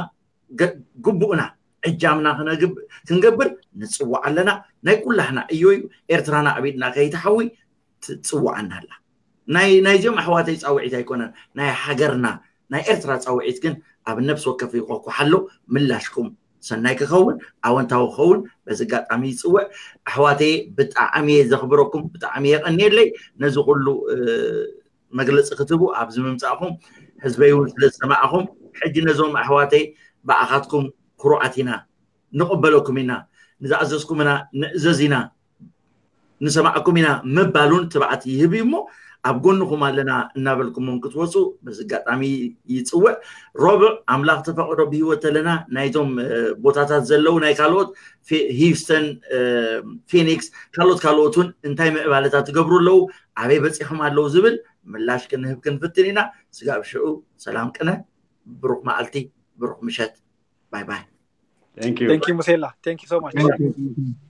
ገ-፣ ግቡእና ዕጃምና ክነግብ-፣ ክንገብር ንጽዋዕ ኣለና። ናይ ኩላህና እዮ እዩ። ኤርትራና ኣብ ኢድና ከይትሓዊ ትጽውዓና ኣላ። ናይ፣ ናይዚኦም ኣሕዋተይ ጻውዒት ኣይኮነን፣ ናይ ሃገርና፣ ናይ ኤርትራ ጻውዒት ግን ኣብ ነፍሲ ወከፍ ይቆኩሓሎ። ምላሽኩም ሰናይ ክኸውን፣ ኣወንታዊ ክኸውን በዚ ኣጋጣሚ ይጽውዕ። ኣሕዋተይ ብጣዕሚ እየ ዘኽብረኩም፣ ብጣዕሚ የቐንየለይ ነዚ ኩሉ፣ እ፣ መግለጺ ክትህቡ ኣብዚ ምምጻእኹም። ህዝበይ እውን ስለ ዝሰማዕኹም፣ ሕጂ ነዞም ኣሕዋተይ ብኣኻትኩም ክሩዓት ኢና፣ ንቕበለኩም ኢና፣ ንዝኣዘዝኩምና ንእዘዝ ኢና፣ ንሰማዕኩም ኢና ምባል እውን ትብዓት ይህብ እዩ እሞ፣ ኣብ ጎንኹም ኣለና እናበልኩሞም ክትወፁ በዚ ኣጋጣሚ ይፅውዕ። ሮብዕ፣ ኣምላኽ ተፈቕዶ ብህይወት ተለና ናይዞም፣ እ፣ ቦታታት ዘለዉ ናይ ካልኦት ፊ-፣ ሂውስተን፣ እ፣ ፊኒክስ፣ ካልኦት ካልኦት እውን እንታይ ምዕባለታት ትገብሩ ኣለዉ፣ ኣበይ በፂሖም ኣለዉ ዝብል ምላሽ ክንህብ ክንፍትን ኢና። ስጋብ ሽዑ ሰላም ቅነ፣ ብሩኽ መዓልቲ፣ ብሩኽ ምሸት። ባይ ባይ። Thank you። Thank you ሙሴላ። Thank you so much።